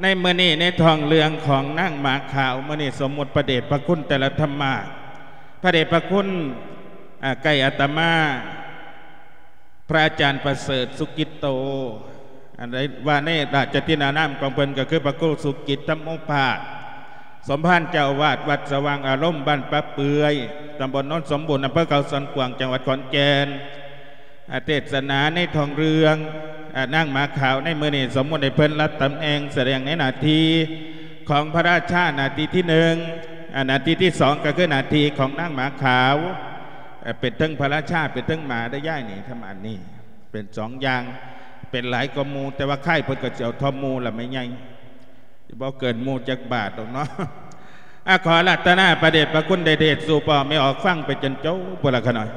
ໃນມື້ນີ້ ໃນທ້ອງເລື່ອງຂອງນາງໝາຂາວ ມື້ນີ້ສົມມຸດພະເດດພະຄຸນແຕ່ລະທຳມາດ ພະເດດພະຄຸນ ອາ ໃກ້ອາດຕະມາ ພະອາຈານປະເສີດ ສຸກິດໂຕ ອັນໃດວ່າໃນລາຊະທິນານາມຂອງເພິ່ນ ກໍຄືພະຄູ ສຸກິດ ທຳໂມພາດ ສົມພານເຈົ້າອາວາດວັດສະຫວ່າງອາລົມ ບ້ານປະເປືອຍ ຕຳບົນໂນນສົມບູນ ອຳເພີເຂົາສວນກວາງ ຈັງຫວັດຂອນແກ່ນ. ອາ ເທດສະໜາໃນທ້ອງເລື່ອງ ອາ ນາງໝາຂາວໃນມື້ນີ້ ສົມມຸດໃຫ້ເພິ່ນຮັບຕຳແໜ່ງ ສະແດງໃນໜ້າທີ່ຂອງພະລາຊາ ໜ້າທີ່ທີໜຶ່ງ ອາ ໜ້າທີ່ທີສອງ ກໍຄືໜ້າທີ່ຂອງນາງໝາຂາວ ເປັນເຖິງພະລາຊາ ເປັນເຖິງໝາໄດ້ ຍາຍນີ້ທຳອັນນີ້ ເປັນສອງຢ່າງ ເປັນຫຼາຍກວ່າໝູ່ ແຕ່ວ່າຄ້າຍເພິ່ນກໍຊິເອົາທໍ່ໝູ່ລະແມ່ໃຫຍ່ ບໍ່ເກີນໝູ່ຈັກບາດດອກເນາະ. ອາ ຂໍອາລາທະນາພະເດດພະຄຸນ ໄດ້ເທດສູ່ພໍ່ແມ່ອອກຟັງໄປຈົນຈົບພຸ້ນລະຂະນ້ອຍ.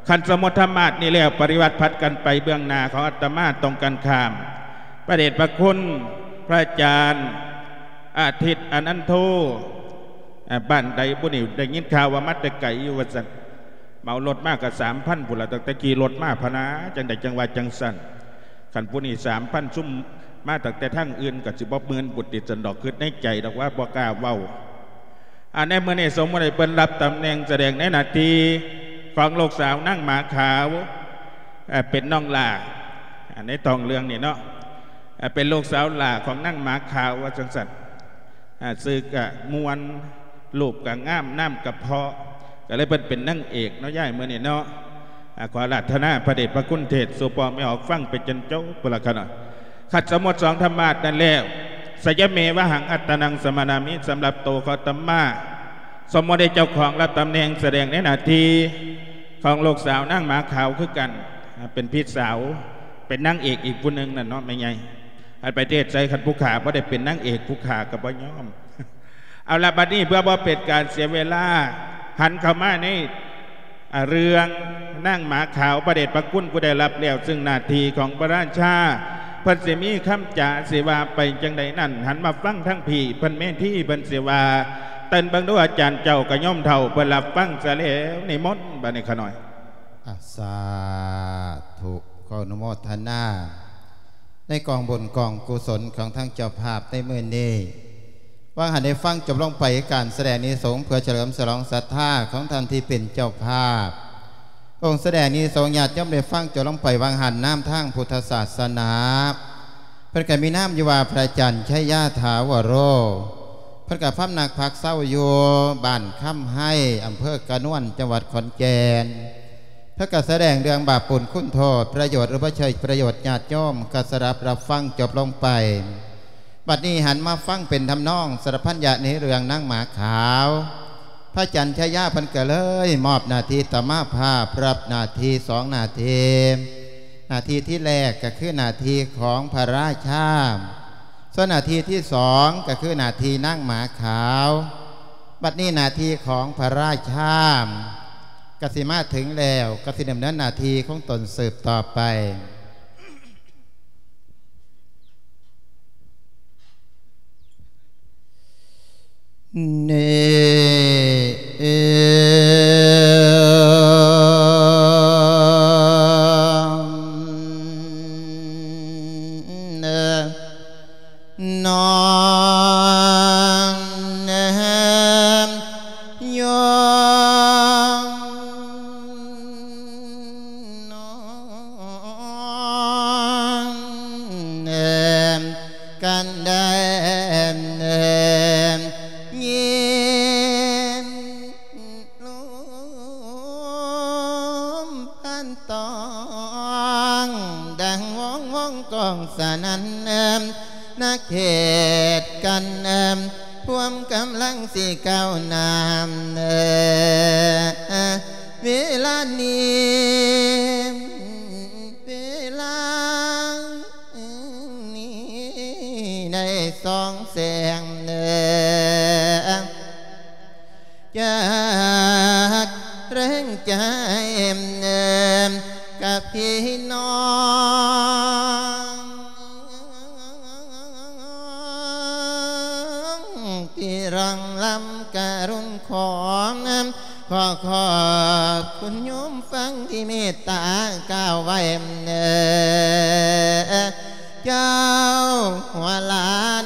ຄັນສົມມຸດທຳມາດນີ້ແລ້ວ ປະລິວັດຜັດກັນໄປເບື້ອງໜ້າຂອງອາດຕະມາ ຕົງກັນຂ້າມ ພະເດດພະຄຸນ ພະອາຈານ ອາທິດ ອານັນໂທ ອາ ບ້ານໃດບຸນີ້ ໄດ້ຍິນຂ່າວວ່າມາແຕ່ໄກຢູ່ວ່າຊັ້ນ ເໝົາລົດມາກໍສາມພັນພຸ້ນລະ ຕັ້ງແຕ່ຂີ່ລົດມາພະນາ ຈັ່ງໃດຈັ່ງວ່າຈັ່ງຊັ້ນ. ຄັນຜູ້ນີ້ສາມພັນ ຊຸມມາຕັ້ງແຕ່ທາງອື່ນກໍຊິບໍ່ໝື່ນບຸດຕິຊັ້ນດອກ ຄິດໃນໃຈດອກວ່າບໍ່ກ້າເວົ້າ. ອັນໃນມື້ນີ້ສົມມຸດໃຫ້ເພິ່ນຮັບຕຳແໜ່ງ ສະແດງໃນໜ້າທີ່ຂອງລູກສາວນາງໝາຂາວ ເປັນນ້ອງຫຼ້າ ໃນທ້ອງເລື່ອງນີ້ເນາະ ເປັນລູກສາວຫຼ້າຂອງນາງໝາຂາວວ່າຈັ່ງຊັ້ນ. ອາ ຊື່ກະມ່ວນ ຮູບກະງາມ ນາມກະເພາະ ກະເລີຍເພິ່ນເປັນນາງເອກເນາະ ຍາຍ ມື້ນີ້ເນາະ. ອາ ຂໍອາລາທະນາພະເດດພະຄຸນ ເທດສູ່ພໍ່ແມ່ອອກຟັງໄປຈົນຈົບພຸ້ນລະຂະນ້ອຍ. ຄັນສົມມຸດສອງທຳມາດນັ້ນແລ້ວ ສະຍະເມວະຫັງ ອັດຕະນັງສະມະນາມິ ສຳລັບໂຕຂອງອາດຕະມາ ສົມມຸດໃຫ້ເຈົ້າຂອງຮັບຕຳແໜ່ງ ສະແດງໃນໜ້າທີ່ຂອງລູກສາວນາງໝາຂາວຄືກັນ ເປັນພີ່ສາວ ເປັນນາງເອກອີກຜູ້ໜຶ່ງນັ້ນເນາະແມ່ໃຫຍ່. ອັນໄປເທດໃສ ຄັນຜູ້ຂ້າບໍ່ໄດ້ເປັນນາງເອກ ຜູ້ຂ້າກໍບໍ່ຍອມ. ເອົາລະ ບັດນີ້ເພື່ອບໍ່ເປັນການເສຍເວລາ ຫັນເຂົ້າມາໃນ ອາ ເລື່ອງນາງໝາຂາວ ພະເດດພະຄຸນຜູ້ໄດ້ຮັບແລ້ວ ຊຶ່ງໜ້າທີ່ຂອງພະລາຊາ ເພິ່ນຊິມີຄຳຈາຊິວ່າໄປຈັ່ງໃດນັ້ນ ຫັນມາຟັງທາງພີ້ ເພິ່ນເມທີ ເພິ່ນຊິວ່າ ເຕີນເບິ່ງດູ ອາຈານເຈົ້າກະໂຍມເຖົ້າ ເພິ່ນຮັບຟັງຊະແລ້ວ. ນິມົນ ບັດນີ້ຂະນ້ອຍ. ອາ ສາທຸ ຂໍອະນຸໂມທະນາ ໃນກອງບຸນກອງກຸສົນຂອງທາງເຈົ້າພາບໃນມື້ນີ້. ຫວ່າງຫັນໄດ້ຟັງຈົບລົງໄປການສະແດງອານິສົງ ເພື່ອສະເຫຼີມສະຫຼອງສັດທາຂອງທ່ານທີ່ເປັນເຈົ້າພາບ. ອົງສະແດງອານິສົງ ຍາດໂຍມໄດ້ຟັງຈົບລົງໄປຫວ່າງຫັນ ນາມທາງພຸດທະສາສະໜາ ເພິ່ນກໍມີນາມຢູ່ວ່າພະອາຈານໄຊຍາຖາວະໂຣ ເພິ່ນກໍພຳນັກພັກເຊົາຢູ່ບ້ານຄຳໄຮ ອຳເພີກະນວນ ຈັງຫວັດຂອນແກ່ນ. ເພິ່ນກໍສະແດງເລື່ອງບາບບຸນຄຸນໂທດ ປະໂຫຍດ ຫຼື ບໍ່ໃຊ້ປະໂຫຍດ ຍາດໂຍມກໍສະດັບຮັບຟັງຈົບລົງໄປ. ບັດນີ້ຫັນມາຟັງເປັນທຳນອງສະລັບພັນຍະໃນເລື່ອງນາງໝາຂາວ. ພະອາຈານໄຊຍາເພິ່ນກໍເລີຍມອບໜ້າທີ່ຕະມາພາບ ຮັບໜ້າທີ່ສອງໜ້າທີ່. ໜ້າທີ່ທີແລກກໍຄືໜ້າທີ່ຂອງພະລາຊາ ສ່ວນໜ້າທີ່ທີສອງກໍຄືໜ້າທີ່ນາງໝາຂາວ. ບັດນີ້ໜ້າທີ່ຂອງພະລາຊາກໍຊິມາເຖິງແລ້ວ ກໍຊິດຳເນີນໜ້າທີ່ຂອງຕົນສືບຕໍ່ໄປ. ກັນໄດ້ຍິນລົມພັນຕ້ອງ ດັ່ງວົງວົງກ້ອງສະໜັ່ນ ນະເຂດກັນ ພວມກຳລັງຊິກ້າວໜ້າ ເວລານີ້ ເວລານີ້ໄດ້ສ່ອງແສງ ຈາກແຮງໃຈກັບພີ່ນ້ອງ ທີ່ລັງລຳກະລຸນຂອງ ຂໍຂອບຄຸນໂຍມຟັງທີ່ເມດຕາກ່າວໄວ້ ເຈົ້າຫົວຫຼານ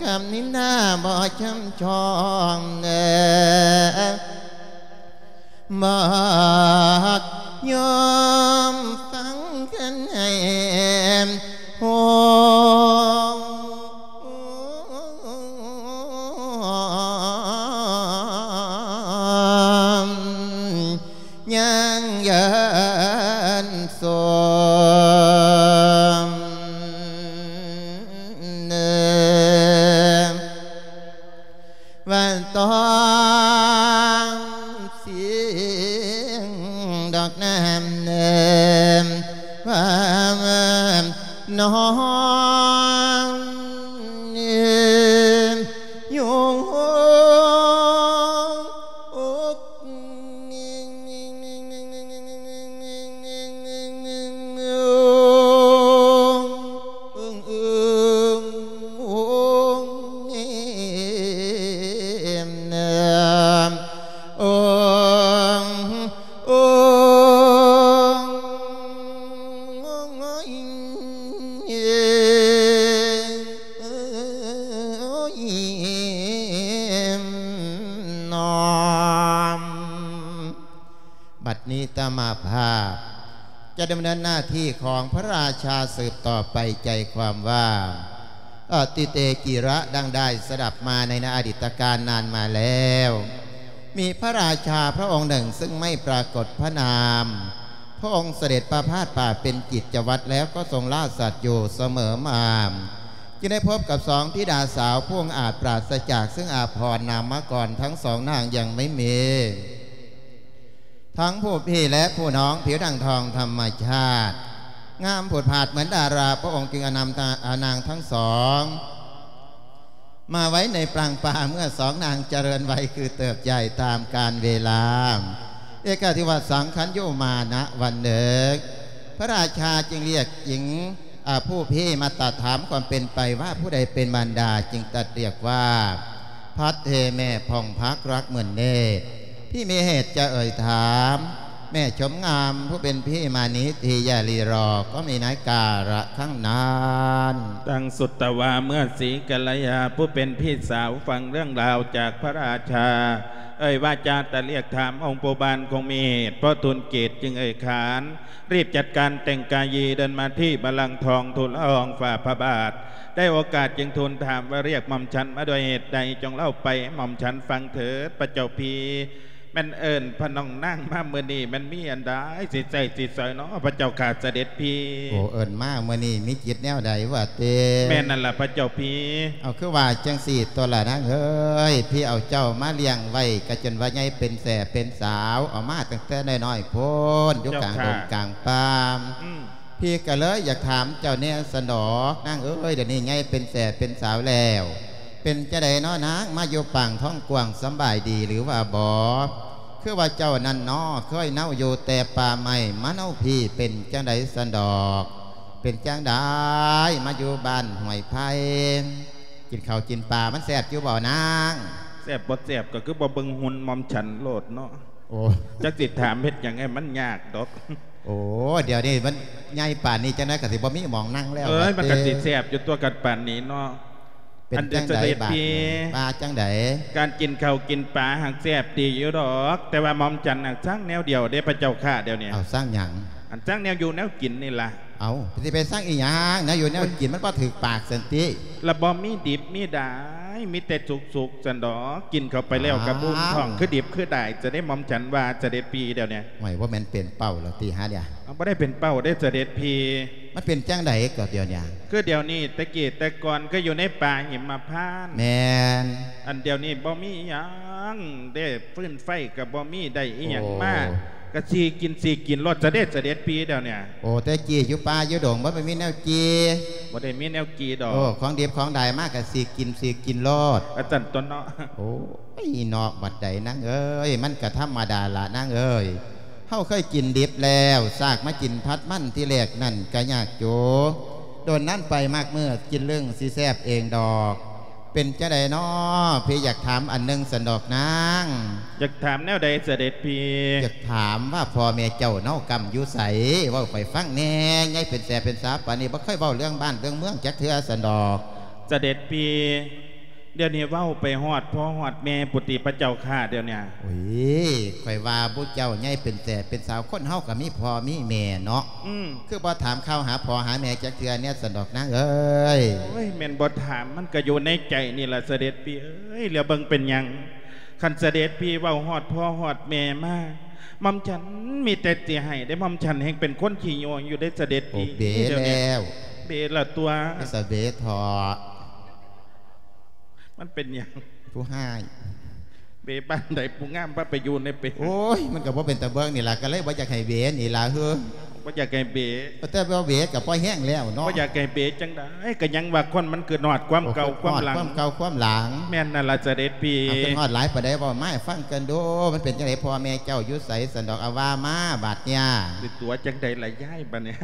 ຄຳນິນທາບໍ່ຊ່ຳຊອງເດີ້ ບອກໂຍມຟັງກັນໃຫ້ຮູ້ ຍັງເຍີນສົມເນີ ວ່າຕ້ອງສິງດອກນ້ຳເນີ ວ່ານ້ອງ ບັດນີ້ຕະມາພາບຈະດຳເນີນໜ້າທີ່ຂອງພະລາຊາສືບຕໍ່ໄປ ໃຈຄວາມວ່າ ອະຕິເຕກິລະ ດັ່ງໄດ້ສະດັບມາໃນອະດີດຕະການນານມາແລ້ວ ມີພະລາຊາພະອົງໜຶ່ງເຊິ່ງໄມ່ປາກົດພະນາມ ພະອົງສະເດັດປະພາດປ່າເປັນກິດຈະວັດແລ້ວກໍຊົງລາສັດຢູ່ສະເໝີມາ ຈຶ່ງໄດ້ພົບກັບສອງທິດາສາວຜູ້ອາດປາສະຈາກເຊິ່ງອາພອນນາມມະກອນ ທັງສອງນາງຍັງໄມ່ມີ ທັງຜູ້ພີ່ ແລະ ຜູ້ນ້ອງ ຜິວດັ່ງທອງທຳມະຊາດ ງາມຜູດຜາດເໝືອນດາລາ ພະອົງຈຶ່ງອະນຳ ອານາງທັງສອງ ມາໄວ້ໃນປາງປ່າ ເມື່ອສອງນາງຈະເລີນໄວຄືເຕີບໃຫຍ່ຕາມການເວລາ ເອກາທິວັດສັງຄັນໂຍມານະວັນເໜຶກ ພະລາຊາຈຶ່ງລຽກຍິງ ອາ ຜູ້ພີ່ມາຕັດຖາມຄວາມເປັນໄປວ່າຜູ້ໃດເປັນມານດາ ຈຶ່ງຕັດລຽກວ່າ ພັດເທແມ່ຜ່ອງພັກລັກໝື່ນເນດ ພີ່ມີເຫດຈະເອີ່ຍຖາມ ແມ່ຊົມງາມຜູ້ເປັນພີ່ມານີທີ່ຢ່າລີລໍ ກໍມີໃນກາລະຄັ້ງນັ້ນ. ດັ່ງສຸດຕະວາເມື່ອສີກັນລະຍາຜູ້ເປັນພີ່ສາວຟັງເລື່ອງລາວຈາກພະລາຊາ ເອີ່ຍວ່າຈາຕະລຽກຖາມອົງປູ່ບ້ານຄົງມີເຫດ ພໍທູນເກດຈຶ່ງເອີ່ຍຂານ ຣີບຈັດການແຕ່ງກາຍຢີເດີນມາທີ່ບັນລັງທອງທູນລະອອງຝ່າພະບາດ ໄດ້ໂອກາດຈຶ່ງທູນຖາມວ່າ ລຽກໝ່ອມສັນມາດ້ວຍເຫດໃດ ຈົ່ງເລົ່າໄປໃຫ້ໝ່ອມສັນຟັງເຖີດພະເຈົ້າພີ່ ແມ່ນເອີ້ນພະນ້ອງນາງມາມື້ນີ້ ແມ່ນມີອັນໃດຊິໃຊ້ຊິສອຍເນາະ ພະເຈົ້າຂ້າສະເດັດພີ່. ໂອ້ ເອີ້ນມາມື້ນີ້ມີຈິດແນວໃດວະເຕ? ແມ່ນນັ້ນລະພະເຈົ້າພີ່. ເອົາ ຄືວ່າຈັ່ງຊີ້ຕົວະລະນາງເອີຍ ພີ່ເອົາເຈົ້າມາລ້ຽງໄວ້ ກະຈົນວ່າໃຫຍ່ເປັນແສ້ເປັນສາວ ເອົາມາຕັ້ງແຕ່ນ້ອຍໆໂພນ ຢູ່ກາງດົງກາງປ່າ ພີ່ກະເລີຍຢາກຖາມເຈົ້າແດ່ຊັ້ນດອກ ນາງເອີຍ ດຽວນີ້ໃຫຍ່ເປັນແສ້ເປັນສາວແລ້ວ ເປັນຈັ່ງໃດເນາະນາງ ມາຢູ່ປາງທ້ອງກວ້າງ ສຳບາຍດີຫຼືວ່າບໍ່? ຄືວ່າເຈົ້ານັ້ນເນາະ ເຄີຍເນົາຢູ່ແຕ່ປ່າໄມ້ ມາເນົາພີ້ເປັນຈັ່ງໃດຊັ້ນດອກ? ເປັນຈັ່ງໃດມາຢູ່ບ້ານຫ້ວຍໄຜ່? ກິນເຂົ້າກິນປາມັນແຊບຢູ່ບໍ່ນາງ? ແຊບບໍ່ແຊບກໍຄືບໍ່ເບິ່ງຫຸ່ນໝ່ອມສັນໂລດເນາະ. ໂອ້ ຈັກຊິຖາມເຮັດຫຍັງໃຫ້ມັນຍາກດອກ. ໂອ້ ດຽວນີ້ມັນໃຫຍ່ປານນີ້ ຈັ່ງໃດກໍຊິບໍ່ມີໝ່ອງນັ່ງແລ້ວ. ເອີຍ ມັນກໍຊິແຊບຢູ່ຕົວກັນປານນີ້ເນາະ. ເປັນ ອັນເດ ຈັ່ງໃດ ສະເດັດພີ່ ບາດນີ້ ວ່າຈັ່ງໃດ? ການກິນເຂົ້າກິນປາຫາກແຊບດີຢູ່ດອກ ແຕ່ວ່າໝ່ອມສັນນະຊັງແນວດຽວເດ້ພະເຈົ້າຂ້າ ດຽວນີ້. ເອົາ ຊັງຫຍັງ? ອັນຊັງແນວຢູ່ແນວກິນນີ້ລະ. ເອົາ ຊິໄປຊັງອີຫຍັງ? ແນວຢູ່ແນວກິນມັນບໍ່ຖືກປາກຊັ້ນຕິ. ລະບໍ່ມີດິບມີດາຍ ມີແຕ່ສຸກໆ ຊັ້ນດອກ. ກິນເຂົ້າໄປແລ້ວກໍບຸ້ມທ້ອງ ອ້າວ ຄືດິບຄືດາຍ ຈະໄດ້ໝ່ອມສັນວ່າ ສະເດັດພີ່ ດຽວນີ້. ຫ້ວຍ ບໍ່ແມ່ນເປັນເປົ້າແລ້ວຕິຫາດຽ? ເອົາ ບໍ່ໄດ້ເປັນເປົ້າເດ້ ສະເດັດພີ່. ມັນເປັນຈັ່ງໃດກໍດຽວນີ້? ຄືດຽວນີ້ ແຕ່ກີ້ແຕ່ກ່ອນກໍຢູ່ໃນປ່າຫິມມະພານ. ແມ່ນ. ອັນດຽວນີ້ບໍ່ມີຫຍັງເດ້ ຟືນໄຟກໍບໍ່ມີ ໄດ້ອີຫຍັງມາ ໂອ້ ກໍຊິກິນ ຊິກິນໂລດ ສະເດັດ ສະເດັດພີ່ ດຽວນີ້. ໂອ້ ແຕ່ກີ້ຢູ່ປ່າຢູ່ດົງບໍ່ໄດ້ມີແນວຈີ່? ບໍ່ໄດ້ມີແນວຈີ່ດອກ. ໂອ້ ຂອງດິບຂອງດາຍມາກໍຊິກິນ ຊິກິນໂລດ ວ່າຊັ້ນຕົວະເນາະ. ໂອ້ຍ ນອກບັດໃດນາງເອີຍ ມັນກໍທຳມະດາລະນາງເອີຍ. ເຮົາເຄີຍກິນດິບແລ້ວ ຊາກມາກິນຜັດມັນທີແລກນັ້ນກະຍາກໂຈ. ດົນນັ້ນໄປມາກມື້ກິນເລື່ອງຊິແຊບເອງດອກ. ເປັນຈັ່ງໃດນໍ? ພີ່ຢາກຖາມອັນໜຶ່ງຊັ້ນດອກນາງ. ຢາກຖາມແນວໃດສະເດັດພີ່? ຢາກຖາມວ່າພໍ່ແມ່ເຈົ້າເນາະ ກຳຢູ່ໃສ? ເວົ້າໃຫ້ຂ້ອຍຟັງແດ່. ໃຫຍ່ເປັນແສເປັນສາປານນີ້ ບໍ່ເຄີຍເວົ້າເລື່ອງບ້ານເລື່ອງເມືອງຈັກເທື່ອຊັ້ນດອກ. ສະເດັດພີ່ ດຽວນີ້ເວົ້າໄປຮອດພໍ່ຮອດແມ່ພຸ້ນຕິພະເຈົ້າຂ້າ ດຽວນີ້. ໂອ້ຍ ຂ້ອຍວ່າໝູ່ເຈົ້າໃຫຍ່ເປັນແສເປັນສາວ ຄົນເຮົາກໍມີພໍ່ມີແມ່ເນາະ. ອືມ ຄືບໍ່ຖາມຂ່າວຫາພໍ່ຫາແມ່ຈັກເທື່ອແດ່ຊັ້ນດອກນາງເອີຍ? ໂອ້ຍ ແມ່ນບໍ່ຖາມ ມັນກໍຢູ່ໃນໃຈນີ້ລະສະເດັດພີ່ເອີຍ. ແລ້ວເບິ່ງເປັນຫຍັງ ຄັນສະເດັດພີ່ເວົ້າຮອດພໍ່ຮອດແມ່ມາ ໝ່ອມສັນມີແຕ່ຊິໃຫ້ເດ້. ໝ່ອມສັນແຮ່ງເປັນຄົນຂີ້ໂຍງຢູ່ເດ້ສະເດັດພີ່. ໂອ້ ເບແລ້ວ ເບລະຕົວະ ສະເບເຖາະ. ມັນເປັນຫຍັງ? ຜູ້ຮ້າຍ. ເບປານໃດ ຜູ້ງາມພາໄປຢູ່ໃນເປ. ໂອ້ຍ ມັນກໍບໍ່ເປັນຕາເບິ່ງນີ້ລະ ກໍເລີຍບໍ່ຢາກໃຫ້ເບນີ້ລະເຮີ. ບໍ່ຢາກໃຫ້ເບ. ແຕ່ວ່າເບກໍພໍແຮງແລ້ວເນາະ. ບໍ່ຢາກໃຫ້ເບຈັ່ງໃດ ກໍຍັງວ່າຄົນມັນຄືນອດຄວາມເກົ່າຄວາມຫຼັງ. ຄວາມເກົ່າຄວາມຫຼັງ. ແມ່ນນັ້ນລະສະເດັດພີ່. ເອົາ ຄືນອດຫຼາຍປານໃດ ເວົ້າມາໃຫ້ຟັງກັນດູ ມັນເປັນຈັ່ງໃດ ພໍ່ແມ່ເຈົ້າຢູ່ໃສຊັ້ນດອກ ເອົາວ່າມາບາດເນີ້ຍ. ຊິຕົວະຈັ່ງໃດລະຍາຍບາດນີ້?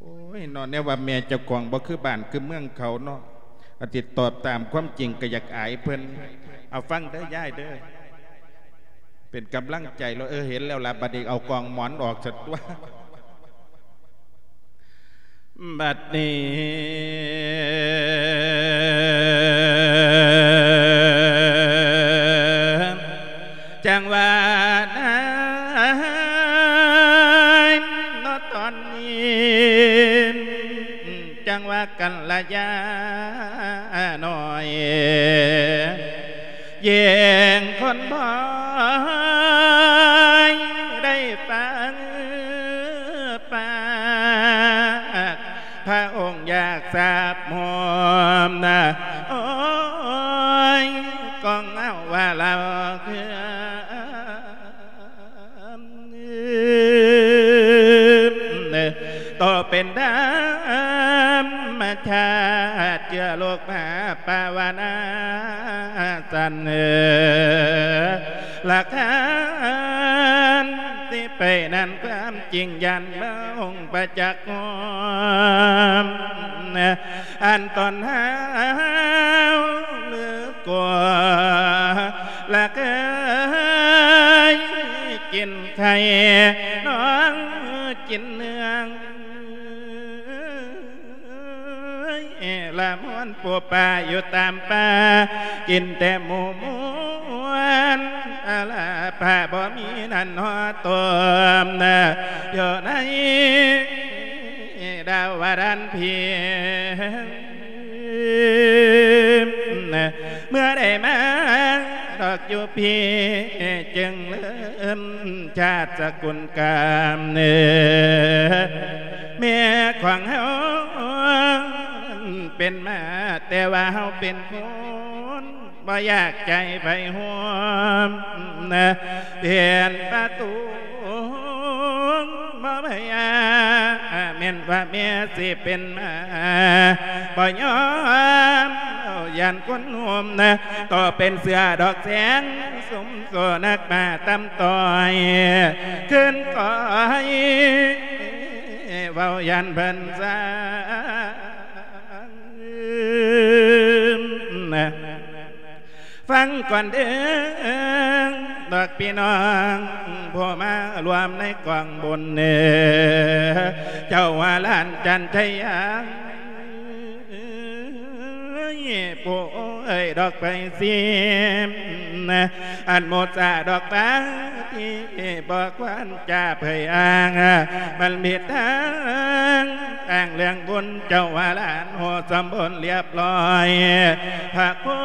ໂອ້ຍເນາະ ແນວວ່າແມ່ເຈົ້າຂອງບໍ່ຄືບ້ານຄືເມືອງເຂົາເນາະ ອາດຊິຕອບຕາມຄວາມຈິງ ກໍຢາກອາຍເພິ່ນ. ເອົາ ຟັງເດີຍາຍເດີ ເປັນກຳລັງໃຈໂລດ. ເອີ ເຫັນແລ້ວລະ ບັດນີ້ເອົາກອງໝອນອອກຊະຕົວະ. ບັດນີ້ ຈັ່ງວ່ານາຍເນາະ ຕອນນີ້ ຈັ່ງວ່າກັນລະຍານ້ອຍ ແຍ່ງຄົນບໍ່ໄດ້ຟັງປາກ ພະອົງຢາກສາບໂຫມນະ ໂອ້ຍ ກອງເອົາວ່າລາວຄື ໂຕເປັນທຳມະຊາດ ເຊື້ອໂລກມະຫາປາວະນາສັນ ຫຼັກຖານທີ່ໄປນັ້ນ ຄວາມຈິງຢ່ານມາອົງປະຈັກ ອັນຕອນຫາວຫຼືກົວ ລະເຄີຍກິນໄຂ່ ນ້ອງກິນເນື້ອ ລະມ່ວນປູປາຢູ່ຕາມປ່າ ກິນແຕ່ໝູມ່ວນ ອາລາພາບໍ່ມີນັ້ນຫໍ່ຕົ້ມ ຢູ່ໃນ ດາວວະດັນພີ ເມື່ອໄດ້ມາດອກຢູ່ພີ້ ຈຶ່ງເລີ່ມຊາດສະກຸນກາມ ແມ່ຂອງເຮົາເປັນມາ ແຕ່ວ່າເຮົາເປັນຄົນ ບໍ່ຢາກໃຈໃຜຮ່ວມ ເປັນປະຕູບໍ່ພະຍາ ແມ່ນວ່າແມ່ຊິເປັນມາ ບໍ່ຍອມ ຢ້ານຄົນໂຮມນະ ຕໍ່ເປັນເສືອດອກແສງ ສຸມໂຊນັກມາຕຳຕ່ອຍ ຄືນກ້ອຍ ເວົ້າຢ້ານເພິ່ນຊາ ຟັງກ່ອນເດີ້ ດອກພີ່ນ້ອງ ຜູ້ມາຮ່ວມໃນກອງບຸນເນີ ເຈົ້າວ່າຫຼານຈັນໄຊຍາ ຜູ້ເອີຍດອກໄປຊິມ ອັນໂມດສາດອກບາງທີ່ບໍ່ຄວນຈະເຜີຍອ້າງ ມັນຜິດທາງ ອ້າງເລື່ອງບຸນ ເຈົ້າວ່າຫຼານໂຫດສົມບູນລຽບລ້ອຍ ພະຄູ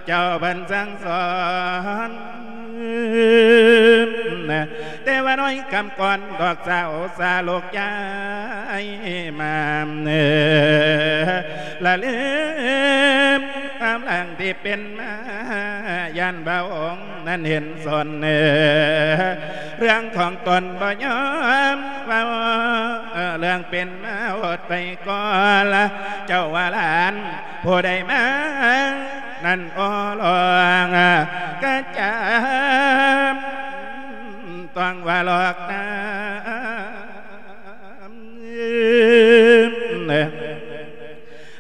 ເຈົ້າເພິ່ນສັ່ງສອນ ແຕ່ວ່ານ້ອຍຄຳກ່ອນ ດອກສາວສາລົກຍ້າຍມາ ລະລືມຄວາມຫຼັງທີ່ເປັນມາ ຢ້ານພະອົງ ນັ້ນເຫັນສົນ ເລື່ອງຂອງຕົນບໍ່ຍອມເວົ້າ ເລື່ອງເປັນມາໂຫດໄປກ່ອນລະ ເຈົ້າວ່າຫຼານຜູ້ໃດມາ ນັ້ນໂອ້ລອງກະຈຳ ຕ້ອງວ່າຫຼອກນຳ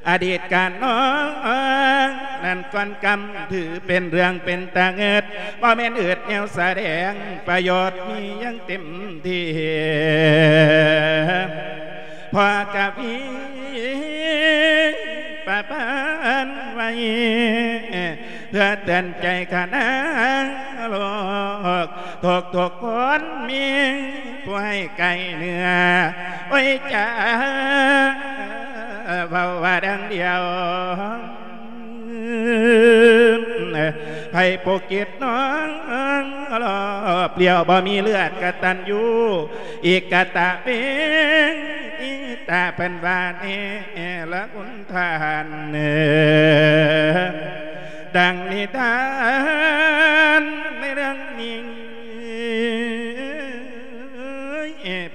ອະດີດການນ້ອງ ນັ້ນກ່ອນກຳ ຖືເປັນເລື່ອງເປັນຕາເງິດ ບໍ່ແມ່ນອຶດແນວສະແດງ ປະໂຫຍດມີຢ່າງເຕັມທີ່ ພໍ່ກະມີປະພັນໄວ້ ເພື່ອເຕືອນໃຈຂະນາງໂລກ ທຸກໆຄົນມີຜູ້ໃຫ້ໃກ້ເນື້ອ ໂອ້ຍຈາ ເວົ້າວ່າດັ່ງດຽວ ໃຜປົກກິດນ້ອງລອບລ້ຽວ ບໍ່ມີເລືອດກະຕັນຍູ ອີກກະຕະເປັນອີຕາເພິ່ນວ່າແນ່ລະຄຸນທ່ານ ເອີ ດັ່ງນິທານໃນເລື່ອງນີ້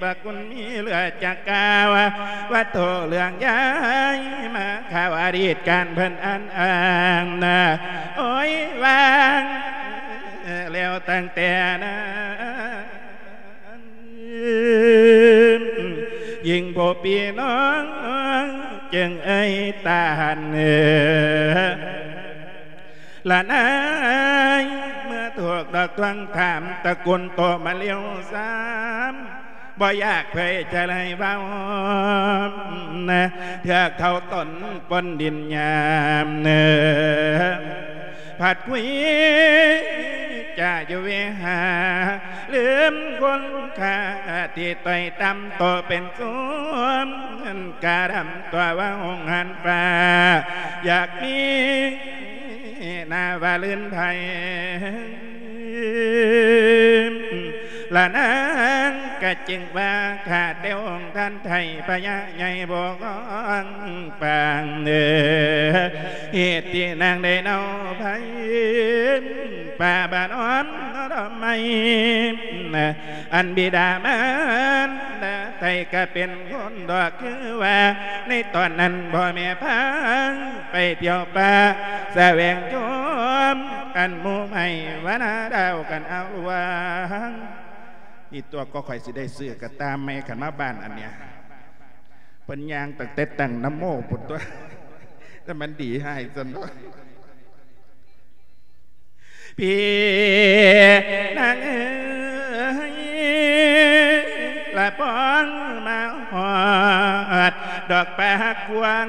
ພະຄຸນມີເຫຼືອຈະກ່າວ ວັດຖຸເລື່ອງຍ້າຍມາ ຂ່າວອະດີດການເພິ່ນອັນອ້າງນາ ໂອ້ຍ ວາງແລ້ວຕັ້ງແຕ່ນັ້ນ ຍິ່ງຜູ້ພີ່ນ້ອງຈຶ່ງເອີຍຕານ ລະນາຍ ເມື່ອຖືກດອກທວງຖາມ ຕະໂກນໂຕ້ມາລຽວຊ້ຳ ບໍ່ຢາກເຜີຍຈະໄດ້ເວົ້າ ເທື່ອເຂົາຕົນປົນດິນຍາມ ພັດຄຸຍຈະຢູ່ເວຫາ ລືມຄຸນຄ່າທີ່ຕ້ອຍຕ່ຳ ໂຕເປັນສູງ ກະດຳຕົວວ່າຫົງຫັນຟ້າ ຢາກມີໜ້າວ່າລື່ນໄພ ລະນາງກະຈຶ່ງວ່າ ຂ້າແຕ່ອົງທ່ານໄທ ພະຍາໃຫຍ່ບໍ່ກອງປາງເດີ ເຫດທີ່ນາງໄດ້ເນົາໄພ ປ່າບ້ານອ້ອມດອກໄມ້ ອັນບິດາມານດາໄທກະເປັນຄົນດອກ ຄືວ່າໃນຕອນນັ້ນພໍ່ແມ່ພາໄປທ່ຽວປ່າ ສະແຫວງຊົມອັນໝູ່ໄມ້ວານາດາວກັນເອົາລວງ ນີ້ຕົວກໍຂ້ອຍຊິໄດ້ຊື້ກະຕ່າໃໝ່ ຄັນມາບ້ານອັນເນີ້ຍ ເພິ່ນຍ່າງຕັ້ງແຕ່ຕັ້ງນະໂມພຸ້ນຕົວະ ແຕ່ມັນດີໃຫ້ຊັ້ນເນາະ. ພີ່ນາງເອີຍ ລະປອງມາຮອດດອກປາກກວ້າງ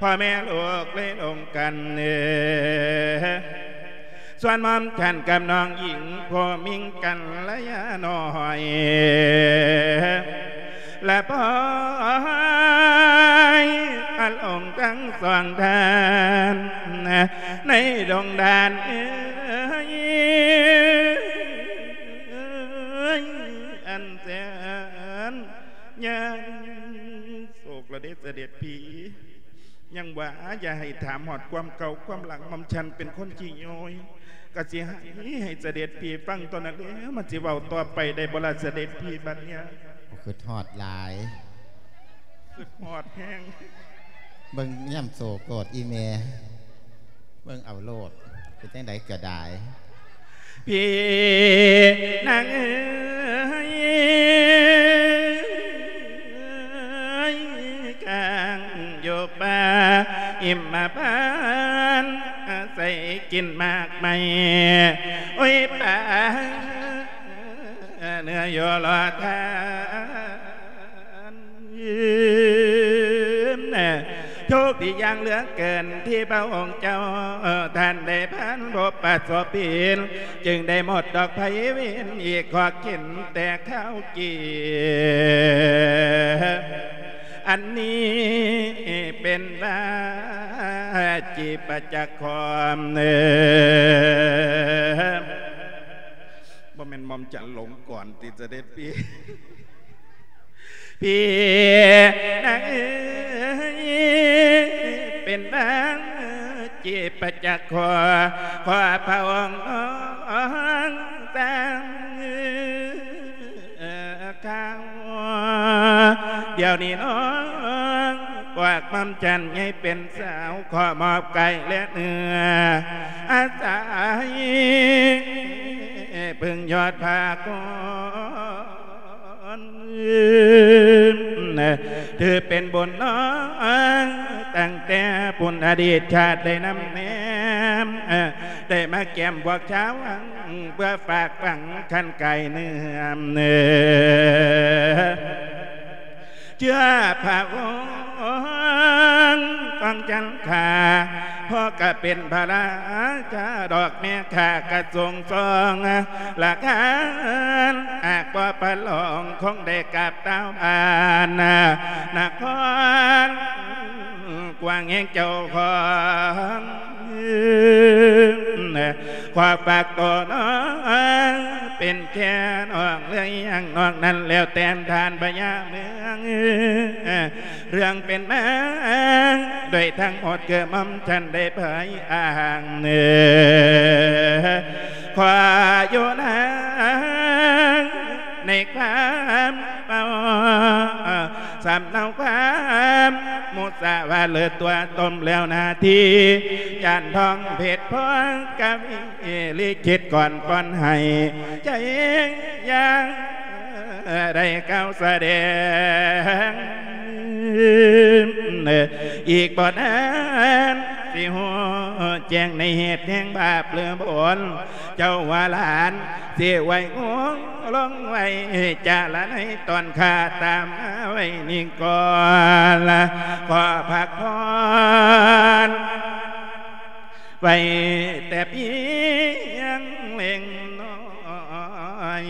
ພໍ່ແມ່ລູກເລີຍລົງກັນ ສ່ວນໝອມທ່ານກັບນ້ອງຍິງ ຜູ້ມິງກັນລະຍານ້ອຍ ລະປອຍອາລົງທັງສອງທ່ານ ໃນດົງດານເອີຍ ອັນແສນຍາກ ໂສກລະເດ ສະເດັດພີ່ ຍັງວ່າຢ່າໃຫ້ຖາມຮອດຄວາມເກົ່າຄວາມຫຼັງ ໝ່ອມສັນເປັນຄົນຂີ້ໂຍຍ ກະຊິໃຫ້ ໃຫ້ສະເດັດພີ່ຟັງເທົ່ານັ້ນແຫຼະ ມັນຊິເວົ້າຕໍ່ໄປໄດ້ບໍ່ລະ ສະເດັດພີ່ບັດເນີ້ຍ ຄືຮອດຫຼາຍ. ຮອດແຮງ ເບິ່ງຍາມໂສໂກດອີແມ່ ເບິ່ງເອົາໂລດ ເປັນຈັ່ງໃດກໍໄດ້ ພີ່ນາງເອີຍ ກາງຢູ່ປ່າຫິມມະພານ ອາໄສກິນໝາກໄມ້ ໂອ້ຍ ປ່າເນື້ອຢູ່ລໍທ່ານ ໂຊກດີຢ່າງເຫຼືອເກີນ ທີ່ພະອົງເຈົ້າທ່ານໄດ້ຜ່ານພົບປະສົບເຫັນ ຈຶ່ງໄດ້ໝົດດອກໄພເວນ ອີກຂໍກິນແຕ່ຄາວກີ ອັນນີ້ເປັນວາຈີປະຈັກຂອງ ບໍ່ແມ່ນໝ່ອມຈັນຫຼົງກ່ອນຕິ ສະເດັດພີ່ ພີ່ນາງເອີຍ ເປັນວາຈີປະຈັກຂອງ ຂໍພະອົງນ້ອງຕາມຂ່າວ ດຽວນີ້ນ້ອງ ພວກໝ່ອມຈັນໃຫຍ່ເປັນສາວ ຂໍມອບກາຍແລະເນື້ອ ອາໄສເພິ່ງຍອດພາກອນ ຖືເປັນບຸນນ້ອງ ຕັ້ງແຕ່ປຸ້ນອະດີດຊາດໄດ້ນຳແນມ ໄດ້ມາແກ້ມພວກຊາວວັງ ເພື່ອຝາກຝັງຄັນກາຍເນື້ອ ເຊື້ອພະວົງຂອງຈັນທາ ພໍ່ກໍເປັນພະລາຊາດອກ ແມ່ຂ້າກໍຊົງຊອງລາຄານ ຫາກບໍ່ປະລອງ ຄົງໄດ້ກາບຕາວບ້ານນະຄອນ ກວ້າງແຮງເຈົ້າຂອງ ຂໍຝາກໂຕນ້ອງ ເປັນແຄ່ນ້ອງເລື່ອຍຢ່າງ ນອກນັ້ນແລ້ວແຕ່ທ່ານພະຍາເມືອງ ເລື່ອງເປັນມາໂດຍທັງໝົດ ຄືໝ່ອມສັນໄດ້ເຜີຍອ້າງ ຂໍຢູ່ນາ ໃນຄວາມເມົາ ສຳເນົາຄວາມມຸສາວາເລີດຕົວຕົ້ມແລ້ວໜ້າທີ່ ຈານທອງເພັດພອງກະວີລິຂິດກ່ອນປ້ອນໃຫ້ ໃຈຢ່າງໄດ້ກ່າວສະແດງ ອີກບໍ່ນານຊິຮູ້ແຈ້ງໃນເຫດແຫ່ງບາບຫຼືບຸນ ເຈົ້າວ່າຫຼານ ຊິໄວ້ງວງລົງໄວ້ຈາລະໃນຕອນຂ້າຕາມມາໄວ້ນີ້ກ່ອນ ຂໍພັກຜ່ອນໄວ້ແຕ່ພຽງເລັກນ້ອຍ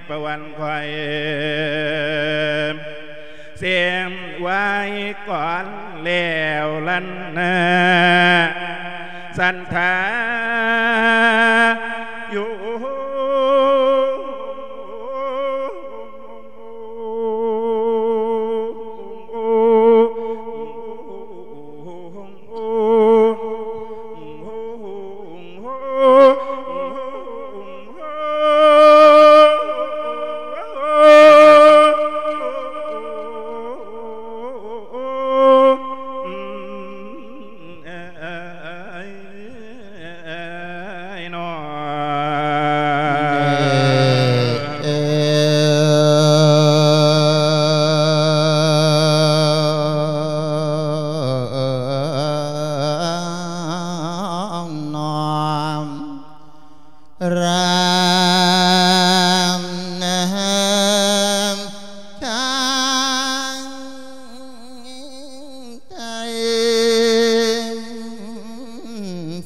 ປະຫວັນຂ້ອຍ ເສມໄວ້ກ່ອນແລ້ວລັນນາ ສັນທາຢູ່.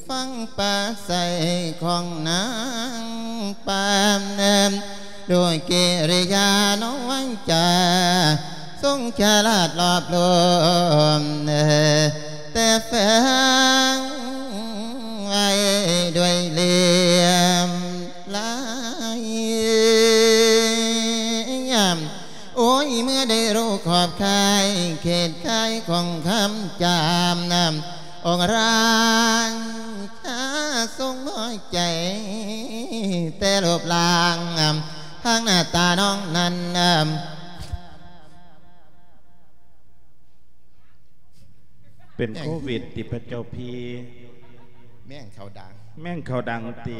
ຟັງປາໄສຂອງນາງປານ ດ້ວຍກິລິຍານ້ອງວັງຈາ ຊົງຊະລາດລອບລວມ ແຕ່ແຝງໄວ້ດ້ວຍຫຼ່ຽມລາຍ ໂອ້ຍ ເມື່ອໄດ້ຮູ້ຂອບຂ່າຍເຂດຂ່າຍຂອງຄຳຈາມ ອົງຣາຊາຊົງນ້ອຍໃຈແຕ່ຮູບຮ່າງ ທາງໜ້າຕານ້ອງນັ້ນ ເປັນໂຄວິດຕິພະເຈົ້າພີ້? ແມ່ງເຂົ້າດັງ ແມ່ງເຂົ້າດັງຕິ?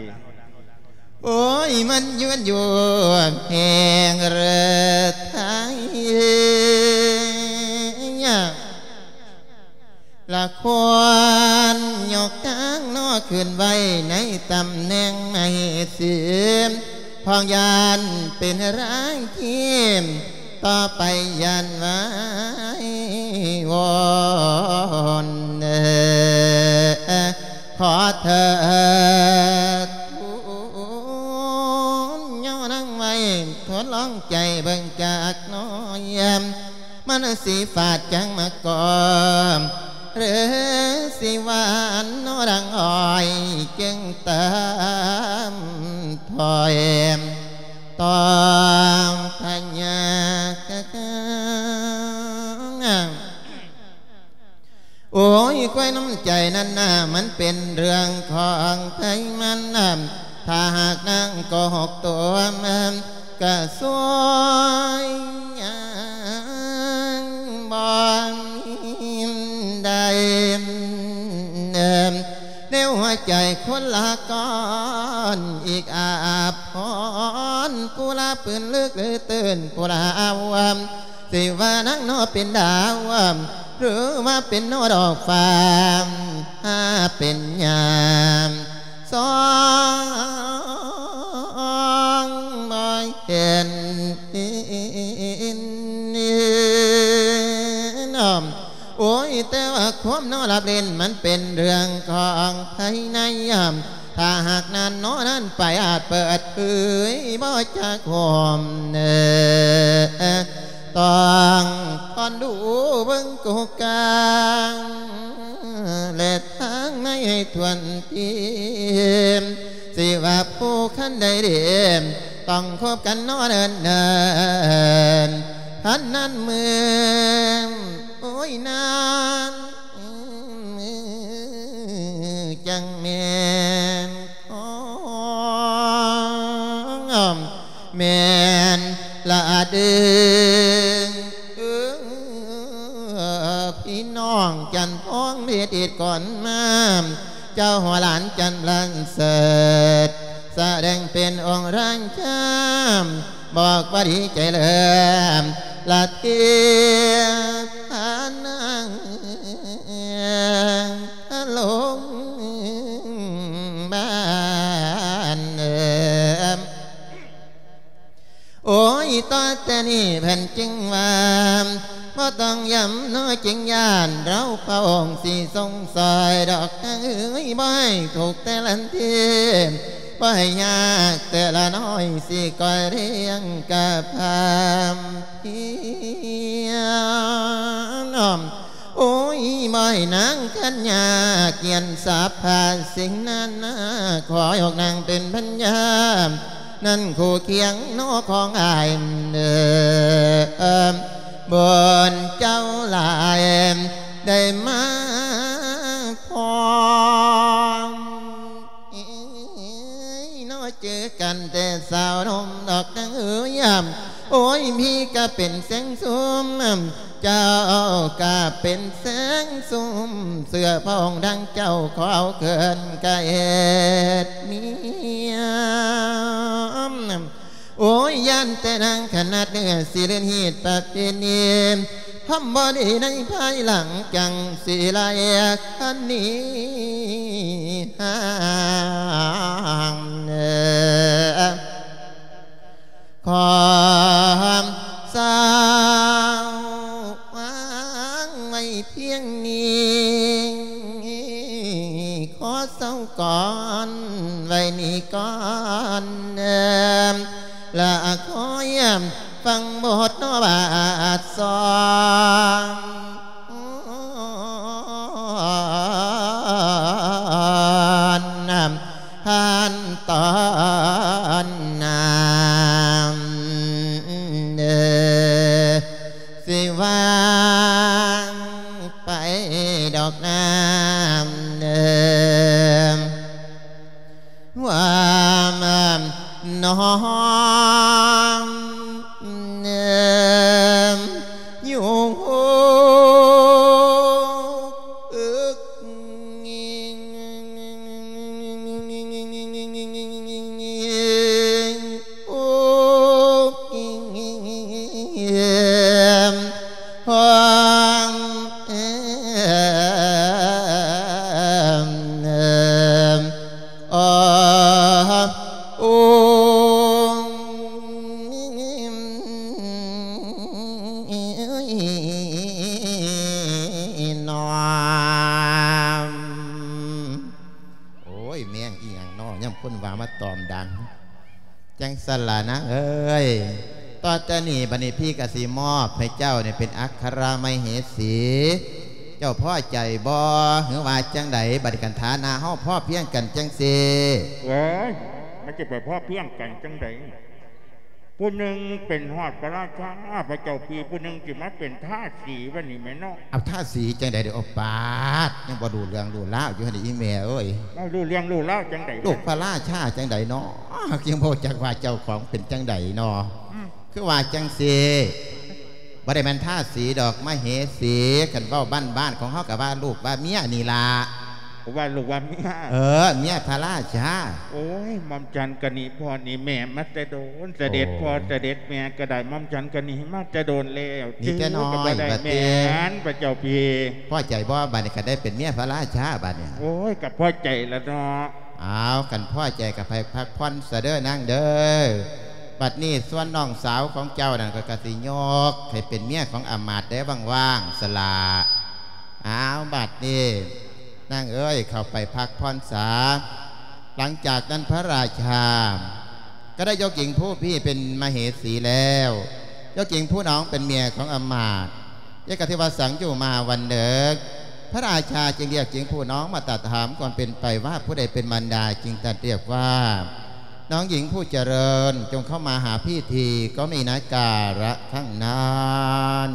ໂອ້ຍ ມັນຍວນຢູ່ແຮງເລີໄທ ລະຄວນຍົກຕັ້ງເນາະ ຂຶ້ນໄວ້ໃນຕຳແໜ່ງໃຫ້ເສຍ ເພາະຢ້ານເປັນແຮງທີມ ຕໍ່ໄປຢ້ານໄວວອນ ຂໍເທີດທູນ ຍ້ອນນາງໄວ້ ທົດລອງໃຈເບິ່ງຈັກໜ້ອຍ ມັນຊິຟາດຈັ່ງມາກ່ອນ ຫຼືຊິຫວານນອດັງອ້ອຍ ຈຶ່ງຕາມຖອຍ ຕ້ອງພະຍາການ. ໂອ້ຍ ຄວາຍນ້ຳໃຈນັ້ນນະ ມັນເປັນເລື່ອງຂອງໃຜມັນນະ ຖ້າຫາກນາງໂກຫກຕົວ ກະຊ່ວຍຫຍັງບໍ່ໄດ້ ໃນຫົວໃຈຄົນລະກ່ອນ ອີກອາພອນ ຜູ້ລະປືນລຶກຫຼືຕື່ນ ຜູ້ລະອາວ ຊິວ່ານາງເນາະເປັນດາວ ຫຼືວ່າເປັນເນາະດອກຟ້າ ຫາເປັນຍາມສ່ອງບໍ່ເຫັນ ໂອ້ຍ ແຕ່ວ່າຄວາມເນາະລັບເຫຼັ້ນ ມັນເປັນເລື່ອງຂອງພາຍໃນ ຖ້າຫາກນັ້ນເນາະນັ້ນໄປອາດເປີດເຜີຍບໍ່ຈັກໂຮມ ຕ້ອງຄອນດູເບິ່ງກົກກາງ ແລະທາງໃນໃຫ້ຖ້ວນທີ ຊິວ່າຜູ້ຄັນໃດເດ ຕ້ອງຄົບກັນເນາະເນີນໆ ຄັນນັ້ນມື້ ໂອ້ຍ ນານ ຈັ່ງແມ່ນຂອງ ແມ່ນລະເດີ ພີ່ນ້ອງຈັນທອງເດດອີດກ່ອນມາ ເຈົ້າຫົວຫຼານຈັນບລັນເສີດ ສະແດງເປັນອົງຣາຊາ ບອກວ່າດີໃຈເລີຍ ລະເທພານາງລົງບ້ານ. ໂອ້ຍ ຕໍ່ແຕ່ນີ້ເພິ່ນຈຶ່ງວ່າ ບໍ່ຕ້ອງຢ້ຳເນາະ ຈຶ່ງຢ້ານລາວພະອົງຊິຊົງຊ່ອຍດອກນາງເອີຍ ບໍ່ໃຫ້ທຸກແຕ່ລະທີ ບໍ່ໃຫ້ຍາກແຕ່ລະນ້ອຍ ຊິກອຍລ້ຽງກະພາມພຽງ ໂອ້ຍ ບໍ່ໃຫ້ນາງຄັນຍາກ ກຽນສາພາສິ່ງນານາ ຂໍໃຫ້ອອກນາງເປັນພັນຍາ ນັ້ນຄູ່ຄຽງເນາະຂອງອ້າຍເອີ ບຸນເຈົ້າຫຼາຍ ໄດ້ມາພ້ອມ ເອີຍ ເນາະ ເຈີກັນແຕ່ສາວໜຸ່ມດອກນາງເອີຍ ໂອ້ຍ ພີ່ກະເປັນແສງຊຸ່ມ ເຈົ້າກະເປັນແສງຊຸ່ມ ເຊື່ອພະອົງດັ່ງເຈົ້າ ຂໍເອົາເກີນກະເຮັດເມຍ ໂອ້ຍ ຢ້ານແຕ່ນາງຂະໜາດເໜືອ ຊິເລີນຮີດປະເພນີ ທຳບໍ່ດີໃນພາຍຫຼັງ ຈັ່ງຊິໄລ່ຄັນໜີຫ່າງ ຂໍສາວວາງໄວ້ພຽງນີ້ ຂໍເຊົາກ່ອນ ໄວ້ນີ້ກ່ອນ ລະຄອຍຟັງບົດເນາະບາດສອງ ຜ່ານຕອນໜ້າເດີ ຊິວ່າໄປດອກນາງເດີ ວ່ານ້ອງເດີ ຢູ່ ຍ ແມງອີ່ຫຍັງນໍ ຍາມຄົນວ່າມາຕອມດັງ. ຈັ່ງຊັ້ນລະນາງເອີຍ, ຕໍ່ແຕ່ນີ້ບັດນີ້ພີ່ກໍຊິມອບໃຫ້ເຈົ້ານີ້ເປັນອັກຄະລະມະເຫສີ. ເຈົ້າພໍໃຈບໍ່ ຫຼືວ່າຈັ່ງໃດ? ບັດນີ້ຄັນຖານະເຮົາພໍພຽງກັນຈັ່ງຊີ້. ໂອ້ຍ ມັນຈະໄປພໍພຽງກັນຈັ່ງໃດ? ຜູ້ໜຶ່ງເປັນຮອດພະລາຊາ ພະເຈົ້າພີ່, ຜູ້ໜຶ່ງຊິມາເປັນທາສີບັດນີ້ແມ່ນເນາະ. ເອົາ ທາສີຈັ່ງໃດເດ? ໂອປາດ ຍັງບໍ່ຮູ້ເລື່ອງຮູ້ລາວຢູ່ຫັ້ນອີ່ແມ່ເອີຍ. ບໍ່ຮູ້ເລື່ອງຮູ້ລາວຈັ່ງໃດ? ລູກພະລາຊາຈັ່ງໃດເນາະ ຍັງບໍ່ຮູ້ຈັກວ່າເຈົ້າຂອງເປັນຈັ່ງໃດເນາະ. ອືມ ຄືວ່າຈັ່ງຊີ້ ບໍ່ໄດ້ແມ່ນທາສີດອກ ມະເຫສີ. ຄັນເວົ້າບ້ານໆຂອງເຮົາກໍວ່າລູກວ່າເມຍນີ້ລະ. ວ່າລູກວ່າເມຍ. ເອີ ເມຍພະລາຊາ. ໂອ້ຍ ໝ່ອມສັນກະໜີພໍ່ໜີແມ່ມາແຕ່ໂດນ, ສະເດັດພໍ່ ໂອ້ ສະເດັດແມ່ກໍໄດ້ ໝ່ອມສັນກະໜີມາແຕ່ໂດນແລ້ວ. ໜີແຕ່ນ້ອຍ ຖືວ່າບໍ່ໄດ້ ວ່າຕິ ແມ່ນ ພະເຈົ້າພີ່. ພໍໃຈບໍ່ ບັດນີ້ ຄັນໄດ້ເປັນເມຍພະລາຊາບັດນີ້? ໂອ້ຍ ກໍພໍໃຈລະເນາະ. ອ້າວ ຄັນພໍໃຈກໍໄປພັກຜ່ອນຊະເດີນາງເດີ. ບັດນີ້ສ່ວນນ້ອງສາວຂອງເຈົ້ານັ້ນ ຂ້ອຍກໍຊິຍົກໃຫ້ເປັນເມຍຂອງອາມາດແດ່ ວ່າງໆ ສະຫຼະ. ອ້າວ ບັດນີ້ນາງເອີຍ ເຂົ້າໄປພັກຜ່ອນສາ. ຫຼັງຈາກນັ້ນພະລາຊາກໍໄດ້ຍົກຍິງຜູ້ພີ້ເປັນມະເຫສີແລ້ວ, ຍົກຍິງຜູ້ນ້ອງເປັນເມຍຂອງອາມາດ. ເຢກະທິວະສັງ ຢູ່ມາວັນໜຶ່ງ ພະລາຊາຈຶ່ງລຽກຍິງຜູ້ນ້ອງມາຕັດຖາມຄວາມເປັນໄປວ່າ ຜູ້ໃດເປັນມານດາ? ຈຶ່ງຕັດລຽກວ່າ ນ້ອງຍິງຜູ້ຈະເລີນ ຈົ່ງເຂົ້າມາຫາພີ່ທີ ກໍມີນາກາລະຄັ້ງນັ້ນ.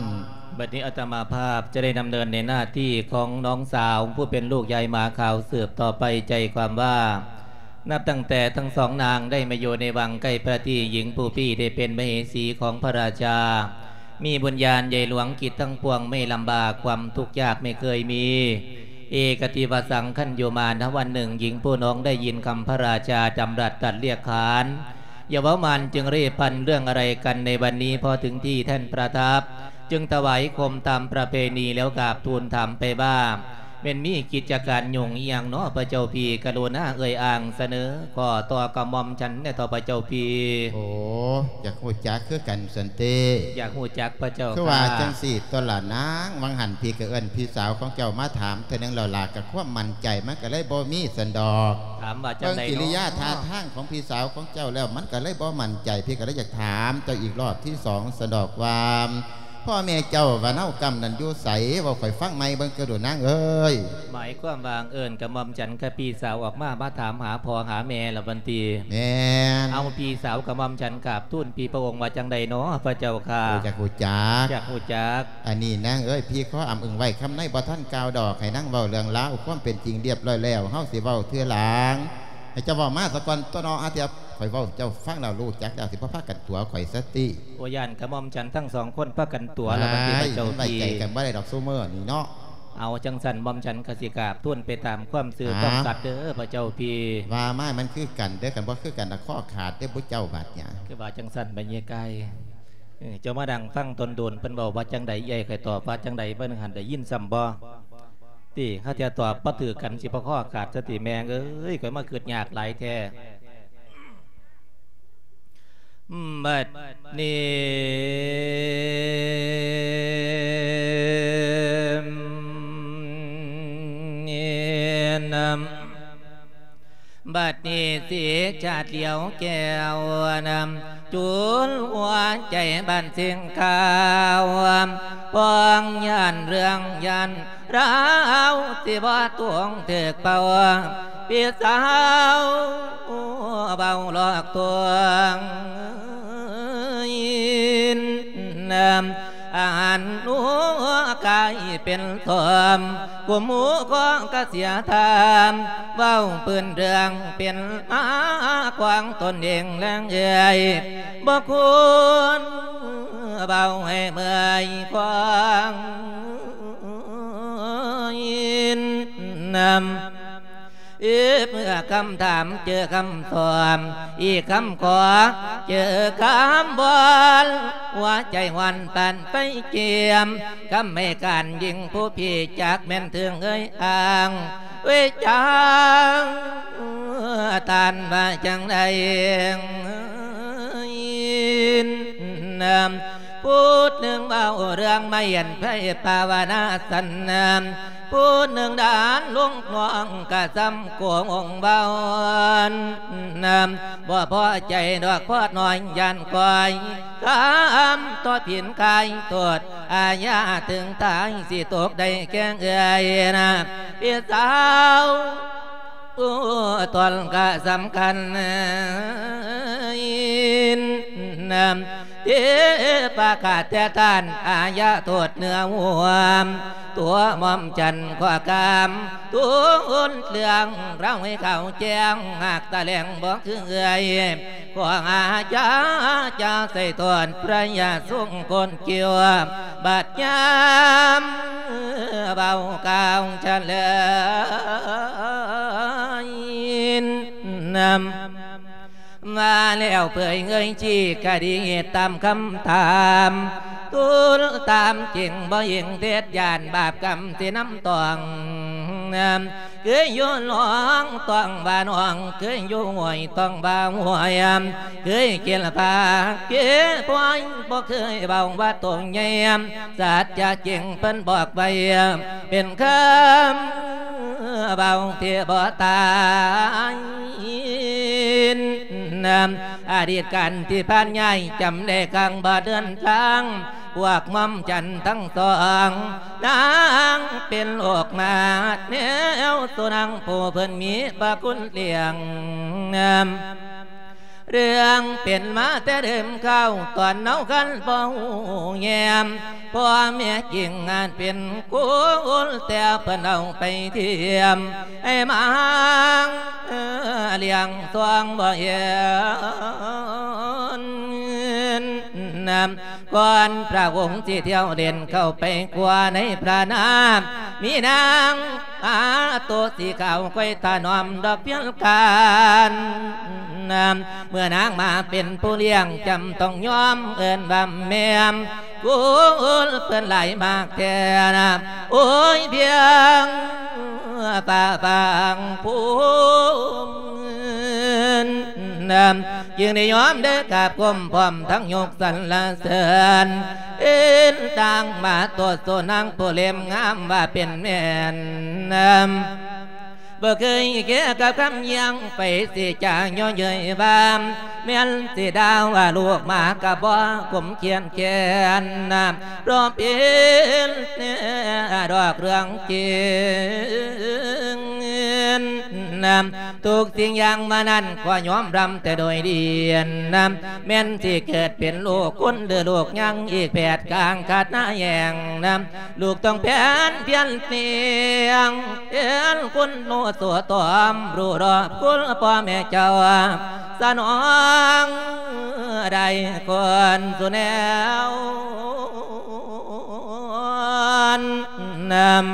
ບັດນີ້ອາດຕະມາພາບຈະໄດ້ດຳເນີນໃນໜ້າທີ່ຂອງນ້ອງສາວຜູ້ເປັນລູກຍາຍໝາຂາວສືບຕໍ່ໄປ. ໃຈຄວາມວ່າ ນັບຕັ້ງແຕ່ທັງສອງນາງໄດ້ມາຢູ່ໃນວັງໃກ້ພະທີ່ ຍິງຜູ້ພີ້ໄດ້ເປັນມະເຫສີຂອງພະລາຊາ, ມີບຸນຍານໃຫຍ່ຫຼວງ ກິດທັງປວງໄມ່ລຳບາກ ຄວາມທຸກຍາກໄມ່ເຄີຍມີ. ເອກະທິວະສັງ ຄັນຢູ່ມານະວັນໜຶ່ງ ຍິງຜູ້ນ້ອງໄດ້ຍິນຄຳພະລາຊາດຳລັດຕັດລຽກຂານ ຢ່າເວົ້າມານຈຶ່ງເລພັນເລື່ອງອະໄລກັນໃນວັນນີ້. ພໍເຖິງທີ່ແທ່ນປະທັບ ຈຶ່ງຖວາຍຄົມຕາມປະເພນີ ແລ້ວກາບທູນຖາມໄປວ່າ ແມ່ນມີກິດຈະການຫຍຸ້ງອີ່ຫຍັງເນາະພະເຈົ້າພີ່? ກະລຸນາເອີ່ຍອ້າງສະເໜີ ຂໍຕໍ່ກະໝ່ອມສັນແດ່ເຖາະພະເຈົ້າພີ່. ໂອ້ ຢາກຮູ້ຈັກຄືກັນຊັ້ນຕິ? ຢາກຮູ້ຈັກພະເຈົ້າ. ຄືວ່າ ຄ່ະ ຈັ່ງຊີ້ຕົວະລະນາງ, ຫວ່າງຫັ້ນພີ່ກໍເອີ້ນພີ່ສາວຂອງເຈົ້າມາຖາມເທື່ອໜຶ່ງແລ້ວລະ, ກະຄວາມໝັ້ນໃຈມັນກໍເລີຍບໍ່ມີຊັ້ນດອກ. ຖາມວ່າຈັ່ງໃດເນາະ? ເບິ່ງກິລິຍາທ່າທາງຂອງພີ່ສາວຂອງເຈົ້າແລ້ວ ມັນກໍເລີຍບໍ່ໝັ້ນໃຈ, ພີ່ກໍເລີຍຢາກຖາມເຈົ້າອີກລອບທີສອງຊັ້ນດອກວ່າ ພໍ່ແມ່ເຈົ້າວ່າເນົາກຳນັ້ນຢູ່ໃສ? ເວົ້າຂ້ອຍຟັງໃໝ່ເບິ່ງເທື່ອດູນາງເອີຍ. ໝາຍຄວາມວ່າເອີ້ນກະໝ່ອມສັນກັບພີ່ສາວອອກມາ ມາຖາມຫາພໍ່ຫາແມ່ລະວັນຕີ. ແມ່ນ. ເອົາ ພີ່ສາວກະໝ່ອມສັນກາບທູນພີ່ພະອົງວ່າຈັ່ງໃດເນາະພະເຈົ້າຄ່ະ? ຢາກຮູ້ຈັກ. ຢາກຮູ້ຈັກ. ອັນນີ້ນາງເອີຍ, ພີ່ຂໍອ້ຳອຶງໄວ້ຄຳໃນບໍ່ທັນກ່າວດອກ, ໃຫ້ນາງເວົ້າເລື່ອງລາວຄວາມເປັນຈິງລຽບຮ້ອຍແລ້ວ ເຮົາຊິເວົ້າເທື່ອຫຼັງ. ໃຫ້ເຈົ້າເວົ້າມາສາກ່ອນຕົວະເນາະ, ຫາເທື່ອຂ້ອຍເວົ້າເຈົ້າຟັງແລ້ວຮູ້ຈັກແລ້ວ ຊິບໍ່ພາກັນຕົວະຂ້ອຍຊັ້ນຕິ. ໂອ້ ຢ້ານກະໝ່ອມສັນທັງສອງຄົນພາກັນຕົວະລະບັດນີ້ພະເຈົ້າ. ມັນໄວ້ໃຈກັນບໍ່ໄດ້ດອກຊຸມື້ນີ້ເນາະ. ເອົາ ຈັ່ງຊັ້ນໝ່ອມສັນກະຊິກາບທູນໄປຕາມຄວາມຊື່ຄວາມສັດເດີພະເຈົ້າພີ່. ວ່າມາມັນຄືກັນເດີ, ຄັນບໍ່ຄືກັນລະຄໍຂາດເດີຜູ້ເຈົ້າບາດນີ້. ຄືວ່າຈັ່ງຊັ້ນບັດນີ້ກາຍ. ເອີ ເຈົ້າມານັ່ງຟັງດົນໆ ເພິ່ນເວົ້າວ່າຈັ່ງໃດ, ເອື້ອຍຂ້ອຍຕອບວ່າຈັ່ງໃດ, ເບິ່ງຫັ້ນໄດ້ຍິນຊ້ຳບໍ່? ຕິ ຫາເທື່ອຕອບບໍ່ຖືກກັນ ຊິບໍ່ຄໍຂາດຊະຕິແມ່ເອີຍ, ຂ້ອຍມາຄຶດຍາກຫຼາຍແທ້. ບັດນີ້ ບັດນີ້ເສດຊາດຫຼຽວແກ້ວນຳ ຈູນຫົວໃຈບານເສັງຂາວ ພອງຢ້ານເລື່ອງຢ້ານລາວ ຊິບໍ່ຕົວງຖືກເປົ່າ ພີ່ສາວເວົ້າຫຼອກລວງ ອາຫານໜູກາຍເປັນສອມ ກຸມໝູ່ຂອງກະເສຍທາມ ເວົ້າພື້ນເລື່ອງເປັນມາຂອງຕົນເອງແລງເອີຍ ບໍ່ຄວນເວົ້າໃຫ້ເມື່ອຍຂອງ ອີກເມື່ອຄຳຖາມເຈີຄຳສອບ ອີກຄຳຂໍເຈີຄຳບອນ ຫົວໃຈຮ້ອນປານໄຟກຽມ ຄຳໃຫ້ການຍິ່ງຜູ້ພີ່ຈັກແມ່ນເຖິງເອີຍອ້າງ ເວຈາງທ່ານວ່າຈັ່ງໃດ ນຳ ພູດໜຶ່ງເວົ້າເລື່ອງມາເຫັນໄພພາວະນາສັນນາ ຜູ້ໜຶ່ງດ່ານລູກນ້ອງກະສ່ຳໂກງເວົ້າ ບໍ່ພໍໃຈດອກພໍນ້ອຍຢ້ານກ້ອຍຄຳ ຕໍ່ຜິນກາຍໂທດອາຍາເຖິງຕາຍ ຊິຕົກໄດ້ແກ່ເອື້ອຍນະ ພີ່ສາວ ໂອ້ ຕອນກະສຳຄັນ ນຳ ທີ່ປະກາດແຕ່ທ່ານອາຍາໂທດເນື້ອຫົວ ຕົວໝ່ອມຈັນຂໍກາມທູນເລື່ອງລາວໃຫ້ຂາວແຈ້ງ ຫາກຕາແຫຼງບໍ່ຄືເອື້ອຍ ຂໍອາຈາຈາໃສ່ໂທດພະຍາຊົງຄົນ ເກີ້ວ ບັດຍາມເວົ້າກ່າວສະເຫຼີຍນຳ ມາແລ້ວເຜີຍເງີຍຊີ້ກະດີຕາມຄຳຖາມ ທູນຕາມຈິງບໍ່ເຫຍງເດັດ ຢ້ານບາບກຳຊິນຳຕ້ອງນຳ ເຄີຍຢູ່ໜອງຕ້ອງວ່າໜອງ ເຄີຍຢູ່ຫ້ວຍຕ້ອງວ່າຫ້ວຍ ເຄີຍກິນປາເກຍພອຍ ບໍ່ເຄີຍເວົ້າວ່າໂຕໃຫຍ່ ສັດຈະຈິງເພິ່ນບອກໄວ້ ເປັນຄຳເວົ້າທີ່ບໍ່ຕາຍນຳ ອະດີດການທີ່ຜ່ານ ຍາຍຈຳໄດ້ຄັ້ງບໍ່ເດີນທາງ ພວກໝ່ອມຈັນທັງສອງ ນາງເປັນໂລກມາດແນວ ສູ່ນາງຜູ້ເພິ່ນມີພະຄຸນລ້ຽງນຳ ເລື່ອງເປັນມາແຕ່ເດີມເກົ່າ ຕອນເຮົາຄັນບໍ່ຮູ້ແຍມ ພໍ່ແມ່ຈິງງານເປັນຄູນ ແຕ່ເພິ່ນເອົາໄປທຽມ ໃຫ້ມາລ້ຽງຊ່ວງບໍ່ເຫັນນຳ ກ່ອນພະອົງຊິທ່ຽວເດັ່ນເຂົ້າໄປກົວໃນພະນາມ ມີນາງອາໂຕສີຂາວ ຄອຍຖະໜອມດອກພຽງການນຳ ເມື່ອນາງມາເປັນຜູ້ລ້ຽງ ຈຳຕ້ອງຍອມເອີ້ນວ່າແມ່ ຄູນເພິ່ນຫຼາຍມາກແທ້ນະ ໂອ້ຍ ພຽງຟ້າຟາງພູມນຳ ຈຶ່ງໄດ້ຍອມເດີກາບກົ້ມ ພ້ອມທັງຍົກສັນລະເສີນ ເອີ້ນນາງມາໂຕໂຕນາງຜູ້ເຫຼັ້ມງາມວ່າເປັນແມ່ນນຳ ບໍ່ເຄີຍແກ່ກັບຄຳຢ້ຽງ ໄປຊິຈາຍໍເຍີ້ຍວ່າ ແມ່ນຊິດ່າວ່າລູກໝາກະບໍ່ກົມຂຽນແຄ້ນນຳ ເພາະເປັນດອກເລື່ອງຈິງນຳ ທຸກສິ່ງຢ່າງມານັ້ນ ຂໍຍອມຮັບແຕ່ໂດຍດີນຳ ແມ່ນຊິເກີດເປັນລູກຄົນ ຫຼືລູກຍັງອີກແຜດກາງຂາດໜ້າແຫ່ງນຳ ລູກຕ້ອງແຜນພຽນປ່ຽນ ເປັນຄົນໂນໂສຕອມ ຮູ້ຮອບຄຸນພໍ່ແມ່ເຈົ້າ ສະໜອງໄດ້ຄົນສູ່ແນວນຳ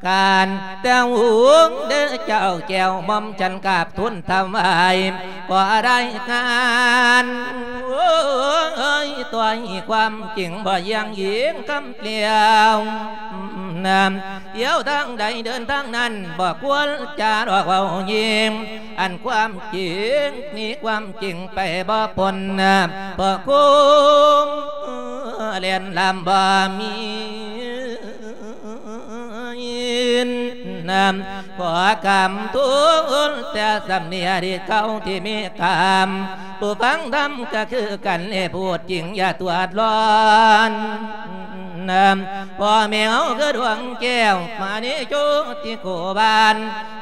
ການແຕ່ຫູງເດີເຈົ້າແກ້ວ ໝ່ອມຈັນກາບທູນຖວາຍ ຂໍລາຍງານ ໂອ້ຍ ຕົວະຄວາມຈິງບໍ່ຢ້ຽງອີງຄຳ ແລ້ວນຳ ທ່ຽວທາງໃດເດີນທາງນັ້ນ ບໍ່ຄວນຈາຫຼອກເວົ້າຍິງ ອັນຄວາມຈິງນີ້ຄວາມຈິງໄປບໍ່ພົ້ນນະ ເພາະຄຸມແລ່ນລຳບໍ່ມີນຳ ຂໍຄຳທູນແຕ່ສຳເນຍດີເຂົາທີ່ມີຄຳ ຜູ້ຟັງທຳກະຄືກັນ ເລດຜູ້ຈິງຢ່າຕົວະຮ້ອນນຳ ພໍ່ແມ່ເຮົາຄືດວງແກ້ວ ມະນີໂຈຕິໂກບານ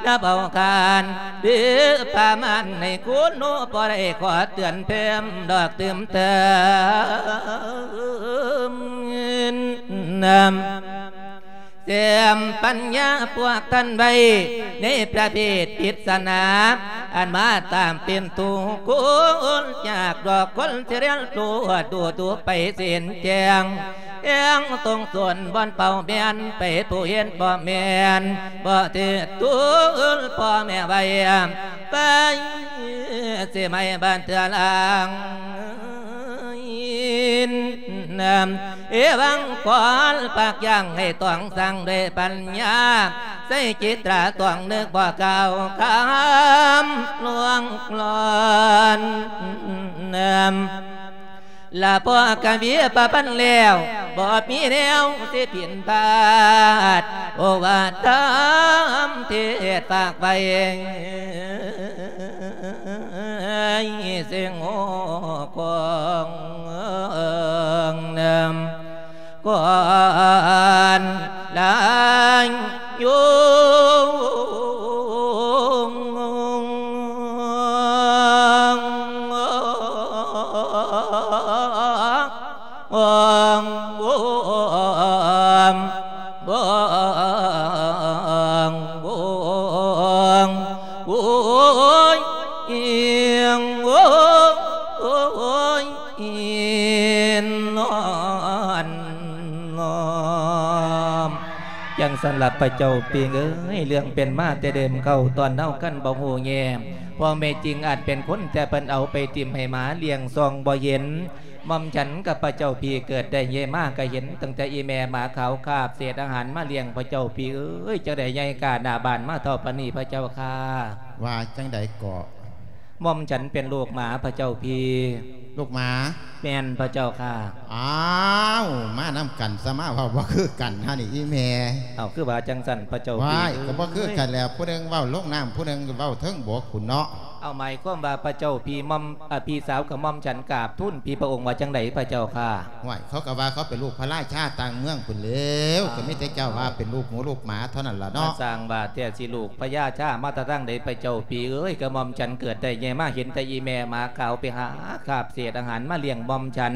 ນະເບົາຄານ ຫຼືປະມານໃນຄູນໂນ ບໍ່ໄດ້ຂໍເຕືອນເພີ່ມດອກຕື່ມເຕີມນຳ ແຕ້ມປັນຍາພວກທ່ານໄວ້ ໃນປະເພດພິດສະໜາ ອັນມາຕາມເປັນທຸກຄົນຍາກດອກຄົນຊິຮຽນຮູ້ ດູໆໄປເສັ້ນແຈ້ງ ແຫ່ງຕົງສົນບ່ອນເປົ້າແມ່ນ ໄປຜູ້ເຫັນບໍ່ແມ່ນ ບໍ່ຖືກຕູນພໍ່ແມ່ໄວ້ ໄປຊິໄໝ້ບ້ານເທື່ອລາງ ເອວັງ ຄວນປາກຢ່າງໃຫ້ຕ້ອງສ້າງດ້ວຍປັນຍາ ໃຊ້ຈິດຕາຕ້ອງນຶກບໍ່ກ້າວຂ້າມລ່ວງລ້ອນ ລະພໍກະວິປະພັນແລ້ວ ບໍ່ມີແນວຊິຜິດພາດ ໂອວາດທຳເທດຝາກໄວ້ ເຊິ່ງໂອກອງນຳ ກ່ອນລາຍໂຍງ ໂອຍ ໂອຍ ໂອຍ ໂອຍ ນອນນ້ອມ. ຈັ່ງຊັ້ນລະພະເຈົ້າປີເອີຍ ເລື່ອງເປັນມາແຕ່ເດີມເກົ່າ ຕອນເຮົາຄັນບໍ່ຮູ້ແຍງ ພໍ່ແມ່ຈິງອາດເປັນຄົນ ແຕ່ເພິ່ນເອົາໄປຖິ້ມໃຫ້ໝາລ້ຽງສ່ອງບໍ່ເຫັນ. ໝ່ອມສັນກັບພະເຈົ້າພີ່ເກີດໄດ້ໃຫຍ່ມາ ກະເຫັນຕັ້ງແຕ່ອີ່ແມ່ໝາຂາວຄາບເສດອາຫານມາລ້ຽງພະເຈົ້າພີ່ເອີຍ ຈັ່ງໄດ້ໃຫຍ່ກ້າໜ້າບ້ານມາເທົ່າປານນີ້ພະເຈົ້າຂ້າ. ວ່າຈັ່ງໃດເກາະ? ໝ່ອມສັນເປັນລູກໝາພະເຈົ້າພີ່. ລູກໝາ? ແມ່ນພະເຈົ້າຂ້າ. ອ້າວ ມານຳກັນຊະ ມາເວົ້າບໍ່ຄືກັນຫັ້ນນີ້ອີ່ແມ່. ເອົ້າ ຄືວ່າຈັ່ງຊັ້ນພະເຈົ້າພີ່? ວ້າຍ ເອີຍ ກໍບໍ່ຄືກັນແລ້ວ ຜູ້ໜຶ່ງເວົ້າລົງນ້ຳ ຜູ້ໜຶ່ງເວົ້າເທິງບົກພຸ້ນເນາະ. ເອົາ ໝາຍຄວາມວ່າພະເຈົ້າພີ່ໝ່ອມ ອາ ພີ່ສາວຂະໝ່ອມສັນກາບທູນພີ່ພະອົງວ່າຈັ່ງໃດພະເຈົ້າຂ້າ? ຫ້ວຍ ເຂົາກໍວ່າເຂົາເປັນລູກພະລາຊາຕ່າງເມືອງພຸ້ນແລ້ວ ອ່າ ກໍມີແຕ່ເຈົ້າວ່າເປັນລູກໝູລູກໝາເທົ່ານັ້ນລະເນາະ. ມາສ້າງວ່າແທ້ ຊິລູກພະຍາຊາມາແຕ່ທາງໃດພະເຈົ້າພີ່ເອີຍ? ກະໝ່ອມສັນເກີດໄດ້ໃຫຍ່ມາເຫັນແຕ່ອີ່ແມ່ໝາຂາວໄປຫາຄາບເສດອາຫານມາລ້ຽງໝ່ອມສັນ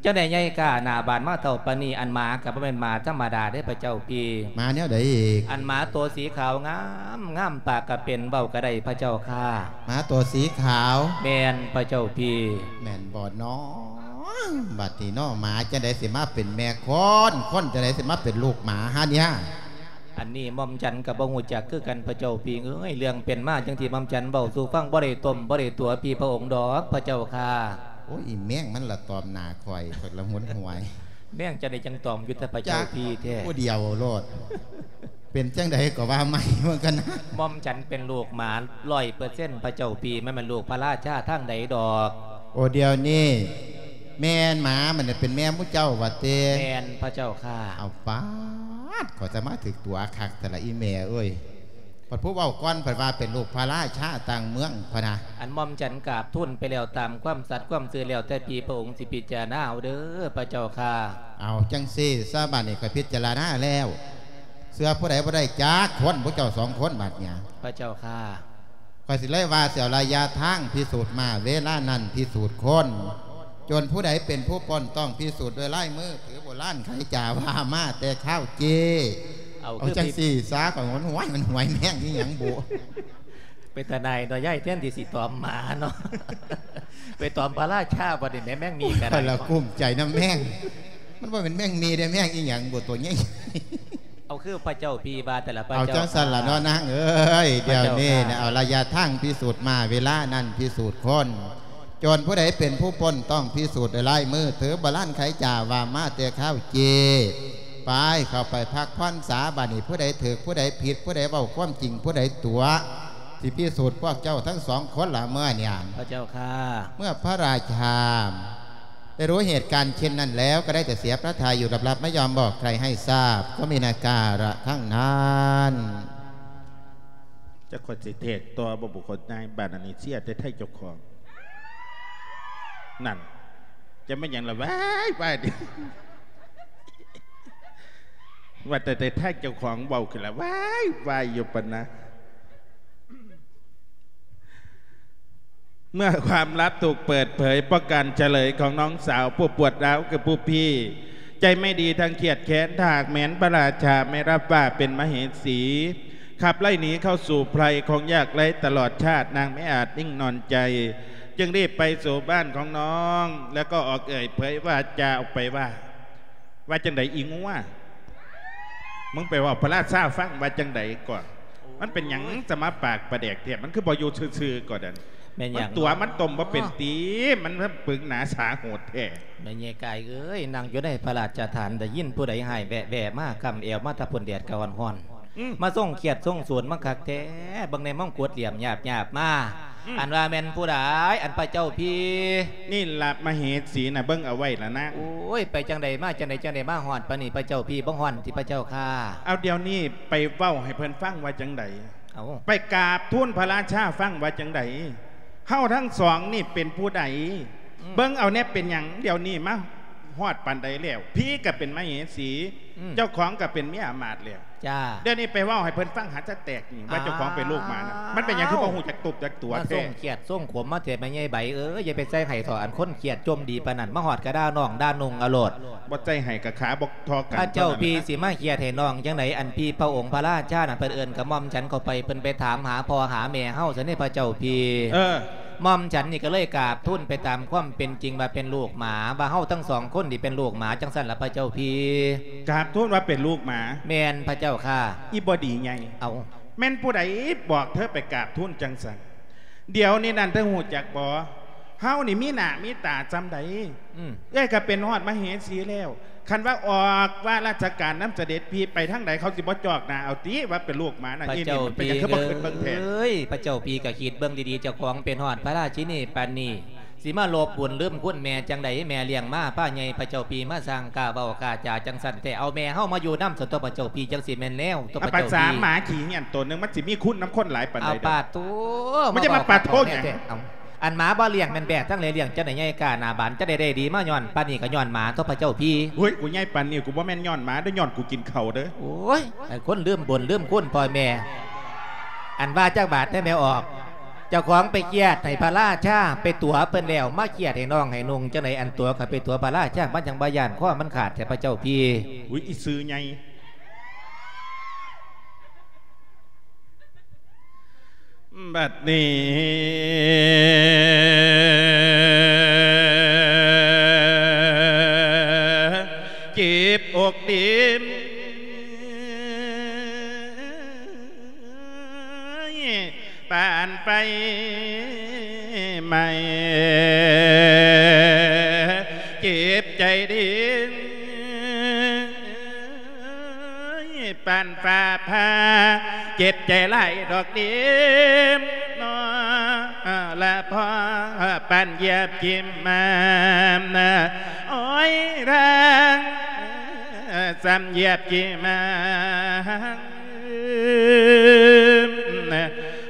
ຈັ່ງໄດ້ໃຫຍ່ກ້າໜ້າບ້ານມາເທົ່າປານນີ້ ອັນໝາກະບໍ່ແມ່ນໝາທຳມະດາເດ້ພະເຈົ້າພີ່. ໝາແນວໃດອີກ? ອັນໝາໂຕສີຂາວງາມ ງາມປາກກະເປັນ ເວົ້າກະໄດ້ພະເຈົ້າຂ້າ. ໝາໂຕສີຂາວ? ແມ່ນພະເຈົ້າພີ່. ແມ່ນບໍ່ນໍ? ບັດນີ້ນໍ ໝາຈັ່ງໃດຊິມາເປັນແມ່ຄົນ ຄົນຈັ່ງໃດຊິມາເປັນລູກໝາຫາເນຍ? ອັນນີ້ໝ່ອມສັນກະບໍ່ຮູ້ຈັກຄືກັນພະເຈົ້າພີ່ເອີຍ ເລື່ອງເປັນມາຈັ່ງທີ່ໝ່ອມສັນເວົ້າສູ່ຟັງ ບໍ່ໄດ້ຕົ້ມບໍ່ໄດ້ຕົວະພີ່ພະອົງດອກພະເຈົ້າຂ້າ. ໂອ້ຍ ອີແມງມັນລະຕອມໜ້າຂ້ອຍ ຂ້ອຍລະຫົນຫວຍ. ແມງຈັ່ງໃດຈັ່ງຕອມຢູ່ແຕ່ພະເຈົ້າພີ່ແທ້ ຜູ້ດຽວໂລດ. ເປັນຈັ່ງໃດກໍວ່າໃໝ່ເບິ່ງກັນນະ. ໝ່ອມສັນເປັນລູກໝາຮ້ອຍເປີເຊັນພະເຈົ້າພີ່ ມັນແມ່ນລູກພະລາຊາທາງໃດດອກ. ໂອ ດຽວນີ້ແມ່ນໝາມັນເປັນແມ່ໝູ່ເຈົ້າວ່າເຕ? ແມ່ນພະເຈົ້າຂ້າ. ເອົາປາດ ຂ້ອຍຈະມາຖືກຕົວະຄັກແທ້ລະອີແມ່ເອີຍ. ບັດຜູ້ເວົ້າກ່ອນເພິ່ນວ່າເປັນລູກພະລາຊາຕ່າງເມືອງພະນະ. ອັນໝ່ອມສັນກາບທູນໄປແລ້ວ ຕາມຄວາມສັດຄວາມຊື່ ແລ້ວແຕ່ພີ່ພະອົງຊິພິຈາລະນາເອົາເດີພະເຈົ້າຂ້າ. ເອົາຈັ່ງຊີ້ຊະ ບາດນີ້ຂ້ອຍພິຈາລະນາແລ້ວ ເຊື່ອຜູ້ໃດບໍ່ໄດ້ຈັກຄົນ ພວກເຈົ້າສອງຄົນບາດນີ້. ພະເຈົ້າຂ້າ. ຂ້ອຍຊິເລີຍວ່າ ຊິເອົາໄລຍະທາງພິສູດມ້າ ເວລານັ້ນພິສູດຄົນ ຈົນຜູ້ໃດເປັນຜູ້ປົ້ນ ຕ້ອງພິສູດດ້ວຍລາຍມື ຖືໂບລານໄຂຈາວ່າມາແຕ່ຄາວເຈ້. ເອົາ ເອົາ ຄື ຈັ່ງຊີ້ຊະ ຂ້ອຍຫົນຫວຍ ມັນຫວຍແມງອີ່ຫຍັງບຸ. ເປັນຕາໜ່າຍເນາະ ຍາຍແທນທີ່ຊິຕອມໝາເນາະ ໄປຕອມພະລາຊາບັດນີ້ແໝ ແມງໝີ່ກະໄດ້. ຂ້ອຍລະກຸ້ມໃຈນຳແມງ ມັນບໍ່ແມ່ນແມງໝີ່ເດ້ ແມງອີ່ຫຍັງບຸ ໂຕໃຫຍ່. ເອົາ ຄືພະເຈົ້າພີ່ວ່າແຕ່ລະພະເຈົ້າ. ເອົາຈັ່ງຊັ້ນລະເນາະນາງເອີຍ. ດຽວນີ້ນະ ເອົາໄລຍະທາງພິສູດມ້າ ເວລານັ້ນພິສູດຄົນ ຈົນຜູ້ໃດເປັນຜູ້ປົ້ນ ຕ້ອງພິສູດດ້ວຍລາຍມື ຖືໂບລານໄຂຈາວ່າມາແຕ່ຄາວເຈ້. ໄປ ເຂົ້າໄປພັກຜ່ອນສາ ບາດນີ້ຜູ້ໃດຖືກ ຜູ້ໃດຜິດ ຜູ້ໃດເວົ້າຄວາມຈິງ ຜູ້ໃດຕົວະ ຊິພິສູດພວກເຈົ້າທັງສອງຄົນລະເມື່ອນີ້. ພະເຈົ້າຂ້າ. ເມື່ອພະລາຊາ ໄດ້ຮູ້ເຫດການເຊັ່ນນັ້ນແລ້ວ ກໍໄດ້ແຕ່ເສຍພະໄທຢູ່ ລັບໆ ໄມ່ຍອມບອກໃຄໃຫ້ຊາບ ກໍມີນາກາລະຄັ້ງນັ້ນ. ຈັກຂ້ອຍຊິເທດຕໍ່ບໍ່ບຸກຄົນນາຍບ້ານອັນນີ້ ເສຍແຕ່ໄທເຈົ້າຂອງ ນັ້ນ ຈະແມ່ນຫຍັງລະ ວ້າຍ ວ້າຍ ວ່າແຕ່ ແຕ່ໄທເຈົ້າຂອງເວົ້າຂຶ້ນລະ ວ້າຍ ວ້າຍ ຢູ່ປານນະ. ເມື່ອຄວາມລັບຖືກເປີດເຜີຍ ເພາະການສະເຫຼີຍຂອງນ້ອງສາວຜູ້ປວດຮ້າວຄືຜູ້ພີ່ ໃຈໄມ່ດີທັງຄຽດແຄ້ນ ຖ້າຫາກແມ່ນພະລາຊາໄມ່ຮັບວ່າເປັນມະເຫສີ ຂັບໄລ່ໜີເຂົ້າສູ່ໄພຂອງຍາກໄຮ້ຕະຫຼອດຊາດ ນາງໄມ່ອາດນິ່ງນອນໃຈ ຈຶ່ງຣີບໄປສູ່ບ້ານຂອງນ້ອງ ແລ້ວກໍອອກເອີ່ຍເຜີຍວາຈາອອກໄປວ່າ ວ່າຈັ່ງໃດອີງົວ? ມຶງໄປເວົ້າພະລາຊາຟັງວ່າຈັ່ງໃດກ່ອນ? ມັນເປັນຫຍັງຈະມາປາກປາແດກແທ້? ມັນຄືບໍ່ຢູ່ຊື່ໆກ່ອນນັ້ນ? ແມ່ນຫຍັງ? ມັນຕົວະ ມັນຕົ້ມບໍ່ເປັນຕິ? ອໍ ມັນປຶງໜາສາໂຫດແທ້. ແມ່ໃຫຍ່ກາຍເອີຍ ນັ່ງຢູ່ໃນພະລາຊະຖານ ໄດ້ຍິນຜູ້ໃດຮ້າຍແວະໆມາ ກຳແອວມາແຕ່ພຸ້ນ ແດດກະຮ້ອນໆ ອືມ ມາຊົງຄຽດຊົງສວນມາຄັກແທ້ ເບິ່ງໃນມົງກຸດຫຼ້ຽມຍາບໆມາ ອັນວ່າແມ່ນຜູ້ໃດ ອັນພະເຈົ້າພີ? ນີ້ລະມະເຫສີນະ ເບິ່ງເອົາໄວ້ລະນາງ. ໂອ້ຍ ໄປຈັ່ງໃດມາຈັ່ງໃດ ຈັ່ງໄດ້ມາຮອດປານນີ້ ພະເຈົ້າພີ? ບໍ່ຮ້ອນຕິພະເຈົ້າຂ້າ? ເອົາ ດຽວນີ້ໄປເວົ້າໃຫ້ເພິ່ນຟັງວ່າຈັ່ງໃດ? ເອົາ ໄປກາບທູນພະລາຊາຟັງວ່າຈັ່ງໃດ? ເຮົາທັງສອງນີ້ເປັນຜູ້ໃດ? ອືມ ເບິ່ງເອົາແດ່ ເປັນຫຍັງດຽວນີ້ມາຮອດປານໃດແລ້ວ? ພີກໍເປັນມະເຫສີ ອືມ ເຈົ້າຂອງກໍເປັນເມຍອາມາດແລ້ວ. ຈ້າ ດຽວນີ້ໄປເວົ້າໃຫ້ເພິ່ນຟັງຫາຈະແຕກນີ້ ວ່າເຈົ້າຂອງເປັນລູກໝານະ. ອ້າວ ມັນເປັນຫຍັງຄືບໍ່ຮູ້ຈັກຕົບຈັກຕົວແທ້? ມາສົ່ງຄຽດສົ່ງຂົມມາແທ້ແມ່ໃຫຍ່ໃບເອີຍ. ຢ່າໄປໃສ່ໃຫ້ເຖາະ ອັນຄົນຄຽດຈົມດີປານນັ້ນ ມາຮອດກະດ່ານ້ອງດ່ານຸ່ງອະໂລດ. ບໍ່ໃສ່ໃຫ້ກະຂາບໍ່ທໍ່ກັນ. ພະເຈົ້າພີຊິມາຄຽດໃຫ້ນ້ອງຈັ່ງໃດ? ອັນພີພະອົງພະລາຊານັ້ນ ເພິ່ນເອີ້ນກະໝ່ອມສັນເຂົ້າໄປ ເພິ່ນໄປຖາມຫາພໍ່ຫາແມ່ເຮົາຊັ້ນເດ ພະເຈົ້າພີ. ເອີ ໝ່ອມສັນນີ້ກໍເລີຍກາບທູນໄປຕາມຄວາມເປັນຈິງວ່າເປັນລູກໝາ ວ່າເຮົາທັງສອງຄົນນີ້ເປັນລູກໝາ ຈັ່ງຊັ້ນລະພະເຈົ້າພີ. ກາບທູນວ່າເປັນລູກໝາ? ແມ່ນພະເຈົ້າຂ້າ. ອີ່ບໍ່ດີໃຫຍ່ ເອົາ ແມ່ນຜູ້ໃດບອກເທີໄປກາບທູນຈັ່ງຊັ້ນ? ດຽວນີ້ນັ້ນເທີຮູ້ຈັກບໍ່? ເຮົານີ້ມີໜ້າມີຕາສ່ຳໃດ? ອືມ ເອື້ອຍກໍເປັນຮອດມະເຫສີແລ້ວ. ຄັນວ່າອອກວ່າລາຊະການນຳສະເດັດພີໄປທາງໃດ ເຂົາຊິບໍ່ຈອກໜ້າເອົາຕິ ວ່າເປັນລູກໝານະ. ພະເຈົ້າ ອີ່ນີ້ມັນເປັນຫຍັງຄືບໍ່ຂຶ້ນເບິ່ງແທ້? ເອີຍ ພະເຈົ້າພີກໍຄິດເບິ່ງດີໆ ເຈົ້າຂອງເປັນຮອດພະລາຊິນີປານນີ້ ຊິມາລົບບຸນລືມຄຸນແມ່ຈັ່ງໃດ? ແມ່ລ້ຽງມາພາໃຫຍ່ ພະເຈົ້າພີມາສ້າງກ້າເວົ້າກ້າຈາຈັ່ງຊັ້ນແທ້. ເອົາແມ່ເຮົາມາຢູ່ນຳຊັ້ນຕົວະ ພະເຈົ້າພີ ຈັ່ງຊິແມ່ນແລ້ວຕົວະ ພະເຈົ້າພີ. ປາສາໝາຂີ້ເຫື່ອນໂຕໜຶ່ງ ມັນຊິມີຄຸນນຳຄົນຫຼາຍປານໃດ? ເອົາປາດໂທ້ ມັນຈະມາປາດໂທ້ຫຍັງ? ເອົາ ອັນໝາບໍ່ລ້ຽງແມ່ນແບກທັງຫຼາຍ ລ້ຽງຈັ່ງໃດໃຫຍ່ກ້າໜ້າບານ ຈັ່ງໃດໄດ້ດີມາຍ້ອນປານນີ້ກໍຍ້ອນໝາຕົວະ ພະເຈົ້າພີ. ໂອ້ຍ ກູໃຫຍ່ປານນີ້ ກູບໍ່ແມ່ນຍ້ອນໝາເດີ ຍ້ອນກູກິນເຂົ້າເດີ. ໂອ້ຍ ໄອ້ຄົນລືມບຸນລືມຄຸນພໍ່ແມ່. ອັນວ່າຈັກບາດແດ່ແມ່ອອກ? ເຈົ້າຂອງໄປຄຽດໃຫ້ພະລາຊາ ໄປຕົວະເພິ່ນແລ້ວ ມາຄຽດໃຫ້ນ້ອງໃຫ້ນຸ່ງຈັ່ງໃດ? ອັນຕົວະຂ້ອຍໄປຕົວະພະລາຊາ ມັນຈັ່ງບໍ່ຢ້ານຄໍມັນຂາດແທ້ ພະເຈົ້າພີ. ອຸ້ຍ ອີ່ຊື່ໃຫຍ່. ບັດນີ້ເຈັບອົກເຕັມປານໄຟໄໝ້ ເຈັບໃຈເດ ຍ ປານຟ້າຜ່າ ເຈັບໃຈຫຼາຍດອກເດ ເນາະ ລະພໍປານຢຽບກິມມາ ໂອ້ຍ ທາງ ສ່ຳຢຽບກິມມາ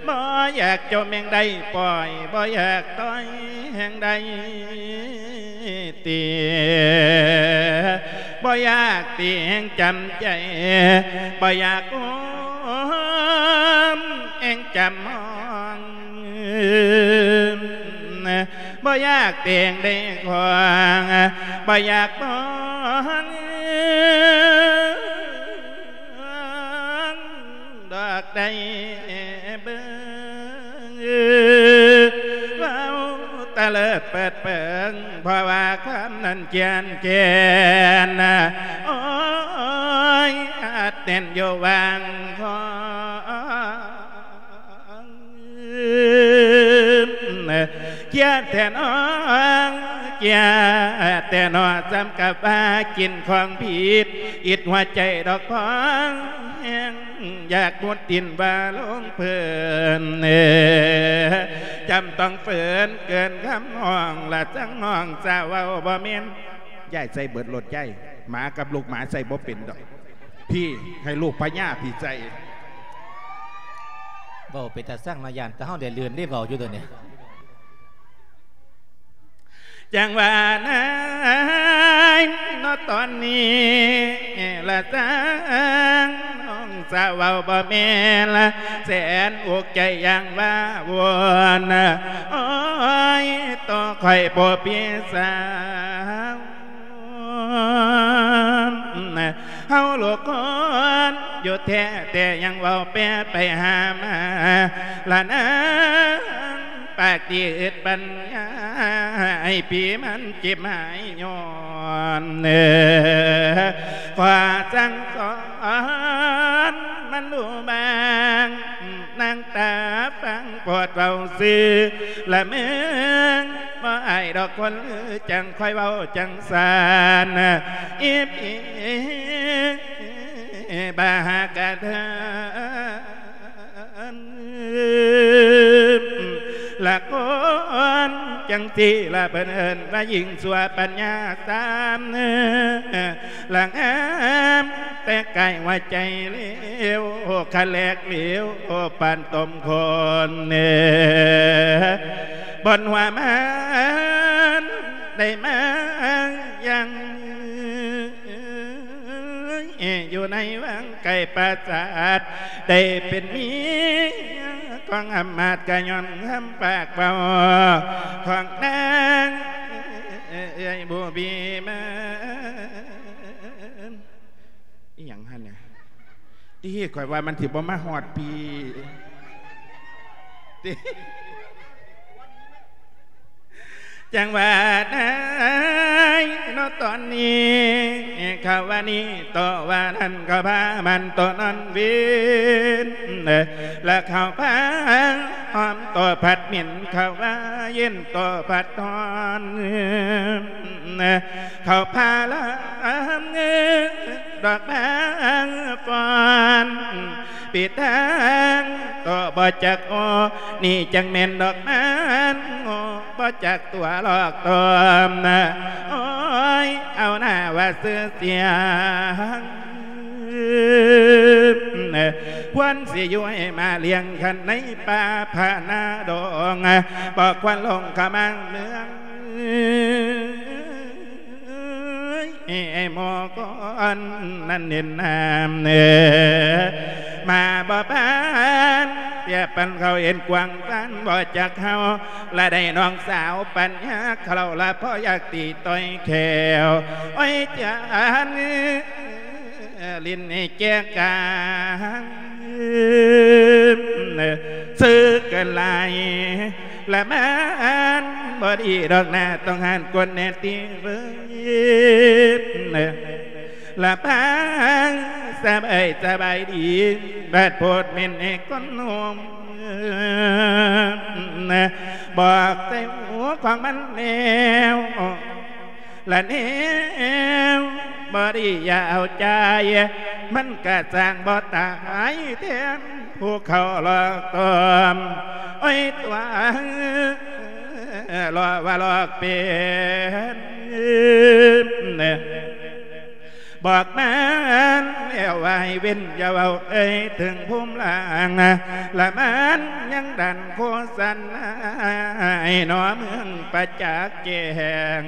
ບໍ່ຢາກຈົ່ມແຮງໃດປ່ອຍ ບໍ່ຢາກຕ່ອຍແຮງໃດ ຕິ ບໍ່ຢາກຕິແຮງຈຳໃຈ ບໍ່ຢາກໂອມແຮງຈຳຫ້ອງ ບໍ່ຢາກແຕງໄດ້ຂວາງ ບໍ່ຢາກບອກ ດອກໄດ້ເບິ່ງ ເວົ້າຕະເລີດເປີດເປີງ ເພາະວ່າຄວາມນັ້ນຄຽນແກ່ນ ໂອ້ຍ ອັດແໜ້ນຢູ່ຫວ່າງຄອ ຄຽດແທ້ໜໍ ຄຽດແທ້ໜໍ ສ່ຳກັບວ່າກິນຂອງຜິດ ອິດຫົວໃຈດອກພອງແຮງ ຢາກມຸດຕິນວ່າລົງເພີນ ຈຳຕ້ອງເຟີນເກີນຄຳຮ້ອງ ລະຈັ່ງນ້ອງສາວເວົ້າບໍ່ແມ່ນ ຍາຍໃສ່ເບິດໂລດຍາຍ ໝາກັບລູກໝາໃສ່ບໍ່ເປັນດອກ ພີ້ໃຫ້ລູກພະຍາພີ້ໃສ່. ເວົ້າເປັນຕາຊັງເນາະ ຢ້ານແຕ່ເຮົາໄດ້ລື່ນເດ້ ເວົ້າຢູ່ໂຕນີ້ ຈັ່ງວ່ານາຍເນາະ ຕອນນີ້ລະຈັ່ງນ້ອງສາວເວົ້າບໍ່ແມ່ນ ແສນອຸກໃຈຢ່າງວ່າວົນ ໂອ້ຍ ໂຕຂ້ອຍຜູ້ພີ່ສາວ ເຮົາລູກຄົນຢູ່ແທ້ ແຕ່ຍັງເວົ້າແປໄປຫາມາ ລະນາງປາກດີອຶດປັນຍາ ໃຫ້ຜີມັນເຈັບຫາຍຍ້ອນ ຂໍສັ່ງສອນມັນຮູ້ບາງ ນາງຕາຟັງໂພດເວົ້າຊື່ລະເມີງ ບໍ່ອາຍດອກຄົນລື ຈັ່ງຄ່ອຍເວົ້າຈັ່ງຊັ້ນ ອີບອີບາຫາກະເດີນ ຈັ່ງຊີ້ລະເພິ່ນເອີ້ນວ່າຍິງຊົ່ວປັນຍາສາມ ລະງາມແຕ່ກາຍຫົວໃຈເລວ ຄະແຫຼກເຫຼວປານຕົ້ມຄົນ ບ່ອນຫົວມັນໄດ້ມາຍັງ ຢູ່ໃນວັງໄກປາສາດ ໄດ້ເປັນເມຍຂອງອຳມາດ ກະຍ້ອນຄຳປາກເວົ້າຂອງນາງເອື້ອຍບໍ່ມີມານ ອີ່ຫຍັງຫັ້ນນະ ຕິ ຂ້ອຍວ່າມັນຊິບໍ່ມາຮອດພີ້ຕິ. ຈັ່ງວ່ານາຍເນາະຕອນນີ້ ເຂົາວ່ານີ້ຕໍ່ວ່ານັ້ນ ເຂົາພາມັນຕໍ່ນອນເວັນ ແລະເຂົາພາຫອມຕໍ່ພັດເໝັນ ເຂົາວ່າເຢັນຕໍ່ພັດຮ້ອນ ເຂົາພາລຳດອກບາງຟອນ ປິດທາງຕໍ່ບໍ່ຈັກໂອ ນີ້ຈັ່ງແມ່ນດອກມັນໂອ ບໍ່ຈັກຕົວຫຼອກຕົວນະ ໂອ້ຍ ເອົາໜ້າວ່າຊື່ສຽງ ຄວນຊິຢູ່ໃຫ້ມາລ້ຽງຄັນໃນປ່າຜານາດົງ ບໍ່ຄວນລົງຂະມັງເມືອງ ເອີຍ ໝໍກອນນັ້ນເຫັນນາມເນ ມາບໍ່ປານ ປຽບປັນເຂົາເຫັນກວ້າງປານບໍ່ຈັກເຮົາ ລະໄດ້ນ້ອງສາວປັນຍາເຂົາລະພໍຢາກຕີຕ່ອຍແຂ້ວ ໂອ້ຍ ຈານຫຼິ້ນໃຫ້ແຈກກາງ ເຊີເກີນຫຼາຍ ລະມັນບໍ່ດີດອກໜ້າ ຕ້ອງຫັນກົນແນ່ຕິເວີຍ ລະປາງສະບາຍສະບາຍດີ ບາດໂພດເມັນໃຫ້ຄົນໂຮມ ບອກໃສ່ຫູຂອງມັນແລ້ວ ລະແນວບໍ່ດີຢ່າເອົາໃຈ ມັນກະສ້າງບໍ່ຕາຍແທນ ຜູ້ເຂົາຫຼອກຕ້ອມ ໂອ້ຍ ຕົວຫຼອກວ່າຫຼອກເປັນ ບອກມາແລ້ວວ່າໃຫ້ເວັ້ນ ຢ່າເວົ້າເອີຍເຖິງພູມລ່າງ ລະມັນຍັງດັນໂຄສະນາໃຫ້ໜໍເມືອງປະຈັກ ແຈ້ງ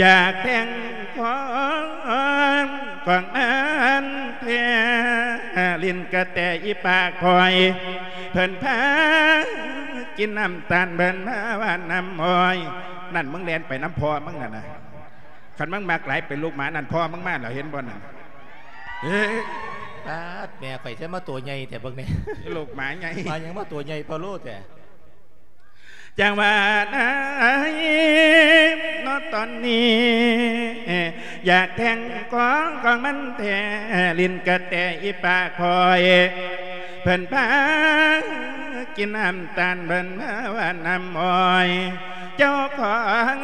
ຢາກແທ່ງຂອງຂອງມັນແທ້ ຫຼິ້ນກະແຕອີປາກພອຍ ເພິ່ນພາກິນນ້ຳຕານ ເພິ່ນພາຫວ່ານນ້ຳອ້ອຍ ນັ້ນ ມຶງແລ່ນໄປນຳພໍ່ມຶງນັ້ນນະ ຄັນມຶງມັກຫຼາຍເປັນລູກໝານັ້ນ ພໍ່ມຶງມາແລ້ວ ເຫັນບໍ່ນັ້ນ ເອີ ປາດ ແມ່ຂ້ອຍ ໃສມາໂຕໃຫຍ່ແທ້ເບິ່ງແດ່ ລູກໝາໃຫຍ່ ມາຫຍັງມາໂຕໃຫຍ່ພະໂລແທ້. ຈັ່ງວ່ານາຍເນາະຕອນນີ້ ຢາກແທ່ງຂອງຂອງມັນແທ້ ຫຼິ້ນກະແຕອີປາກພອຍ ເພິ່ນພາກິນນ້ຳຕານ ເພິ່ນພາຫວ່ານນ້ຳອ້ອຍ ເຈົ້າຂອງ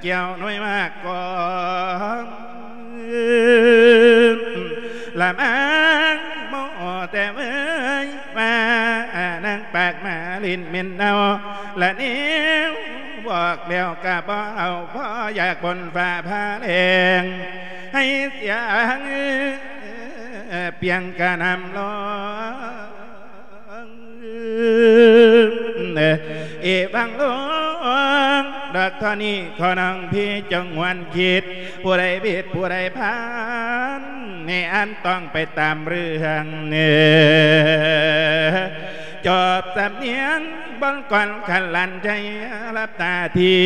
ແກ້ວໜ່ວຍໝາກກອງ ລະມັງໂມແຕ່ເວີຍວ່າ ນາງປາກໝາຫຼິ້ນເໝັນເນົ່າ ລະແນວບອກແລ້ວກະບໍ່ເອົາ ພໍຢາກບົນຟ້າຜ່າແລງ ໃຫ້ສຽງປຽງກະນຳລອງ ເອວັງລົງ ດອກເທົ່ານີ້ ຂໍນ້ອງພີ່ຈົ່ງຫວນຄິດ ຜູ້ໃດຜິດຜູ້ໃດພານ ໃຫ້ອ່ານຕ້ອງໄປຕາມເລື່ອງ ຈອບສຳນຽງບົດກ່ອນ ຄັນຫຼັນໃຈຫຼັບຕາທີ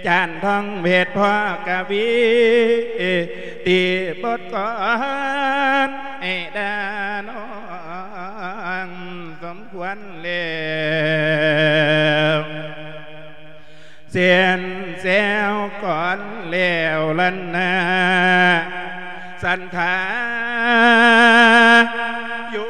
ຈານທອງເວດພໍ່ກະວີ ຕີບົດກ່ອນໃຫ້ດານ້ອງ ສົມຄວນແລ້ວ ເສັ້ນແຊວກ່ອນແລ້ວລັນນາ ສັນທາຢູ່.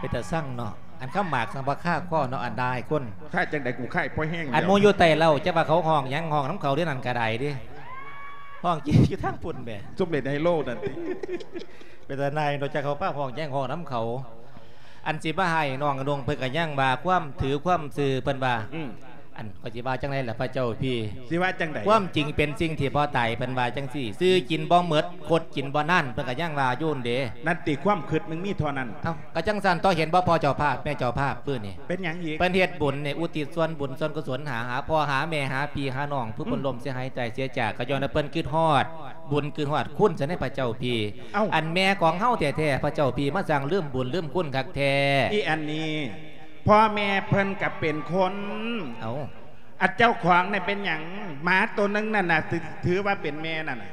ເປັນຕາຊັງເນາະ ອັນຄຳໝາກສັງພະຄາຄໍເນາະ ອັນດາຍຄົນ ຄ້າຍຈັ່ງໃດ ກູຄ້າຍພໍແຮງ ອັນໝູ່ຢູ່ໃຕ້ເລົ້າ ຈະວ່າເຂົາຮ້ອງຫຍັງ ຮ້ອງນຳເຂົາເດ້ ນັ້ນກະໄດ້ເດ້ ຮ້ອງຢູ່ທາງພຸ້ນແໝ່ ຊຸມເຫຼັ້ນໄຮໂລນັ້ນຕິ ເປັນຕານາຍເນາະ ຈັກເຂົາພາຮ້ອງຫຍັງ ຮ້ອງນຳເຂົາ ອັນຊິມາໃຫ້ນ້ອງອະນົງເພິ່ນກະຍັງວ່າ ຄວາມຖືຄວາມຊື່ເພິ່ນວ່າ ອືມ ອັນ ຂ້ອຍຊິວ່າຈັ່ງໃດລະພະເຈົ້າພີ່ ຊິວ່າຈັ່ງໃດ? ຄວາມຈິງເປັນສິ່ງທີ່ບໍ່ຕາຍ ເພິ່ນວ່າຈັ່ງຊີ້ ຊື້ກິນບໍ່ໝົດ ຄົດກິນບໍ່ນານ ເພິ່ນກະຍັງວ່າຢູ່ຫັ້ນເດ. ນັ້ນຕິ ຄວາມຄິດມຶງມີເທົ່ານັ້ນ. ເອົ້າ ກະຈັ່ງຊັ້ນຕົວະ ເຫັນບໍ່ພໍ່ເຈົ້າພາບ ແມ່ເຈົ້າພາບມື້ນີ້ ເປັນຫຍັງອີກ? ເພິ່ນເຮັດບຸນນີ້ ອຸທິດສ່ວນບຸນສ່ວນກຸສົນຫາ ຫາພໍ່ຫາແມ່ ຫາພີ່ຫານ້ອງ ຜູ້ເພິ່ນ ອືມ ລົ້ມເສຍຫາຍຕາຍເສຍຈາກ ກະຍ້ອນວ່າເພິ່ນຄິດຮອດບຸນ ຄິດຮອດຄຸນຊະໃນພະເຈົ້າພີ່. ເອົ້າ ອັນແມ່ຂອງເຮົາແທ້ໆ ພະເຈົ້າພີ່ ມາຊ່າງລືມບຸນລືມຄຸນຄັກແທ້. ອີອັນນີ້ ພໍ່ແມ່ເພິ່ນກະເປັນຄົນ. ເອົ້າ ອັນເຈົ້າຂອງນີ້ເປັນຫຍັງ? ໝາໂຕໜຶ່ງນັ້ນນະ ຖື ຖືວ່າເປັນແມ່ນັ້ນນະ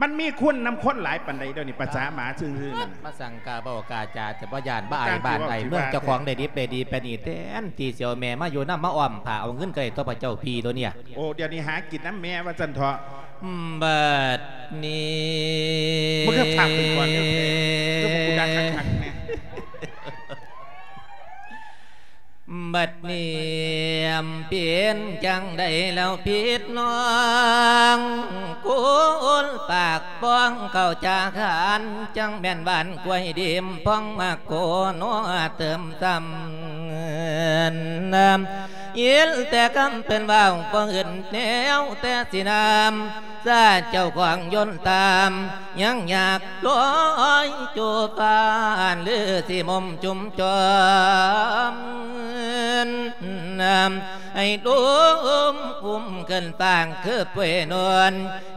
ມັນມີຄຸນນຳຄົນຫຼາຍປານໃດດຽວນີ້ ປະສາໝາຊື່ໆນັ້ນນະ ມາສັ່ງກາເວົ້າກາຈາ ແຕ່ບໍ່ຢ້ານບໍ່ອາຍບ້ານອາຍເມືອງ ເຈົ້າຂອງໄດ້ດິບໄດ້ດີປານນີ້ ແທນທີ່ຊິເອົາແມ່ມາຢູ່ນຳ ມາອ້ອມຜ້າເອົາເງິນກະໄດ້ຕົວະພະເຈົ້າພີ່ໂຕເນີ້ຍ. ໂອ້ ດຽວນີ້ຫາກິນນຳແມ່ວ່າຊັ້ນເຖາະ. ບັດນີ້ ມຶງຄືພາກເປັນກ່ອນເດີ ຄືບໍ່ກູດັງຄັກໆແນ່. ບັດນີ້ເປັນຈັ່ງໃດແລ້ວພິດນ້ອງ ກູນປາກປ້ອງເຂົ້າຈາຄານ ຈັ່ງແມ່ນຫວານກ້ວຍດິບ ພອງມາໂກນົວເຕີມຊ້ຳ ຍິນແຕ່ຄຳເພິ່ນເວົ້າ ບໍ່ອື່ນແນວແຕ່ຊິນຳ ສາເຈົ້າຂອງຍົນຕາມ ຍັງຢາກລອຍຈູ່ຟ້ານ ຫຼືຊິໝົມຈຸ່ມຈອມ ໃຫ້ລົມອຸ້ມຂຶ້ນຟາກຄືປ່ວຍນວນ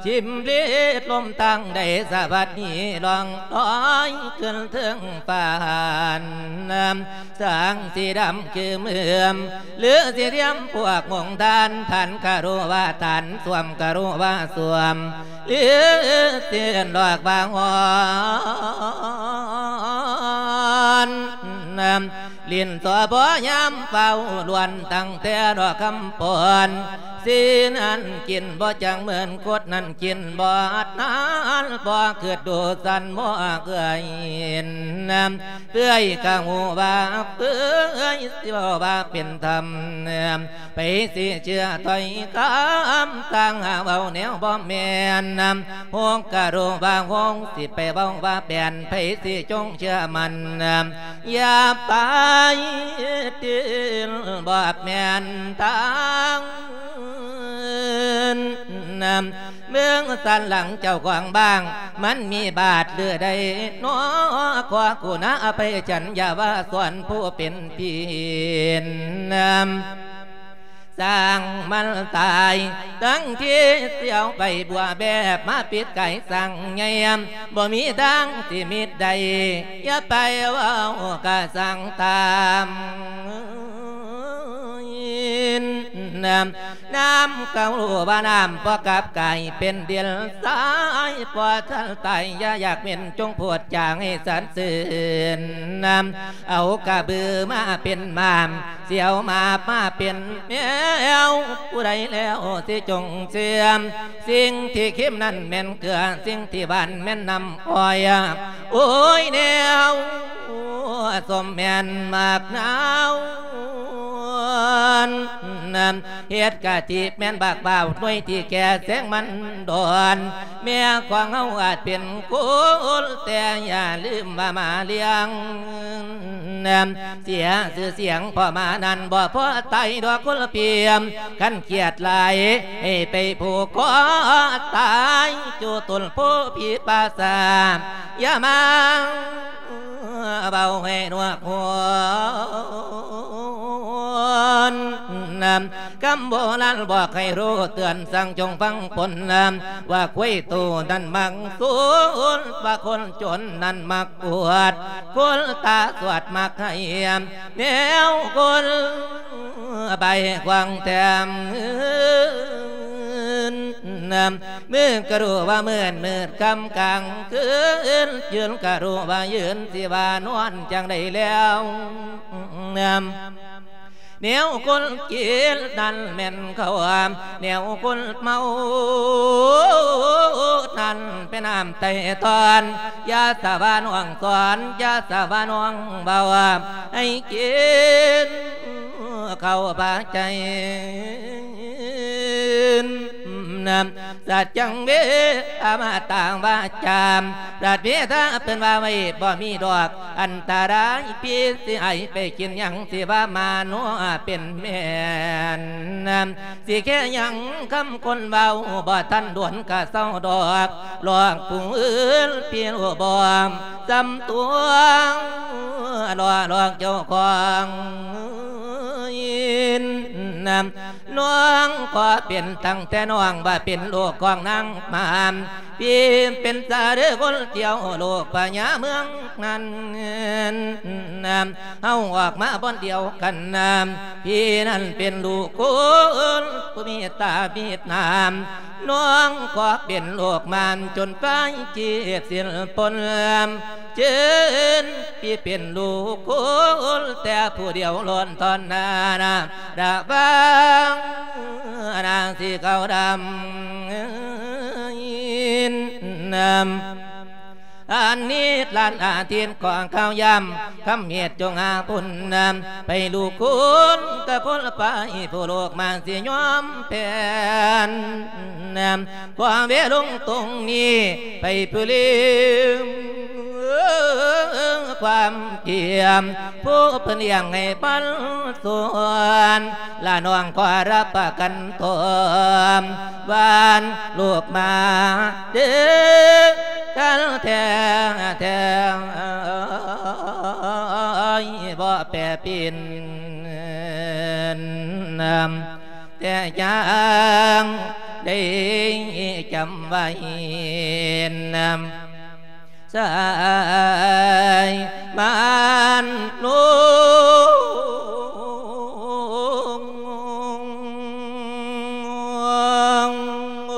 ຊິມລິດລົມທາງໃດ ສະຫວັດນີ້ລ່ອງລອຍຂຶ້ນເທິງຟ້ານ ສ້າງສີດຳຄືເມືອມ ຫຼືຊິທຽມພວກມົງທານ ທ່ານກະຮູ້ວ່າທ່ານ ສວມກະຮູ້ວ່າສວມ ຫຼືຊິເອີ້ນດອກວ່າຮ້ອນ ຫຼິ້ນສໍບໍ່ຍາມເຝົ້າລວນ ຕັ້ງແຕ່ດອກຄຳປອນ ສີນັ້ນກິນບໍ່ຈັງເໝືອນ ຄົດນັ້ນກິນບໍ່ອັດນານ ບໍ່ຄິດດູສັນບໍ່ເອື້ອຍ ເອື້ອຍກະຮູ້ວ່າເປື່ອຍ ຊິເວົ້າວ່າເປັນທຳ ໃຜຊິເຊື່ອຖ້ອຍຄຳ ຕ່າງຫາເວົ້າແນວບໍ່ແມ່ນ ໂຮງກະໂລວ່າໂຮງ ຊິໄປເວົ້າວ່າແປນ ໃຜຊິຈົ່ງເຊື່ອໝັ້ນ ຢ່າໄປຕິລບອກແມ່ນທາງ ເມືອງສັນຫຼັງເຈົ້າຂອງບ້າງ ມັນມີບາດເລືອດໃດນໍ ຂໍກຸນາອະໄພສັນ ຢ່າວ່າສອນຜູ້ເປັນພີ່ ຊ່າງມັນຕາຍ ທັງທີ່ຊິເອົາໃບບົວແບບມາປິດກາຍສ້າງໃຫຍ່ ບໍ່ມີທາງທີ່ມິດໄດ້ ຢ່າໄປເວົ້າກະຊ່າງຕາມ ນ້ຳ ນ້ຳເກົ່າວ່ານ້ຳ ບໍ່ກັບກາຍເປັນດິນຊາຍ ບໍ່ທັນຕາຍ ຢ່າຢາກເປັນ ຈົ່ງໂຜດຈາງໃຫ້ສັນຊື່ນ ນ້ຳ ເອົາກະບືມາເປັນມາມ ຊິເອົາມາບມາເປັນແມວ ຜູ້ໃດແລ້ວຊິຈົ່ງເຊື່ອມ ສິ່ງທີ່ເຄັມນັ້ນແມ່ນເກືອ ສິ່ງທີ່ຫວານແມ່ນນ້ຳອ້ອຍ ໂອ້ຍ ແນວສົ້ມແມ່ນໝາກນາວ ເຮັດກະທິແມ່ນບັກບ່າວ ໜ່ວຍທີ່ແກ່ແສງມັນດອນ ແມ່ຂອງເຮົາອາດເປັນຄົນ ແຕ່ຢ່າລືມວ່າໝາລ້ຽງ ເສຍຊື່ສຽງພໍ່ໝານັ້ນ ບໍ່ພໍຕາຍດອກຄົນລະປ່ຽມ ຄັນຄຽດຫຼາຍໃຫ້ໄປຜູກຄໍຕາຍ ຢູ່ຕົ້ນໂພຜີປ່າຊ້າ ຢ່າມາເວົ້າໃຫ້ໜວກຫວນ ຄຳໂບລານບອກໃຫ້ຮູ້ເຕືອນ ສັ່ງຈົ່ງຟັງຜົນ ວ່າຄວາຍໂຕນັ້ນມັກສູນ ວ່າຄົນຈົນນັ້ນມັກອວດ ຄົນຕາສວດມັກໄຫ້ ແນວຄົນໃບຂວາງແຖມ ມື້ກະຮູ້ວ່າມືດ ມືດຄ່ຳກາງຄືນ ຢືນກະຮູ້ວ່າຢືນ ຊິວ່ານອນຈັ່ງໃດແລ້ວ ແນວຄົນກິນນັ້ນແມ່ນເຂົ້າ ແນວຄົນເມົານັ້ນເປັນນ້ຳໄຕຕອນ ຢ່າສະວ່ານ້ອງສອນ ຢ່າສະວ່ານ້ອງເວົ້າ ໃຫ້ກິນເຂົ້າພາໃຈ ສັດຈັງເວ ອະມະຕະວາຈາ ພະເທວະເພິ່ນວ່າໄວ້ບໍ່ມີດອກ ອັນຕະລາຍ ພີ່ຊິໃຫ້ໄປກິນຫຍັງ ຊິວ່າມານົວເປັນແມ່ນ ຊິແຄ່ຫຍັງຄຳຄົນເວົ້າ ບໍ່ທັນດົນກະເຊົາດອກ ຫຼອກຜູ້ອື່ນ ພີ່ຮູ້ບໍ່ ສ່ຳຕົວ ຫຼອກ ຫຼອກເຈົ້າຂອງ ນ້ອງຂໍເປັນຕັ້ງແຕ່ນ້ອງ ວ່າເປັນລູກຂອງນາງມານ ພີ່ເປັນສາເດີຄົນດຽວ ລູກພະຍາເມືອງນັ້ນ ເຮົາອອກມາບ່ອນດຽວກັນ ພີ່ນັ້ນເປັນລູກຄົນ ຜູ້ມີຕາມີນ້ຳ ນ້ອງຂໍເປັນລູກມານ ຈົນໄປຈີບສິ້ນປົນ ເຊີນພີ່ເປັນລູກຄົນແຕ່ຜູ້ດຽວລ້ອນທອນນານາ ລະວັງນາງສີຂາວດຳ ອັນນີ້ຫຼານອາທິດຂອງເຂົາ ຍາມຄ່ຳເຫດຈົ່ງຫາບຸນນຳ ໄປລູກຄຸນກັບຄົນໄປ ຜູ້ລູກມາຊິຍອມແຜ່ນ ຂໍເວລົງຕົງນີ້ໄປຜູ້ລືມຄວາມກຽມ ຜູ້ເພິ່ນລ້ຽງໃຫ້ປັນສວນ ລະນ້ອງຂໍຮັບປະກັນຕົວ ຫວານລູກມາເດີກັນແທ້ແທ້ ບໍ່ແປປິ່ນ ແຕ່ຢ່າງໄດ້ຈຳໄວ້ນຳ ສາຍມານລຸງ ໂ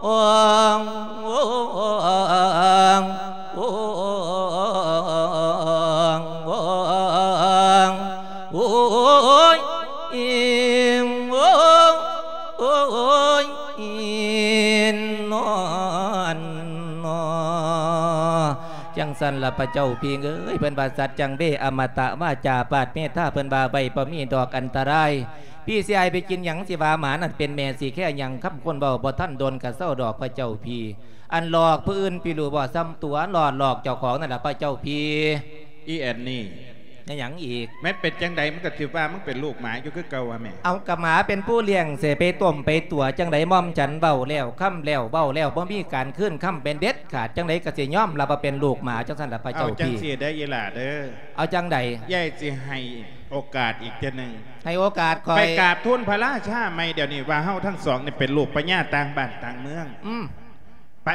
ອ້ຍ ໂອ້ຍ ໂອ້ຍ ໂອ້ຍ ໂອ້ຍ ອີ ໂອ້ຍ ອີ ນອນ ນອ ຈັ່ງຊັ້ນລະພະເຈົ້າພີ່ເອີຍ ເພິ່ນວ່າ ສັດຈັງເວ ອະມະຕະວາຈາ ປາດເມດທາ ເພິ່ນວ່າໄວ້ບໍ່ມີດອກອັນຕະລາຍ ພີ່ຊິໃຫ້ໄປກິນຫຍັງ ຊິວ່າໝານັ້ນເປັນແມ່ ຊິແຄ່ຫຍັງຄຳຄົນເວົ້າ ບໍ່ທັນດົນກະເຊົາດອກພະເຈົ້າພີ່ ອັນຫຼອກຜູ້ອື່ນ ພີ່ຮູ້ບໍ່ ສ່ຳຕົວຫຼອກ ຫຼອກເຈົ້າຂອງນັ້ນລະພະເຈົ້າພີ່. ອີແອນນີ້ ແມ່ນຫຍັງອີກ? ແມ່ນເປັນຈັ່ງໃດ ມັນກະຊິວ່າມຶງເປັນລູກໝາຢູ່ຄືເກົ່າຫວາແມ່? ເອົາ ກະໝາເປັນຜູ້ລ້ຽງ ເສໄປຕົ້ມໄປຕົວະຈັ່ງໃດ ໝ່ອມສັນເວົ້າແລ້ວ ຄຳແລ້ວ ເວົ້າແລ້ວ ບໍ່ມີການຄືນຄຳເປັນເດັດຂາດ ຈັ່ງໃດກະຊິຍອມຮັບວ່າເປັນລູກໝາ ຈັ່ງຊັ້ນລະພະເຈົ້າພີ່. ເອົາຈັ່ງຊີ້ເດີອີ່ຫຼ້າເດີ. ເອົາຈັ່ງໃດ? ຍາຍຊິໃຫ້ໂອກາດອີກເທື່ອໜຶ່ງ ໃຫ້ໂອກາດຂ້ອຍ ໄປກາບທູນພະລາຊາໃໝ່ດຽວນີ້ ວ່າເຮົາທັງສອງນີ້ເປັນລູກພະຍາຕ່າງບ້ານຕ່າງເມືອງ. ອືມ ໄປ.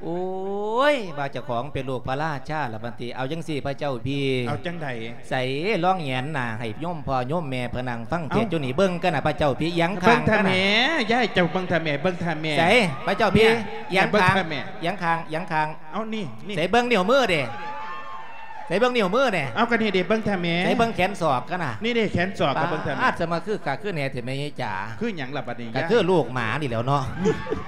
ໂອ້ຍ ວ່າເຈົ້າຂອງເປັນລູກພະລາຊາລະບັດນີ້ ເອົາຈັ່ງຊີ້ພະເຈົ້າພີ່. ເອົາຈັ່ງໃດ? ໃສລອງແຫງນໜ້າໃຫ້ໂຍມພໍ່ໂຍມແມ່ເພິ່ນນັ່ງຟັງເທດຢູ່ນີ້ ເບິ່ງກັນນະພະເຈົ້າພີ່ ອຽງຂ້າງກັນນະ. ເບິ່ງທ່າແມ່ ຍາຍເຈົ້າເບິ່ງທ່າແມ່ ເບິ່ງທ່າແມ່. ໃສພະເຈົ້າພີ່? ອຽງຂ້າງ ອຽງຂ້າງ ອຽງຂ້າງ. ເອົານີ້ ນີ້ ໃສເບິ່ງນິ້ວມືເດ ໃສເບິ່ງນິ້ວມືແດ່. ເອົາກະນີ້ເດ ເບິ່ງທ່າແມ່. ໃສເບິ່ງແຂນສອກກັນນະ. ນີ້ເດ ແຂນສອກກະເບິ່ງທ່າແມ່. ປາດ ສະມາຄືຄັກຄືແນ່ແທ້ແມ່ຍາຍຈ໋າ. ຄືຫຍັງລະບັດນີ້? ກະຄືລູກໝານີ້ແຫຼ້ວເນາະ.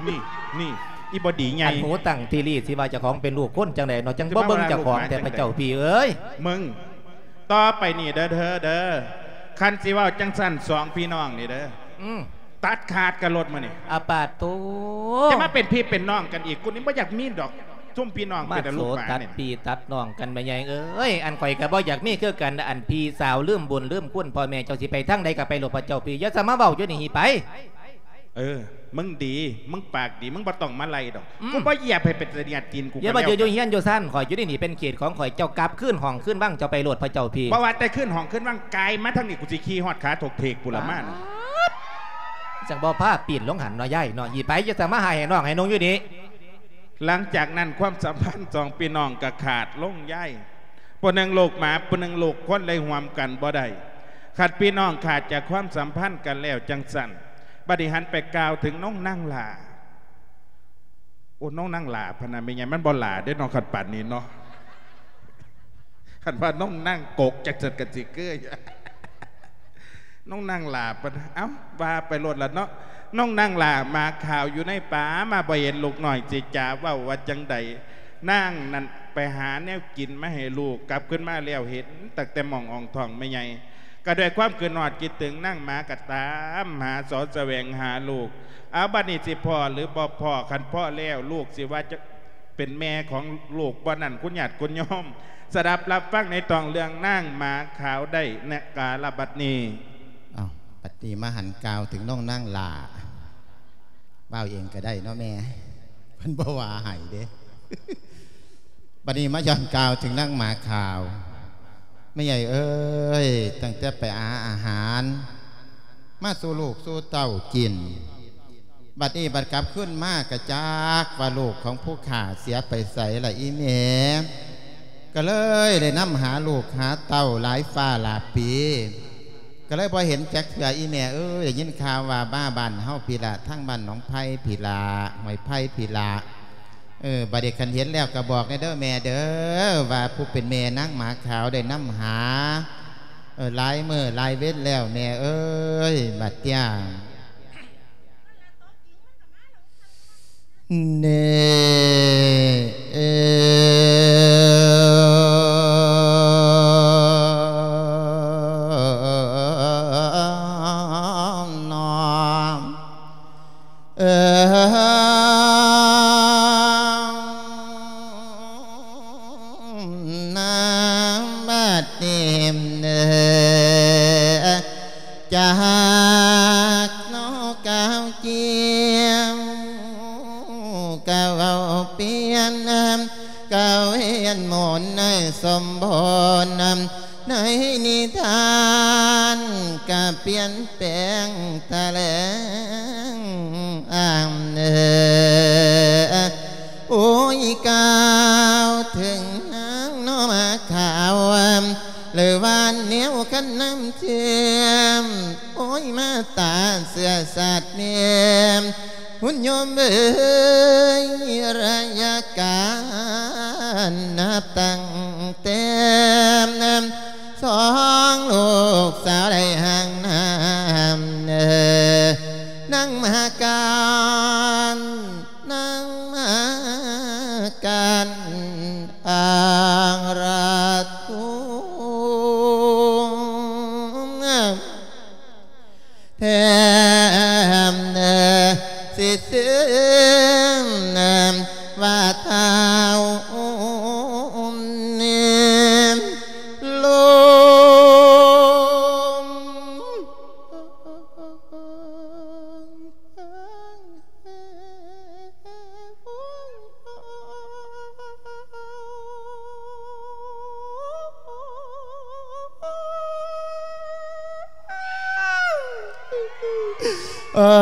ນີ້ ນີ້ ອີ່ບໍ່ດີໃຫຍ່ ອັນຫູຕັ້ງທີ່ລີ້ ຊິວ່າເຈົ້າຂອງເປັນລູກຄົນຈັ່ງໃດເນາະ ຈັ່ງບໍ່ເບິ່ງເຈົ້າຂອງແທ້ພະເຈົ້າພີ່ເອີຍ. ມຶງ ຕໍ່ໄປນີ້ເດີ ເດີ ຄັນຊິເວົ້າຈັ່ງຊັ້ນ ສອງພີ່ນ້ອງນີ້ເດີ ອືມ ຕັດຂາດກັນໂລດມື້ນີ້. ອາປາດໂທ ຈະມາເປັນພີ່ເປັນນ້ອງກັນອີກ ກູນີ້ບໍ່ຢາກມີດອກ ຊຸມພີ່ນ້ອງເປັນແຕ່ລູກໝາ ມາໂສຕັດພີ່ຕັດນ້ອງກັນແມ່ໃຫຍ່ເອີຍ. ອັນຂ້ອຍກະບໍ່ຢາກມີຄືກັນ ອັນພີ່ສາວລືມບຸນລືມຄຸນ ພໍ່ແມ່ເຈົ້າຊິໄປທາງໃດກະໄປໂລດພະເຈົ້າພີ່ ຢ່າສະມາເວົ້າຢູ່ນີ້ ຫີໄປ. ເອີ ມຶງດີ ມຶງປາກດີ ມຶງບໍ່ຕ້ອງມາໄລ່ດອກ. ອືມ ກູບໍ່ຢຽບໃຫ້ເປັນຕາຫຍາດຕີນກູ. ຢ່າມາຢູ່ເຮືອນຢູ່ຊານຂ້ອຍ ຢູ່ໃນນີ້ເປັນເຂດຂອງຂ້ອຍ. ເຈົ້າກັບຄືນຫ້ອງຄືນວັງເຈົ້າໄປໂລດ ພະເຈົ້າພີ້. ບໍ່ວ່າແຕ່ຄືນຫ້ອງຄືນວັງ ກາຍມາທາງນີ້ ກູຊິຂີ່ຮອດຂາຖົກເຖກພຸ້ນລະມາ. ປາດ ຈັ່ງບໍ່ພາປີ້ນລົງຫັ້ນເນາະ ຍາຍເນາະ. ອີ່ໄປ ຢ່າສະມາໃຫ້ນ້ອງໃຫ້ນົງຢູ່ນີ້. ຫຼັງຈາກນັ້ນ ຄວາມສຳພັນສອງພີ່ນ້ອງກໍຂາດລົງ ຍາຍ. ຜູ້ໜຶ່ງລູກໝາ ຜູ້ໜຶ່ງລູກຄົນ ເລີຍຮ່ວມກັນບໍ່ໄດ້. ຄັນພີ່ນ້ອງຂາດຈາກຄວາມສຳພັນກັນແລ້ວຈັ່ງຊັ້ນ, ບັດນີ້ຫັນໄປກ່າວເຖິງນ້ອງນາງຫຼ້າ. ໂອ້ ນ້ອງນາງຫຼ້າພະນະ ແມ່ໃຫຍ່ ມັນບໍ່ຫຼ້າເດ້ເນາະ ຄັນປານນີ້ເນາະ. ຄັນວ່ານ້ອງນາງກົກ ຈັ່ງຊັ້ນກໍຊິຄື ນ້ອງນາງຫຼ້າປະ ເອົ້າ ວ່າໄປໂລດລະເນາະ. ນ້ອງນາງຫຼ້າໝາຂາວຢູ່ໃນປ່າ ມາບໍ່ເຫັນລູກນ້ອຍຊິຈາເວົ້າວ່າຈັ່ງໃດ. ນາງນັ້ນໄປຫາແນວກິນມາໃຫ້ລູກ ກັບຄືນມາແລ້ວເຫັນຕັ້ງແຕ່ໝ່ອງອ່ອງທ້ອງແມ່ໃຫຍ່ ກໍດ້ວຍຄວາມຄິດຮອດຄິດເຖິງ ນາງໝາກໍຕາມຫາສອດສະແຫວງຫາລູກ. ເອົາ ບັດນີ້ຊິພໍ້ຫຼືບໍ່ພໍ້? ຄັນພໍ້ແລ້ວ ລູກຊິວ່າຈະ ເປັນແມ່ຂອງລູກບໍ່ນັ້ນ ຄຸນຍາດຄຸນໂຍມ ສະດັບຮັບຟັງໃນທ້ອງເລື່ອງນາງໝາຂາວໄດ້ໃນກາລະບັດນີ້. ອ້າວ ບັດນີ້ມາຫັນກ່າວເຖິງນ້ອງນາງຫຼ້າ ເວົ້າເອງກໍໄດ້ເນາະແມ່ ເພິ່ນບໍ່ວ່າໃຫ້ເດ້. ບັດນີ້ມາຍ້ອນກ່າວເຖິງນາງໝາຂາວ. ແມ່ໃຫຍ່ເອີຍ ຕັ້ງແຕ່ໄປຫາອາຫານມາສູ່ລູກສູ່ເຕົ້າກິນ ບັດນີ້ບັດກັບຄືນມາກະຈັກວ່າລູກຂອງຜູ້ຂ້າເສຍໄປໃສລະອີ່ແມ່. ກະເລີຍໄດ້ນຳຫາລູກຫາເຕົ້າຫຼາຍຟ້າຫຼາຍປີ ກະເລີຍບໍ່ເຫັນຈັກເທື່ອອີ່ແມ່ເອີຍ. ໄດ້ຍິນຂ່າວວ່າມາບ້ານເຮົາພີ້ລະ ທາງບ້ານໜອງໄຜ່ພີ້ລະ ຫ້ວຍໄຜ່ພີ້ລະ. ເອີ ບັດນີ້ຄັນເຫັນແລ້ວກະບອກແດ່ເດີແມ່ເດີ ວ່າຜູ້ເປັນແມ່ນາງໝາຂາວໄດ້ນຳຫາ ເອີ ຫຼາຍມື້ຫຼາຍເວັນແລ້ວແມ່ເອີຍ ບັດເຕີຍ. ເນ ເອີ ນອ ເອີ ນາງບັດນີ້ເອີ ຈາກນອກກາວຈຽວ ກະເວົ້າປ່ຽນ ກະວຽນໝູນໃນສົມບູນ ໃນນິທານກະປ່ຽນແປງຕະແຫຼງອ້າງເອີ ໂອ້ຍ ກ່າວເຖິງນາງໜໍ່ໝາຂາວ ຫຼືວ່າແນວຄັນນ້ຳເຊື່ອມ ໂອ້ຍ ມາຕາເຊື້ອຊາດແມ່ ຄຸນໂຍມເອີຍ ໄລຍະການນັບຕັ້ງແຕ່ສອງລູກສາວໄດ້ຮ່າງນາມ ນາງມາການ ນາງມາການ ອາງລະທຸງ ແຖມຊິເຊື່ອມວ່າທ້າວເນມລົງ ເອີ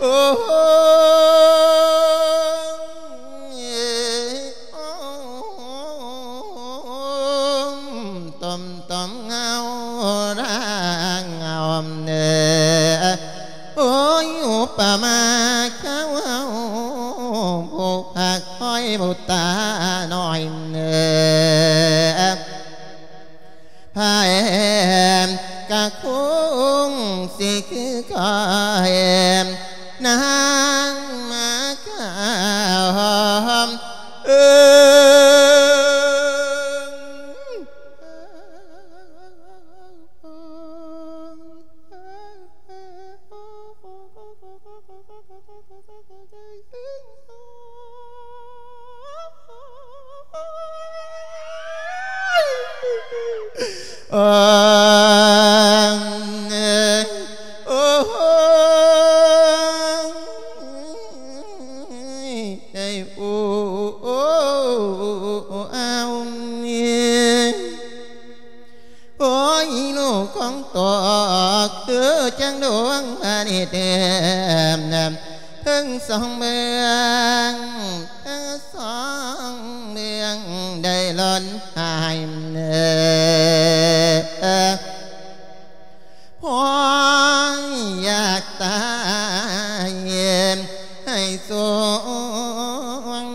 ໂອ້ ຕົມ ຕົມເງົາລາງເງົາເນ ໂອ້ຍ ອຸປະມາເຈົ້າເຮົາ ຜູ້ພັກຄອຍບຸດຕານ້ອຍເນ ໃຜກະຄົງຊິຄືຂ້ອຍ ນາງມາຂາວເອີຍ. ເອີ ຂອງຕົກຄືຈັ່ງດວງອາທິດ ເຖິງສອງເບື້ອງ ເຖິງສອງເບື້ອງໄດ້ຫຼົ່ອນຫາຍ ພໍຢາກຕາຍໃຫ້ສວງ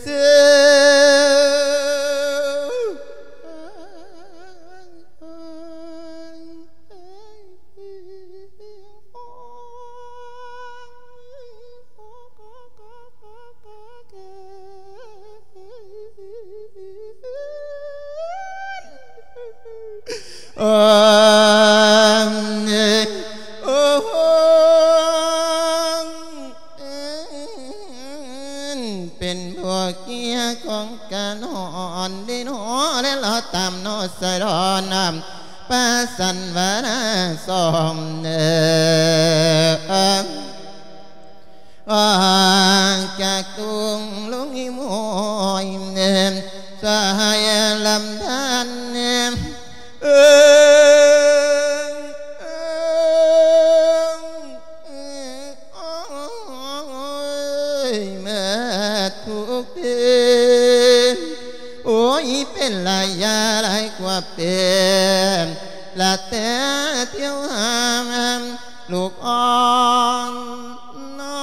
ເຊື່ອ ເປັນພວກເກຍຂອງການຮ້ອນເດນໍ ແລະລໍຕາມນໍສາຍດອນ ປະສັນວະນາສອງເນີ ອອກຈາກຕຸງລຸງອີໂມຍ ສະຫາຍລຳພັນ ເອີ ເອີ ໂອ້ຍ ເມື່ອທຸກເດືອນ ໂອ້ຍ ເປັນລະຍະຫຼາຍກວ່າເປັນ ລະແຕ່ທ່ຽວຫາ ລູກອ່ອນນ້ອ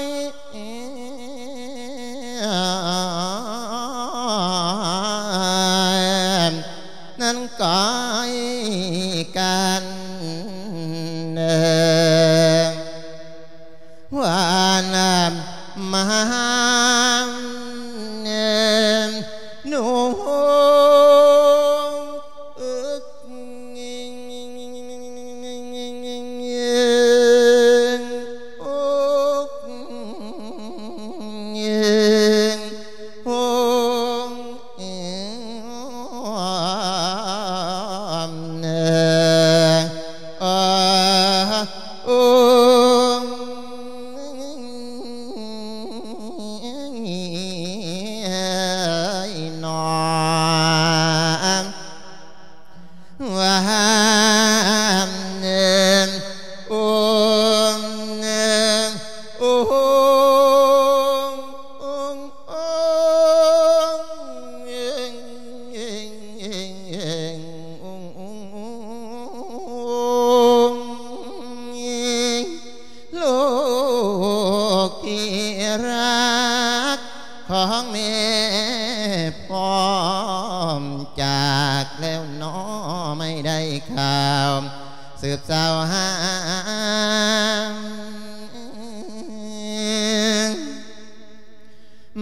ຍນັ້ນກອຍກັນ ວ່ານຳມາຫາ ໜູ ລູກທີ່ຮັກຂອງແມ່ພ້ອມຈາກແລ້ວນໍ ໄມ່ໄດ້ຂ່າວສືບສາວຫາ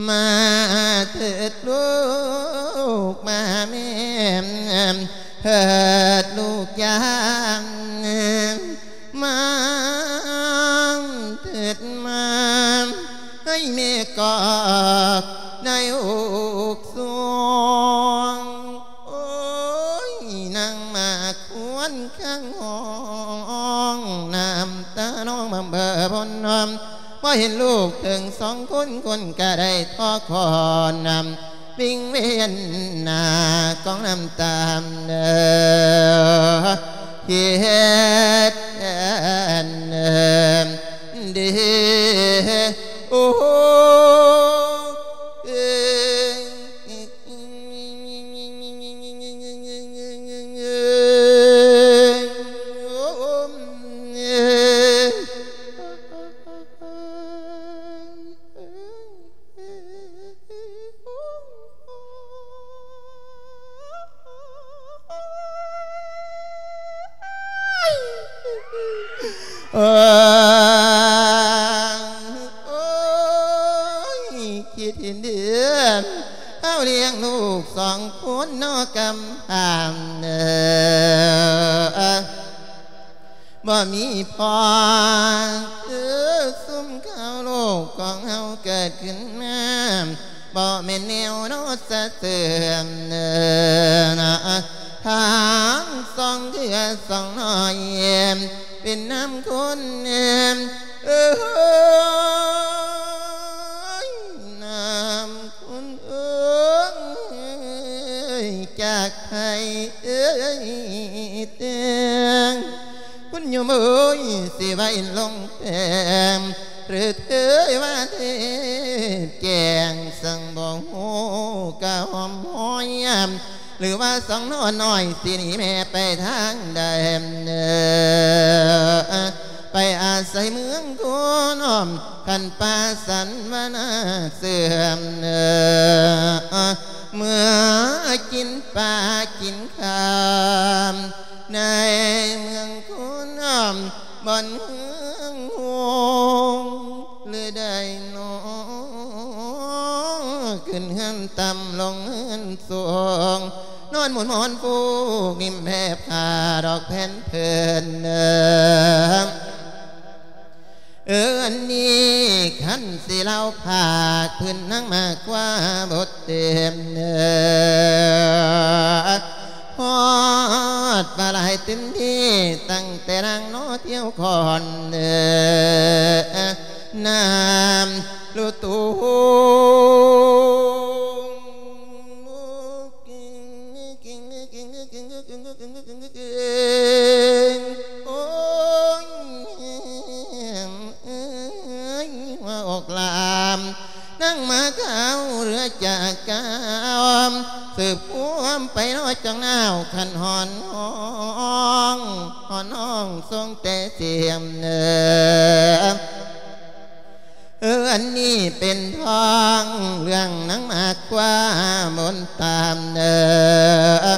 ມາເຖີດລູກມາແມ່ ເຮີດລູກຢາມ ມາເຖີດມາ ໃຫ້ແມ່ກອດໃນອົກສວງ. ໂອ້ຍ ນາງມາຄວນຄັງຮ້ອງ ນ້ຳຕານອງບຳເບີພົນນອມ ບໍ່ເຫັນລູກເຖິງສອງຄົນ ຄົນກະໄດ້ທໍຄອນນຳ ວິງເວນໜ້າກອງນ້ຳຕາເດີ ເຮັດແທນເດີ ໂອ້ ໂອ້ຍ ຄິດເຫັນເດືອນ ເຮົາລ້ຽງລູກສອງຄົນເນາະກຳພາເອີ ບໍ່ມີພໍ່ ຄືຊຸມເຂົາ ລູກຂອງເຮົາເກີດຂຶ້ນມາ ບໍ່ແມ່ນແນວເນາະສະເຊື່ອມເນີນະ ທັງສອງເທື່ອສອງນ້ອຍ ເປັນນຳຄົນ ເອີຍ ນຳຄົນເອີຍ ຈາ ໃຫ້ເອີຍແຕ່ງ ຄຸນໂຍມເອີຍ ຊິໄວ້ລົງແປງ ຫຼືເທີຍວ່າເທບແກງ ສັງບໍ່ຮູ້ກະຫອມຫອຍ ຫຼືວ່າສອງໜໍ່ນ້ອຍ ຊິໜີແມ່ໄປທາງໃດ ໄປອາໄສເມືອງຄຸນ ຄັນປາສັນວະນາເສື່ອມ ເມື່ອກິນປາກິນຄາມ ໃນເມືອງຄຸນ ບ່ອນເຮືອງໂຮງ ຫຼືໄດ້ນອນ ຂຶ້ນເຮືອນຕ່ຳລົງເຮືອນສູງ ນອນໝູນໝອນຟູ ກິນແຜ່ຜ້າດອກແຜ່ນເພີນ ເອີ ອັນນີ້ຄັນຊິເລົ່າພາກພື້ນນາງໝາກຄວ້າບໍ່ເຕັມ ຮອດວ່າຫຼາຍເຕັມທີ່ ຕັ້ງແຕ່ນາງນໍທ່ຽວຄອນ ນ້ຳລູຕູ ໂອ້ຍ ເອີຍ ຫົວອອກລາມ ນາງໝາຂາວເຫຼືອຈາກກາວ ສືບຄວມໄປເນາະຈອງນາວ ຄັນຮ້ອນຮ້ອງ ຮ້ອນຮ້ອງສົ່ງແຕ່ສຽງ ເອີ ເອີ ອັນນີ້ເປັນທ້ອງເລື່ອງນາງໝາກຄວ້າມົນຕາມ ເອີ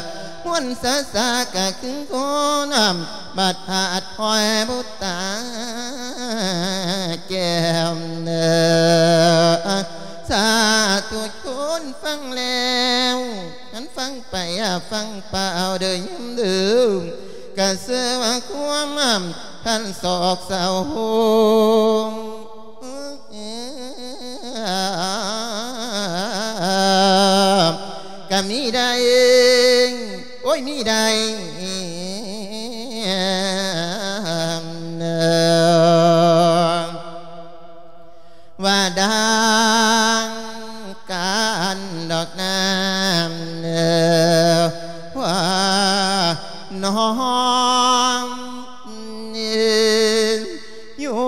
ມົນສາສາກະຄືຄົນ ບາດພາດພອຍບຸດຕາແກ້ວ ເອີ ສາທຸຊົນຟັງແລ້ວ ຄັນຟັງໄປ ອາ ຟັງປາເອົາເດີຍາມເດີ ກະເຊື່ອວ່າຄວາມ ຄັນສອກເສົາໂຮງ ກະມີໄດ້ ໂອ້ຍ ມີໄດ້ ວ່າດັ່ງກັນດອກນາ ວ່ານ້ອງຢູ່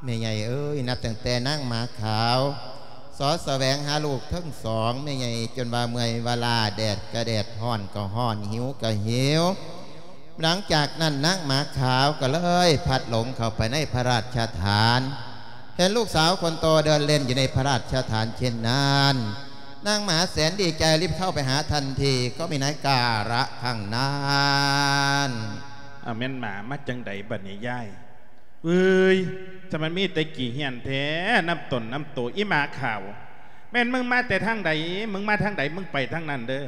ແມ່ໃຫຍ່ເອີຍ ນັບຕັ້ງແຕ່ນາງໝາຂາວ ສອດສະແຫວງຫາລູກທັງສອງ ແມ່ໃຫຍ່ຈົນວ່າເມື່ອຍວ່າລ້າ ແດດກະແດດ ຮ້ອນກະຮ້ອນ ຫິວກະຫິວ. ຫຼັງຈາກນັ້ນນາງໝາຂາວກໍເລີຍພລັດຫຼົງເຂົ້າໄປໃນພະລາຊະຖານ ເຫັນລູກສາວຄົນໂຕເດີນເລ່ນຢູ່ໃນພະລາຊະຖານເຊັ່ນນັ້ນ ນາງໝາແສນດີໃຈຣີບເຂົ້າໄປຫາທັນທີ ກໍມີນາຍກາລະຄັ້ງນັ້ນ. ອາ ແມ່ນໝາມາຈັ່ງໃດບັດນີ້ຍາຍ? ເອີຍ ສະມັນມີແຕ່ຂີ້ເຫື່ອນແທ້ ນຳຕົນນຳໂຕ ອີໝາຂາວ ແມ່ນມຶງມາແຕ່ທາງໃດ ມຶງມາທາງໃດ ມຶງໄປທາງນັ້ນເດີ.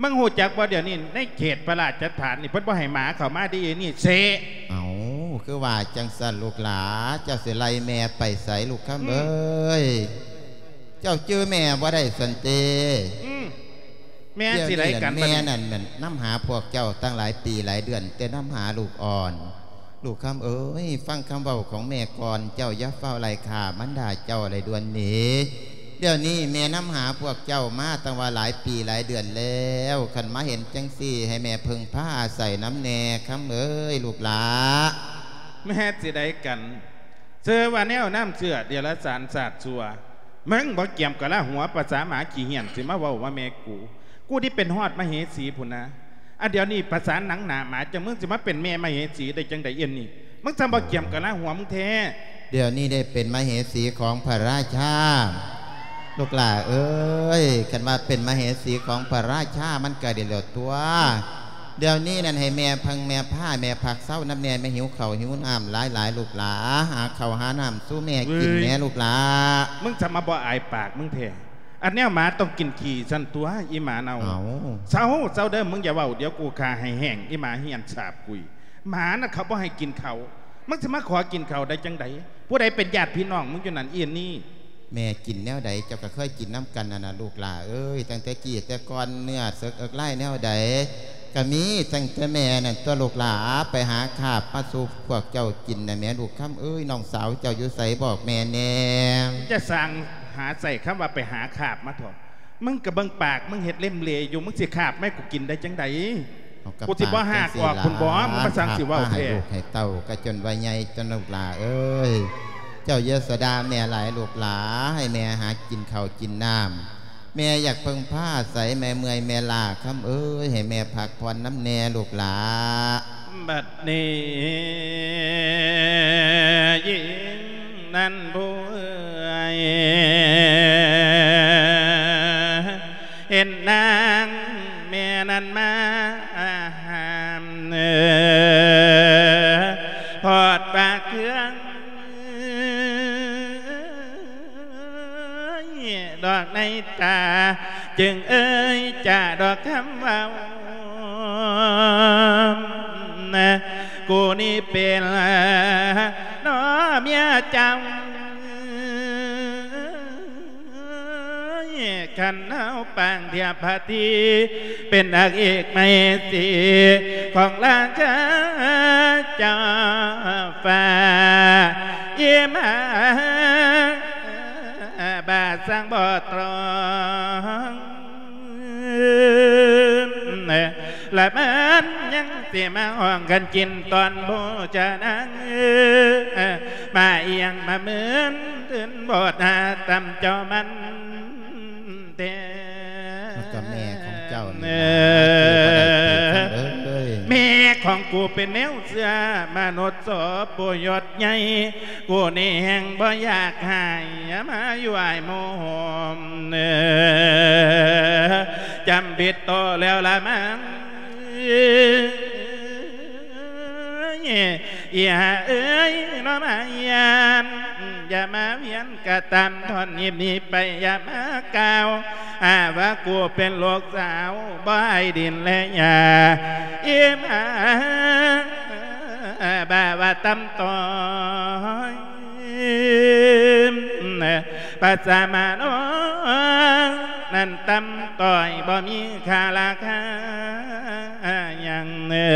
ມຶງຮູ້ຈັກບໍ່ ດຽວນີ້ໃນເຂດພະລາຊະຖານນີ້ ເພິ່ນບໍ່ໃຫ້ໝາເຂົ້າມາເດ້ ອີນີ້ເຊະ. ເອົ້າ ຄືວ່າຈັ່ງຊັ້ນລູກຫຼາ ເຈົ້າຊິໄລ່ແມ່ໄປໃສລູກຄຳເອີຍ? ເຈົ້າຈື່ແມ່ບໍ່ໄດ້ຊັ້ນຕິ? ອືມ ແມ່ຊິໄລ່ກັນ ແມ່ນັ້ນນຳຫາພວກເຈົ້າຕັ້ງຫຼາຍປີຫຼາຍເດືອນ ແຕ່ນຳຫາລູກອ່ອນ. ລູກຄຳເອີຍ ຟັງຄຳເວົ້າຂອງແມ່ກ່ອນ ເຈົ້າຢ່າຟ້າວໄລ່ຂ້າມັນດາເຈົ້າໄດ້ດ່ວນນີ້. ດຽວນີ້ແມ່ນຳຫາພວກເຈົ້າມາຕັ້ງວ່າຫຼາຍປີຫຼາຍເດືອນແລ້ວ ຄັນມາເຫັນຈັ່ງຊີ້ ໃຫ້ແມ່ເພິ່ງພາອາໄສນຳແດ່ ຄຳເອີຍ ລູກຫຼາ. ແມ່ຊິໄດ້ກັນ ເຊື່ອວ່າແນວນ້ຳເຊື້ອ ເດຍລະສານຊາດຊົ່ວ. ມຶງບໍ່ກຽມກະລາຫົວ ປະສາໝາຂີ້ເຫື່ອນ ຊິມາເວົ້າວ່າແມ່ກູ. ກູນີ້ເປັນຮອດມະເຫສີພຸ້ນນະ. ອັນດຽວນີ້ປະສານໜັງໜາໝາ ຈັ່ງມຶງຊິມາເປັນແມ່ມະເຫສີໄດ້ຈັ່ງໃດ ເອັນນີ້? ມຶງຊ່າງບໍ່ກຽມກະລາຫົວມຶງແທ້. ດຽວນີ້ໄດ້ເປັນມະເຫສີຂອງພະລາຊາ. ລູກຫຼ້າເອີຍ ຄັນວ່າເປັນມະເຫສີຂອງພະລາຊາ ມັນກະດີແລ້ວຕົວະ. ດຽວນີ້ນັ້ນໃຫ້ແມ່ເພິ່ງແມ່ພາ ແມ່ພັກເຊົານຳແດ່ ແມ່ຫິວເຂົ້າຫິວນ້ຳຫຼາຍໆ ລູກຫຼ້າ. ຫາເຂົ້າຫານ້ຳສູ່ແມ່ກິນແດ່ ເວີຍ ລູກຫຼ້າ. ມຶງຊ່າງມາບໍ່ອາຍປາກມຶງແທ້. ອັນແນວໝາຕ້ອງກິນຂີ້ຊັ້ນຕົວະ ອີໝາເນົ່າ. ເອົ້າ ເຊົາ ເຊົາເດີ້ ມຶງຢ່າເວົ້າ ດຽວກູຂ້າໃຫ້ແຫ້ງ ອີໝາຮຽນສາບກຸຍ. ໝານະເຂົາບໍ່ໃຫ້ກິນເຂົ້າ ມຶງຊິມາຂໍກິນເຂົ້າໄດ້ຈັ່ງໃດ? ຜູ້ໃດເປັນຍາດພີ່ນ້ອງມຶງຢູ່ນັ້ນ ອີນີ້? ແມ່ກິນແນວໃດ ເຈົ້າກໍເຄີຍກິນນຳກັນຫັ້ນນະ ລູກຫຼ້າເອີຍ. ຕັ້ງແຕ່ກີ້ແຕ່ກ່ອນ ເນື້ອເສິກເອິກລາຍແນວໃດກໍມີ ຕັ້ງແຕ່ແມ່ນັ້ນຕົວະ ລູກຫຼ້າ. ໄປຫາຄາບມາສູ່ພວກເຈົ້າກິນນະແມ່ ລູກຄຳເອີຍ. ນ້ອງສາວເຈົ້າຢູ່ໃສ ບອກແມ່ແດ່. ຈະສ້າງຫາໃສ່ຄຳວ່າໄປຫາຄາບມາເຖາະ. ມຶງກະເບິ່ງປາກ ມຶງເຮັດເລັມເລຢູ່ ມຶງຊິຄາບມາໃຫ້ກູກິນໄດ້ຈັ່ງໃດ? ເອົາ ກໍ ກູຊິບໍ່ຫາກອອກພຸ້ນບໍ? ປາກຈັ່ງຊີ້ລະ ມຶງມາສັ່ງຊິເວົ້າແທ້. ຄາບມາໃຫ້ລູກໃຫ້ເຕົ້າ ກະຈົນວ່າໃຫຍ່ຕົວະ ລູກຫຼ້າເອີຍ. ເຈົ້າຢ່າສະດ່າແມ່ຫຼາຍ ລູກຫຼ້າ ໃຫ້ແມ່ຫາກິນເຂົ້າກິນນ້ຳ. ແມ່ຢາກເພິ່ງພາອາໄສ ແມ່ເມື່ອຍແມ່ລ້າ ຄຳເອີຍ. ໃຫ້ແມ່ພັກຜ່ອນນຳແດ່ ລູກຫຼ້າ. ບັດນີ້ຍິງນັ້ນຜູ້ເອີຍ ເຫັນນາງແມ່ນັ້ນມາຫ້າມ ເອີ ພອດປາກເຄື່ອງ ດອກໃນຕາ ຈຶ່ງເອີຍຈາດອກຄຳເວົ້າ ກູນີ້ເປັນນ້ອງເມຍເຈົ້າ ຄັນເຮົາປາງທຽບພະທີ ເປັນນາງເອກໄມຕີຂອງລາຊາເຈົ້າຟ້າ ອີ່ມາ ບາດສັງບໍ່ຕອງ ລະມັນຍັງຊິມາຮ້ອງກັນກິນຕອນໂພຈະນາງ ມາອີ່ຫຍັງມາເມີນຕື່ນໂພດ ຫາຕຳເຈົ້າມັນແທ້ ມັນກໍແມ່ຂອງເຈົ້ານີ້ລະ ເອີ ບໍ່ໄດ້ຕິດກັນເອີຍ ແມ່ຂອງກູເປັນແນວເຊື່ອມະນຸດສອບໂພຍົດໃຫຍ່ ກູນີ້ແຮ່ງບໍ່ຢາກໃຫ້ມາຢູ່ອ້າຍໂມໂຫມ ເອີ ຈຳຜິດໂຕແລ້ວລະມັງ ອີ່ຫາເອີຍ ນ້ອງມາຢ້ານ ຢ່າມາວຽນກະຕາມ ທ່ອນຮີບໜີໄປ ຢ່າມາກ່າວ ຫາວ່າກູເປັນລູກສາວ ບໍ່ໃຫ້ດິນແລະຫຍ້າ ອີ່ມາ ບາວ່າຕຳຕອຍ ພາສາມານ້ອງນັ້ນຕຳຕ້ອຍ ບໍ່ມີຄ່າລາຄາຫຍັງ ເອີ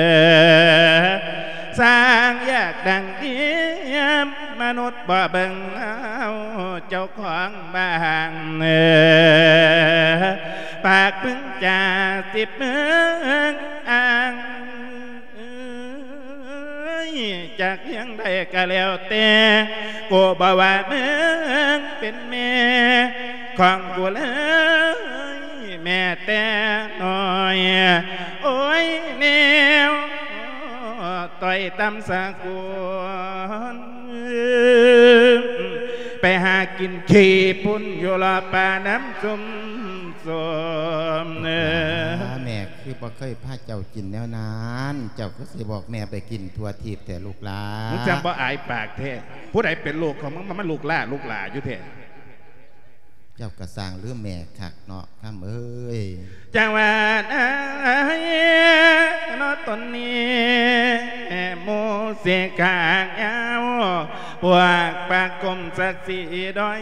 ສ້າງຢາກດັງດຽມ ມະນຸດບໍ່ເບິ່ງເອົາເຈົ້າຂອງບ້ານ ເອີ ປາກມຶງຈາສິບເມືອງອ້າງ ເອີຍ ຈາກພຽງໃດກະແລ້ວແຕ່ ກູບໍ່ວ່າມຶງເປັນແມ່ຂອງກູເລີຍ ແມ້ແຕ່ນ້ອຍ ໂອ້ຍ ແນວຕ້ອຍຕ່ຳສາກຸນ ໄປຫາກິນຂີ້ພຸ້ນ ຢູ່ລອບປ່ານ້ຳຊຸ່ມ ສົມ ເອີ ແມ່ຄືບໍ່ເຄີຍພາເຈົ້າກິນແນວນັ້ນ ເຈົ້າຄືຊິບອກແມ່ໄປກິນທົ່ວທີບແທ້ລູກຫຼ້າ ມຶງຈັ່ງບໍ່ອາຍປາກແທ້ ຜູ້ໃດເປັນລູກຂອງມຶງ ມາ ມາລູກຫຼ້າ ລູກຫຼ້າຢູ່ແທ້ ເຈົ້າກະສ້າງລືມແມ່ຄັກເນາະ ຄຳເອີຍ ຈັ່ງວ່ານາຍເນາະ ຕົນນີ້ ໝູ່ຊິກາງຍາວ ພວກປາກກົມສັກສີດອຍ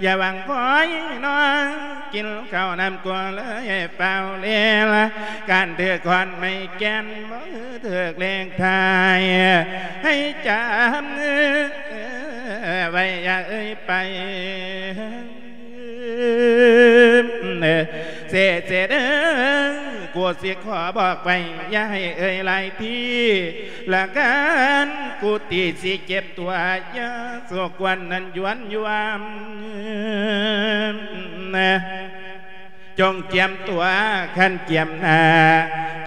ຢ່າຫວັງຄອຍນ້ອງ ກິນເຂົ້ານ້ຳກົວເລີຍ ຟ້າວເລລະ ການຖືກຄ້ອນໄມ້ແກ່ນ ບໍ່ຖືກເລກທ້າຍ ໃຫ້ຈຳໄວ້ ຢ່າເອີຍໄປ ເສຍເສຍເດີ ກູຊິຂໍບອກໄວ້ ຢ່າໃຫ້ເອີຍຫຼາຍທີ ລະການກູຕີຊິເຈັບຕົວ ຢ່າສົກວນນັ້ນຢວນຢວມ ຈົ່ງກຽມຕົວ ຄັນກຽມໜ້າ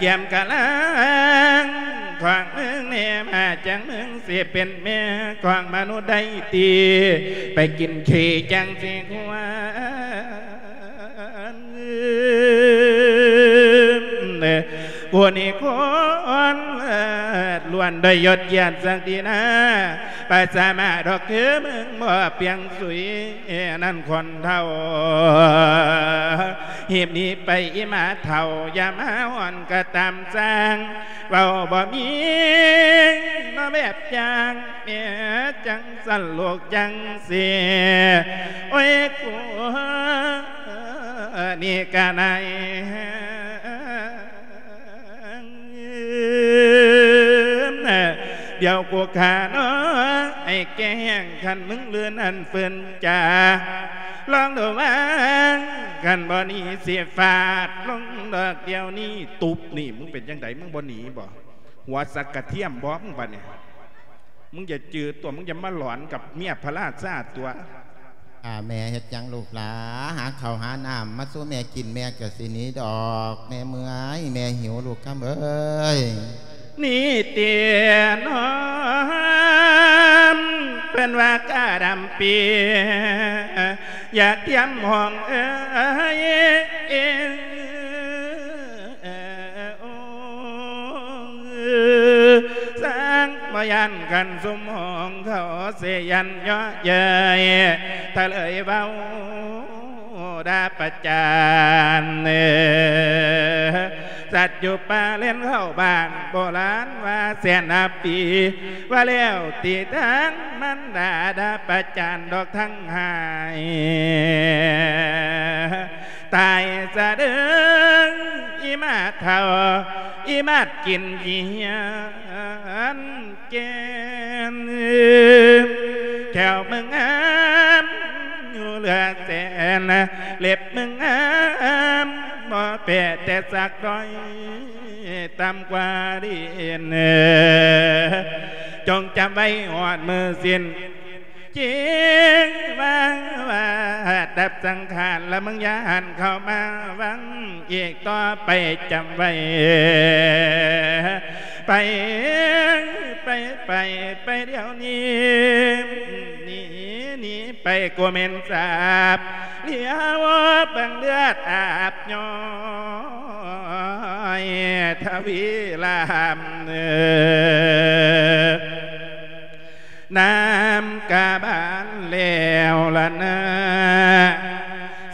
ກຽມກະລາງ ຂວາງເມືອງແນມ ຫາກຈັ່ງເມືອງ ຊິເປັນແມ່ຂອງມະນຸດໄດ້ຕິ ໄປກິນຂີ້ຈັ່ງຊິຄວນ ຜູ້ນີ້ຄົນເລີດ ຄວນດ້ອຍຍົດກຽດສັກດີນາ ປະສາມາດດອກຄືມຶງບໍ່ປ່ຽງສຸຍ ນັ້ນຄົນເຖົ້າ ຮີບໜີໄປອີ່ໝາເຖົ້າ ຢ່າມາຮ້ອນກະຕາມຊ່າງ ເວົ້າບໍ່ມີເນາະແບບຢ່າງ ແມ່ຈັ່ງຊັ້ນລູກຈັ່ງຊີ້ ໂອ້ຍ ກູນີ້ກະນາຍ ດຽວກູຂ້ານ້ອງໃຫ້ແກ່ແຮງ ຄັນມຶງລືນອັນຟື້ນຈາ ລອງດູວ່າ ຄັນບໍ່ໜີຊິຟາດລົງດອກດຽວນີ້ ຕຸບນີ້ ມຶງເປັນຈັ່ງໃດ ມຶງບໍ່ໜີບໍ່? ຫົວສັກກະທຽມບໍ່ ມຶງບັດນີ້? ມຶງຢ່າຈື່ຕົວະ ມຶງຢ່າມາຫຼອນກັບເມຍພະລາຊາຕົວະ. ອາ ແມ່ເຮັດຫຍັງລູກຫຼາ? ຫາເຂົ້າຫານ້ຳມາສູ່ແມ່ກິນ ແມ່ກະຊິໜີດອກ ແມ່ເມື່ອຍ ແມ່ຫິວລູກຄຳເອີຍ. ນີ້ຕິນ້ອງ ເພິ່ນວ່າກະດຳປີ ຢາກຕຽມຫ້ອງເອີຍ ຊ່າງບໍ່ຢ້ານຄັນຊຸມຫ້ອງເຂົາຊິຢ້ານເຍາະເຍີ້ຍ ຖ້າເລີຍເວົ້າດ່າປະຈານ ສັດຢູ່ປ່າເລນເຂົ້າບ້ານ ໂບລານວ່າແສນຫ້າປີ ວ່າແລ້ວຕິທາງມັນດ່າ ດ່າປະຈານດອກທັງຫາຍ. ຕາຍສະເດີອີ່ໝາເຖົ້າ ອີ່ໝາດກິນຂີ້ເຫືອນແກ່ນ ແຂ້ວມຶງງາມຢູ່ເຫຼືອແສນ ເລັບມຶງງາມບໍ່ແປະແຕ່ສັກດ້ອຍ ຕ່ຳກວ່າດິນ ຈົ່ງຈຳໄວ້ຮອດມື້ສິ້ນ ຈິງວ່າວ່າດັບສັງຂານ ລະມຶງຢ່າຫັນເຂົ້າມາວັງອີກຕໍ່ໄປ ຈຳໄວ້ ໄປ ໄປ ໄປ ໄປດຽວນີ້ ໜີ ໜີໄປ ກູແມ່ນສາບ ຫຼຽວເບິ່ງເລືອດອາບຍ້ອຍ ທະວີລາມເອີ ນ້ຳກະບານແລ້ວລະນາ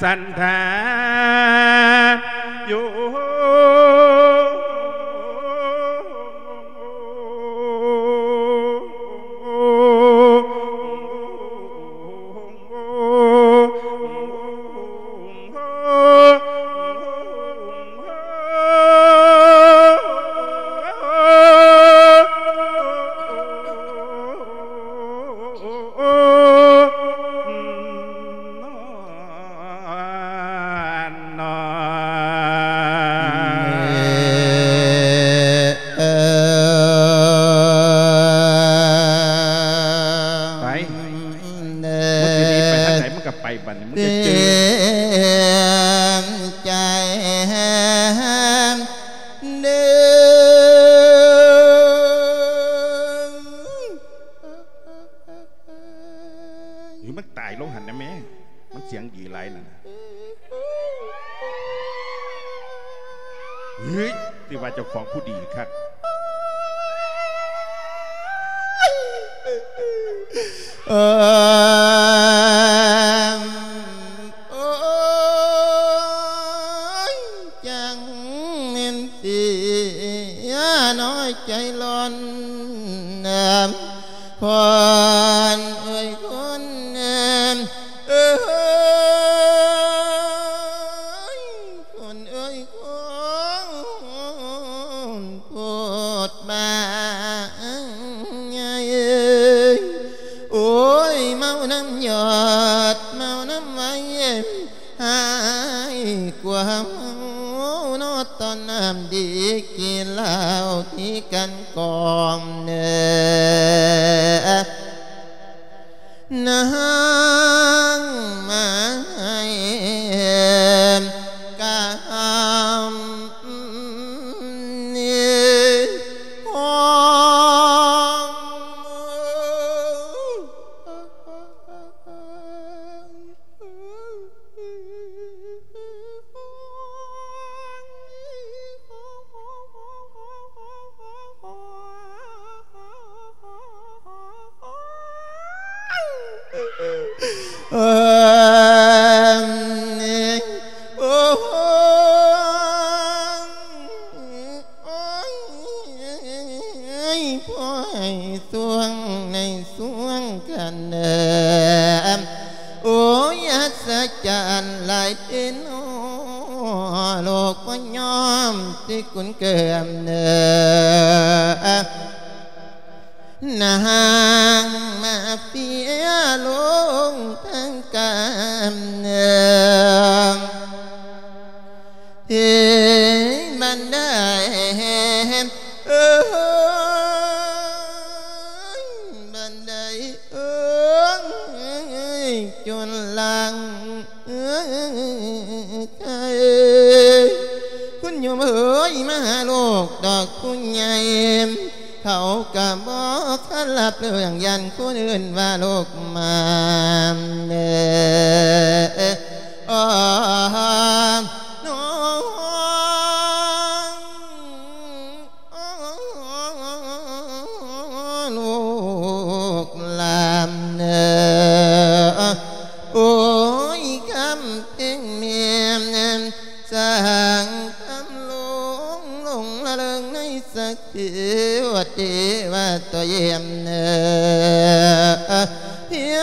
ສັນທາຢູ່.ໄປ ມຶງຊິໜີໄປທາງໃດ ມຶງກະໄປບັດນີ້ ມຶງຈະຈື່ ໃຈ ຫຼືມັນຕາຍລົງຫັ້ນນະແມ່ ມັນສຽງດີຫຼາຍນັ້ນ ເຮີ້ຍ ຊິວ່າເຈົ້າຂອງຜູ້ດີຄັກ. ເອີ ໂອ້ຍ ຈັ່ງແມ່ນເສຍນ້ອຍໃຈຮ້ອນ ພອນເອີຍ ຄົນເອີຍ ຄົນເອີຍ ຄົນໂພດບາງໃຫຍ່ເອີຍ ໂອ້ຍ ເມົານ້ຳຢອດ ເມົານ້ຳໄວ ຫາຍກວ່າເມົາເນາະ ຕອນນ້ຳດີກິນເຫຼົ້າທີ່ກັນກອງເນີ ນາງມາໃຫ້ກຳນີ້ຫ້ອງ. ເອີ ໂອ້ຍ ໂອ້ຍ ພວກສວງໃນສວງກັນເດີ ໂອ້ຍ ອັດສະຈັນຫຼາຍເດເນາະ ໂລກບໍ່ຍອມຊິກຸນເກີມເດີ ນາງມາເຟຍລົງທັງການເດີ ເທບັນໄດ ເອີ ບັນໄດ ເອີ ຈົນຫຼັງ ເອີ ຄຸນໂຍມເອີຍ ມາຫາລູກດອກຜູ້ໃຫຍ່ ເຂົາກະບໍ່ຄັນຮັບເລື່ອງ ຢ້ານຄົນອື່ນວ່າລູກມາເດີ ລູກຫຼານເອີ ໂອ້ຍ ຄຳເພັງແມ່ນ ສ້າງຄຳຫຼົງ ຫຼົງລະເລີງໃນສັກເທວະເທວະໂຕເຢມເອີ ພຽ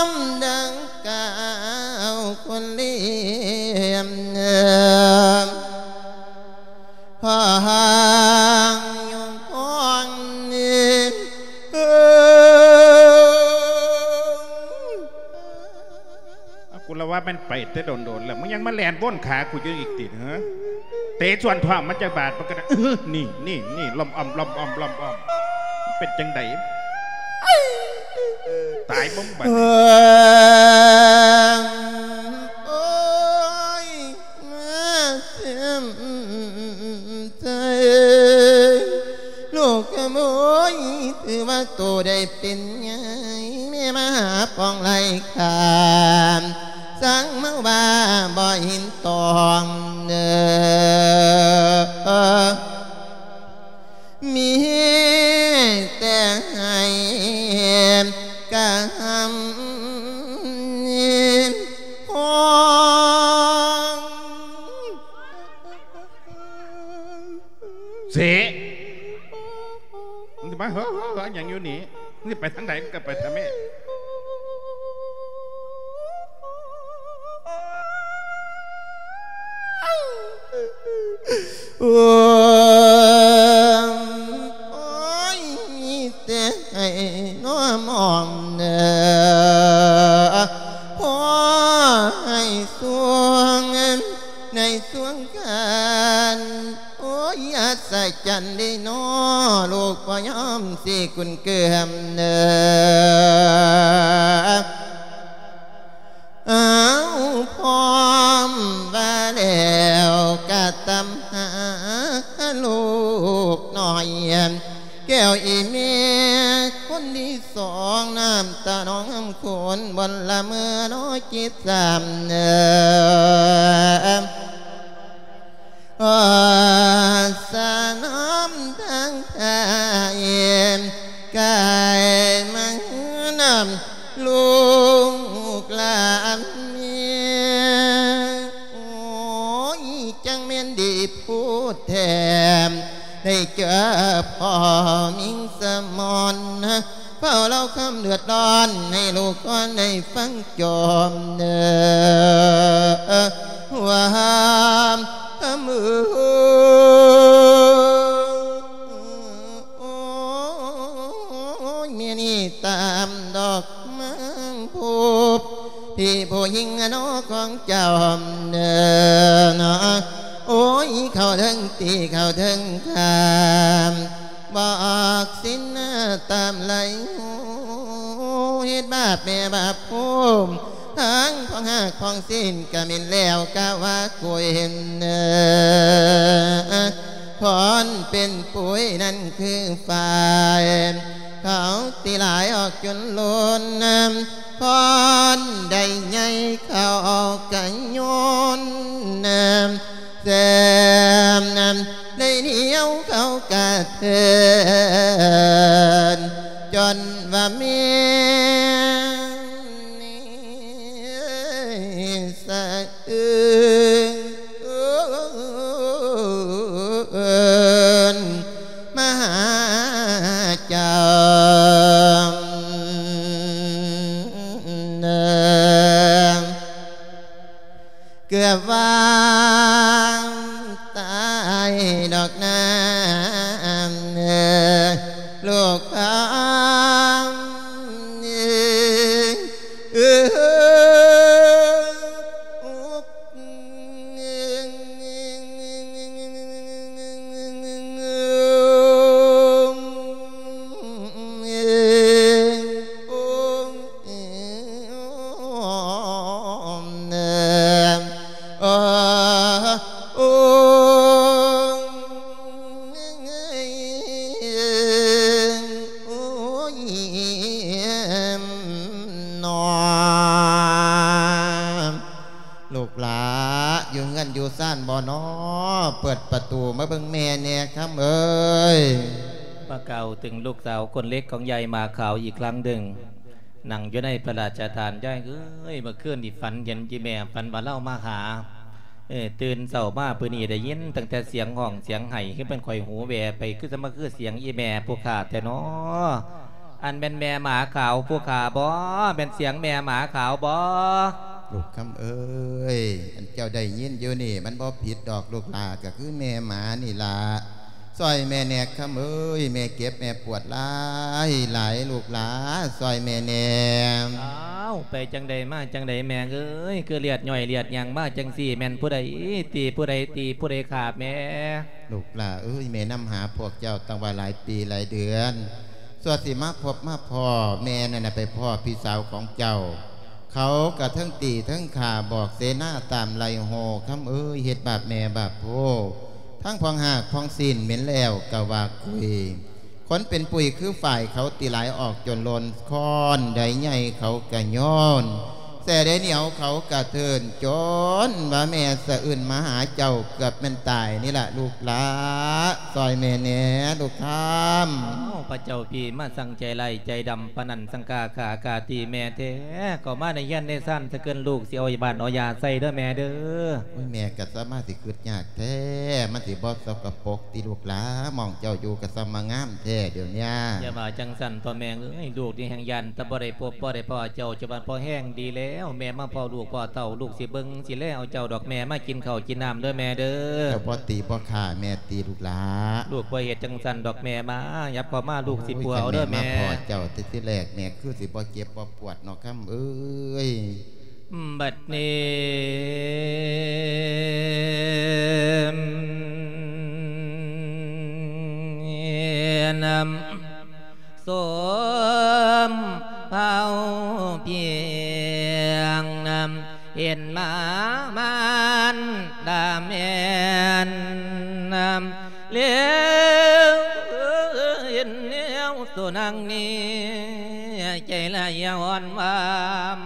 ມດັ່ງກ່າວຄົນລຽມເອີ ພາງຍົງພອງນີ້ ເອີ ອ້າວ ກູລະວ່າແມ່ນໄປແຕ່ດົນໆແລ້ວ ມຶງຍັງມາແລ່ນວົນຂາກູຢູ່ອີກຕິ ເຮີ ເຕະສ່ວນທ້ອງມາຈັກບາດ ມັນກໍໄດ້ ເອີ ນີ້ ນີ້ ນີ້ ລອມອອມ ລອມອອມ ລອມອອມ ເປັນຈັ່ງໃດ? ຕາຍບໍ່ບັດນີ້ ເອີ ໂອ້ຍ ມາເຕັມໃຈ ລູກຂະໂມຍ ຖືວ່າໂຕໄດ້ເປັນໃຫຍ່ ແມ່ມາຫາປອງໄລ່ຂ້າ ສັ່ງມາວ່າບໍ່ເຫັນຕ້ອງເດີ ມີແຕ່ໃຫ້ກະຫຳຮອງ ເສ ມຶງຊິມາເຮີໆຫຍັງຢູ່ນີ້? ມຶງຊິໄປທາງໃດ ມຶງກໍໄປທາງແມ່. ໂອ້ຍ ມີແຕ່ໃຫ້ນອມອອມເດີ ຂໍໃຫ້ສວງໃນສວງກັນ ໂອ້ຍ ອັດສະຈັນເດເນາະ ລູກບໍ່ຍອມຊິກຸນເກືອມເດີ. ອ້າວ ພ້ອມວ່າແລ້ວກະຕາມຫາລູກນ້ອຍ ແກ້ວອີ່ແມ່ຄົນທີສອງ ນ້ຳຕາໜອງນ້ຳໂຂນ ບ່ອນລະເມີນ້ອຍຈິດສາມເດີ. ອາສານ້ອມທາງໄທ ກາຍມານຳລູກຫຼານແມ່ ໂອ້ຍ ຈັ່ງແມ່ນດີໂພດແທ້ ໄດ້ເຈີພໍ່ມິງສະໝອນ ເຝົ້າເລົ່າຄວາມເດືອດຮ້ອນໃຫ້ລູກກ່ອນໄດ້ຟັງຈອມເດີ ວ່າ ເອີ ໂອ້ຍ ແມ່ນີ້ຕາມດອກມັງພົບ ພີ່ຜູ້ຍິງນະເນາະຂອງເຈົ້າເດີ ໂອ້ຍ ເຂົ້າເທິງຕີເຂົ້າເທິງຂ້າມ ບອກສິນຕາມໄຫຼຫູ ເຮັດບາບແມ່ບາບພູມ ທັງຂອງຮາກຂອງສິນກະເໝັນແລ້ວກະວ່າກຸຍເນີ ຄອນເປັນປຸຍນັ້ນຄືຝ້າຍ ເຂົາຕີຫຼາຍອອກຈົນລົ້ນ ຄອນໄດ້ໃຫຍ່ເຂົາກະໂຍນ ແຊມໄດ້ໜຽວເຂົາກະເທີນ ຈົນວ່າແມ່ນ ດອກນາ ລູກຂາມ ລູກຫຼ້າ ຢູ່ເຮືອນຢູ່ຊານບໍ່ນໍ? ເປີດປະຕູມາເບິ່ງແມ່ແດ່ ຄຳເອີຍ. ມາກ່າວເຖິງລູກສາວຄົນເລັກຂອງຍາຍໝາຂາວອີກຄັ້ງໜຶ່ງ. ນັ່ງຢູ່ໃນພະລາຊະຖານ. ຍາຍເອີຍ ເມື່ອຄືນນີ້ຝັນເຫັນອີ່ແມ່ ຝັນວ່າລາວມາຫາ. ເອີ ຕື່ນເຊົ້າມາມື້ນີ້ໄດ້ຍິນຕັ້ງແຕ່ສຽງຮ້ອງສຽງໄຫ້ ຄືແມ່ນຂ້ອຍຫູແວ່ໄປ ຄືຈະມາຄືສຽງອີ່ແມ່ຜູ້ຂ້າແທ້ນໍ? ອັນແມ່ນແມ່ໝາຂາວຜູ້ຂ້າບໍ? ແມ່ນສຽງແມ່ໝາຂາວບໍ? ລູກຄຳເອີຍ ອັນເຈົ້າໄດ້ຍິນຢູ່ນີ້ ມັນບໍ່ຜິດດອກລູກຫຼ້າ ກໍຄືແມ່ໝານີ້ລະ. ຊ່ອຍແມ່ແດ່ ຄຳເອີຍ ແມ່ເຈັບແມ່ປວດຫຼາຍຫຼາຍ ລູກຫຼ້າ ຊ່ອຍແມ່ແດ່. ອ້າວ ໄປຈັ່ງໃດມາຈັ່ງໃດແມ່ເອີຍ ຄືເລືອດຍ້ອຍເລືອດຫຍັງມາຈັ່ງຊີ້ ແມ່ນຜູ້ໃດຕີຜູ້ໃດຕີຜູ້ໃດຂາບແມ່? ລູກຫຼ້າເອີຍ ແມ່ນຳຫາພວກເຈົ້າຕັ້ງວ່າຫຼາຍປີຫຼາຍເດືອນ ສ່ວນຊິມາພົບມາພໍ້ ແມ່ນັ້ນນະໄປພໍ້ພີ່ສາວຂອງເຈົ້າ ເຂົາກະເທິງຕີເທິງຂ້າ ບອກເສນາຕາມໄລ່ໂຫ ຄຳເອີຍ ເຮັດບາບແມ່ບາບໂພ ທັງພອງຮາກພອງຊີ້ນເໝັນແລ້ວກະວ່າກຸຍ ຄົນເປັນປຸຍຄືຝ້າຍເຂົາຕີຫຼາຍອອກຈົນຫຼົ່ນຄ້ອນ ໃດໃຫຍ່ເຂົາກະໂຍນ ແສ້ໃດໜຽວເຂົາກະເທີນ ຈົນວ່າແມ່ສະອຶ້ນມາຫາເຈົ້າ ເກືອບແມ່ນຕາຍນີ້ລະລູກຫຼ້າ ຊ່ອຍແມ່ແດ່ລູກຄຳ. ອ້າວ ພະເຈົ້າພີ່ມາ ສັງໃຈຮ້າຍໃຈດຳປານນັ້ນ ສັງກາຂ້າກາຕີແມ່ແທ້ ເຂົ້າມາໃນເຮືອນໃນຊານສະເກີນ ລູກຊິເອົາບ້ານເອົາຢາໃສ່ເດີແມ່ເດີ. ໂອ້ຍ ແມ່ກະສາມາດຊິຄຶດຍາກແທ້ ມັນຊິບໍ່ສົກກະປົກຕິລູກຫຼ້າ ໝ່ອງເຈົ້າຢູ່ກະສ່ຳມາງາມແທ້ດຽວນີ້. ຢ່າວ່າຈັ່ງຊັ້ນຕົວະແມ່ເອີຍ ລູກນີ້ແຮ່ງຢ້ານແຕ່ບໍ່ໄດ້ພົບບໍ່ໄດ້ພໍ້ເຈົ້າ ເຈົ້າວ່າພໍແຮງດີແລ້ວ ແມ່ມາພໍ້ລູກພໍ້ເຕົ້າ ລູກຊິເບິ່ງຊິແລເອົາເຈົ້າດອກ ແມ່ມາກິນເຂົ້າກິນນ້ຳເດີແມ່ເດີ. ເຈົ້າບໍ່ຕີບໍ່ຂ້າແມ່ຕິລູກຫຼ້າ. ລູກບໍ່ເຮັດຈັ່ງຊັ້ນດອກແມ່ ມາ ຫຍັບເຂົ້າມາ ລູກຊິປົວເອົາເດີແມ່. ໂອ້ຍ ຄັນແມ່ມາພໍ້ເຈົ້າແຕ່ທີແລກ ແມ່ຄືຊິບໍ່ເຈັບບໍ່ປວດເນາະ ຄຳເອີຍ. ບັດນີ້ນຳ ສົມເຜົ່າພຽງນຳ ເຫັນມາມານດາແມ່ນນຳ ແລ້ວເຫັນແນວໂຕນາງນີ້ ໃຈລະຍາວອນວາມ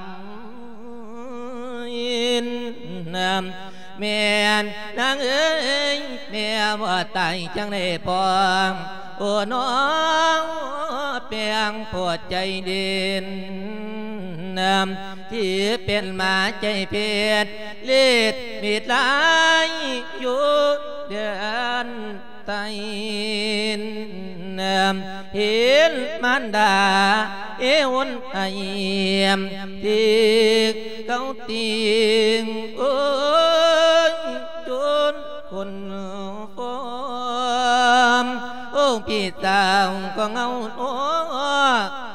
ແມ່ນນາງເອີຍ ແມ່ບໍ່ຕາຍຈັ່ງໃດພໍ່ ໂອ້ ນ້ອງແປງໂພດໃຈເດັ່ນ ທີ່ເປັນໝາໃຈເພັດ ລິດມີດລາຍຢູ່ເດືອນ ໄຕນຳ ເຫັນມານດາເອວນໄອ ທີ່ເຂົາຕິງ ໂອ້ຍ ຈົນຄົນຟອມ ໂອ້ ພີ່ສາວຂອງເຮົາ ໂອ້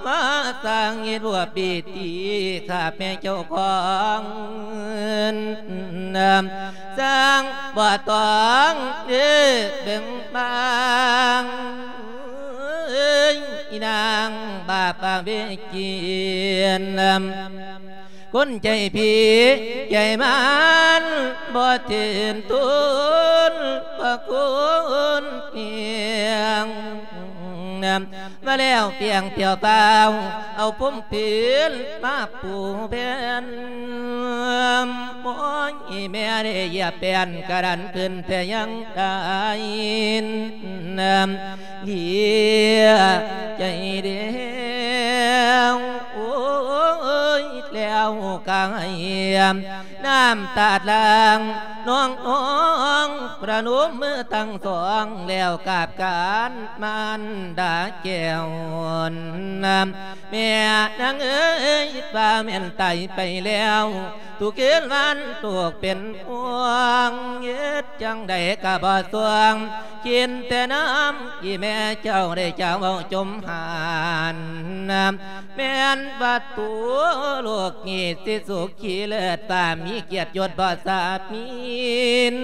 ມາສ້າງເຮັດຫົວປີຕີ ຂ້າແມ່ເຈົ້າຂອງ ສ້າງບໍ່ຕ້ອງເດ້ເບິ່ງບາງ ອີນາງບາປະເວຈີນ ຄົນໃຈຜີໃຈມານ ບໍ່ເຖິງທຸນພະຄຸນພຽງ ມາແລ້ວພຽງພຽວພາວ ເອົາພົມເພິນມາປູແຜ່ນ ໂອ້ຍ ແມ່ໄດ້ຢຽບແປ້ນກະດັນຂຶ້ນແຕ່ຍັງໄດ້ ເຫຼືອໃຈແລ້ວ ໂອ້ຍ ແລ້ວກະໃຫ້ ນ້ຳຕາດຫຼັ່ງ ນ້ອງໆ ປະນົມມືທັງສອງ ແລ້ວກາບການມານດາແກ້ວ ແມ່ນາງເອີຍ ວ່າແມ່ນຕາຍໄປແລ້ວ ທຸກຄືນວັນຕົກເປັນຫ່ວງ ເຮັດຈັ່ງໃດກະບໍ່ສ່ວງ ກິນແຕ່ນ້ຳ ອີແມ່ເຈົ້າໄດ້ຈາເວົ້າຈົມຫານ ແມ່ນວ່າຕົວລູກນີ້ຊິສຸຂີເລີດ ວ່າມີກຽດຍົດບໍ່ສາມີນ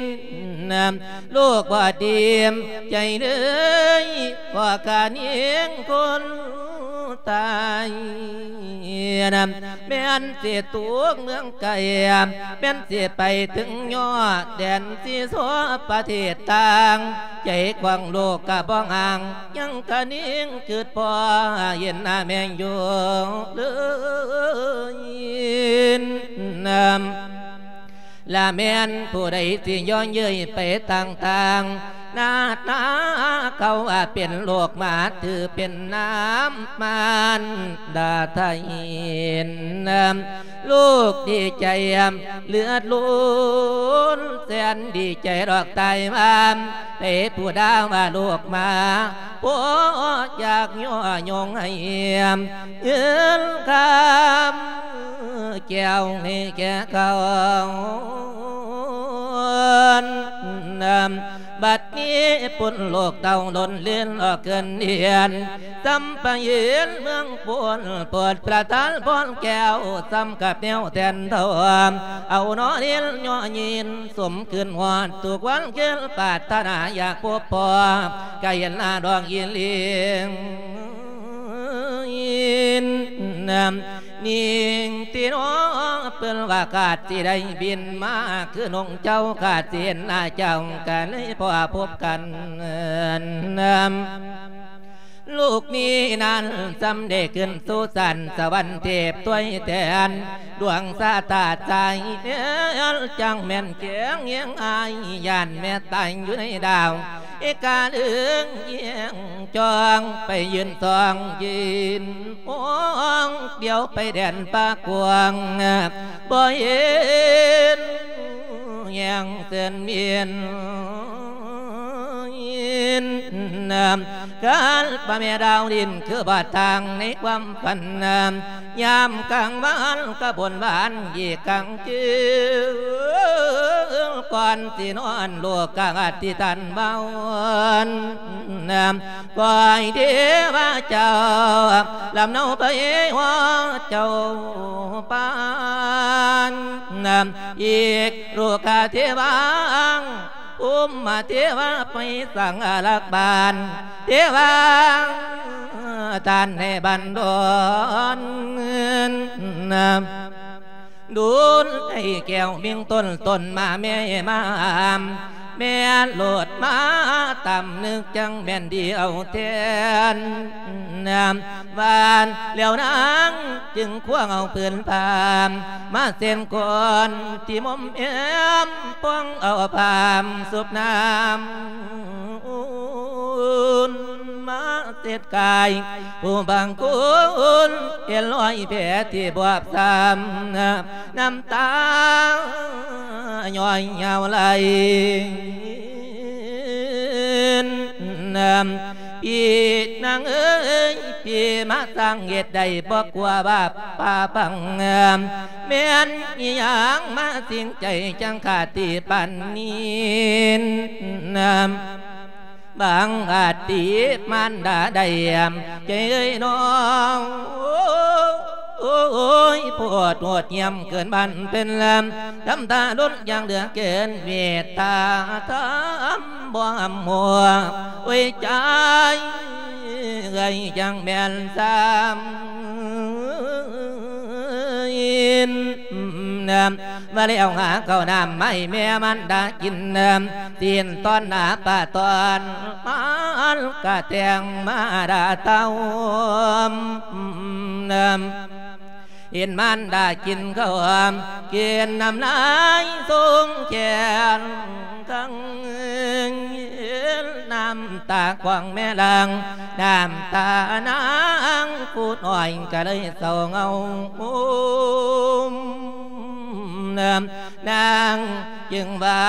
ລູກບໍ່ດີໃຈເລີຍ ວ່າກະຍິງຄົນຕາຍ ແມ່ນຊິຕົກເມືອງໄກ ແມ່ນຊິໄປເຖິງຍອດແດນຊີຊອ ປະເທດຕ່າງ ໃຈຂອງລູກກະບໍ່ຫ່າງ ຍັງກະຍິງຄຶດພໍ ເຫັນໜ້າແມ່ຢູ່ເລີຍ ລະແມ່ນຜູ້ໃດຊິຍ້ອນເຍີ້ຍໄປຕ່າງໆ ໜ້າຕາເຂົາວ່າເປັນໂລກມາ ຖືເປັນນ້ຳມານດາໄທ ລູກດີໃຈເລືອດລົ້ນ ແສນດີໃຈດອກຕາຍວ່າ ໃຜຜູ້ດາວ່າລູກມາ ບໍ່ຢາກຍໍຍົງໃຫ້ເງິນຄຳ ແກ້ວໃຫ້ແກ່ເຂົາ ບັດນີ້ພົ້ນໂລກເຕົາລົ້ນເລນອອກເກີນເດືອນ ສຳປະເຫນເມືອງໂພນ ໂປດປະທານພອນແກ້ວ ສ່ຳກັບແນວແທນທອງ ເອົາໜໍ່ເລນຍໍຍິນ ສົມຂຶ້ນຮອດທຸກວັນຄືນ ປາດຖະໜາຢາກພົບພໍ້ ກະເຫັນໜ້າດອກອີ່ຫຼີ ນາມ ຍິງຕິເນາະ ເພິ່ນວ່າກາດຊິໄດ້ບິນມາ ຄືນົງເຈົ້າກາດຊິເຫັນໜ້າເຈົ້າ ກະເລີຍພໍ້ພົບກັນ ນາມ ລູກນີ້ນັ້ນ ສ່ຳໄດ້ຂຶ້ນສູ່ສັນສະຫວັນເທບ ຖ້ວຍແທນດວງຊາຕາໃຈ ຈັ່ງແມ່ນແຂງຫຽງອາຍ ຢ້ານແມ່ຕາຍຢູ່ໃນດາວ ເອກາເລື່ອງແຍງຈ້ອງ ໄປຢືນສ່ອງຢືນມອງ ດຽວໄປແດນປ່າກວ້າງ ບໍ່ເຫັນແຍງເຊີນເມນ ການປະແມ່ດາວດິນ ຄືບາດທາງໃນຄວາມຝັນ ຍາມກາງວັນກະບົນບານ ອີກກາງຄືນກ່ອນຊິນອນ ລູກກະອະທິຖານວາວນ ຄອຍເທວະເຈົ້າ ລຳເນົາໄປຮອດເຈົ້າປານ ອີກລູກກະເທວະ ອຸມມະເທວະ ໄປສັງອາລັກບານ ເທວະ ທ່ານໃຫ້ບັນດອນ ດູນໃຫ້ແກ້ວມິ່ງຕົ້ນ ຕົ້ນມາແມ່ມາ ແມ່ໂລດມາຕຳນຶກ ຈັ່ງແມ່ນດີເອົາແທນ ວ່າແລ້ວນາງຈຶ່ງຄວ້າເອົາຜືນຜ້າ ມາເຊັ່ນກ່ອນທີ່ໝົມແອ້ມ ປ່ອງເອົາຜ້າຊຸບນ້ຳ ມາເຊັດກາຍ ຜູ້ບາງຄົນເຫັນຮອຍແຜທີ່ບວບຊ້ຳ ນ້ຳຕາຍ້ອຍຍາວໄຫຼ ພີ່ນາງເອີຍ ພີ່ມາສ້າງເຫດໃດ ບໍ່ກົວບາບປາປັງ ແມ່ນອີ່ຫຍັງມາສິງໃຈ ຈັ່ງຂາດທີ່ປານນີ້ ບາງອາດຕິມານດາໄດ້ ເອີຍນ້ອງ ໂອ້ຍ ໂພດໂຫດຫ້ຽມເກີນບ້ານເພິ່ນ ທຳທາດົນຢ່າງເຫຼືອເກີນ ເມດຕາທຳບໍ່ຫຳຫົວ ໂອ້ຍ ໃຈເອີຍ ຈັ່ງແມ່ນຊ້ຳ ວ່າແລ້ວຫາເຂົ້ານ້ຳມາໃຫ້ແມ່ມັນດາກິນ ຊີ້ນຕອນໜາປາຕອນ ມັນກະແຕ່ງມາດາເຕົ້າ ເຫັນມັນດາກິນເຂົ້າ ກິນນ້ຳລາຍຊົງແຂນ ຄັງ ນ້ຳຕາຂອງແມ່ຫຼັ່ງ ນ້ຳຕານາງຜູ້ນ້ອຍກະເລີຍເສົ້າເຫງົາ ນາງຈຶ່ງວ່າ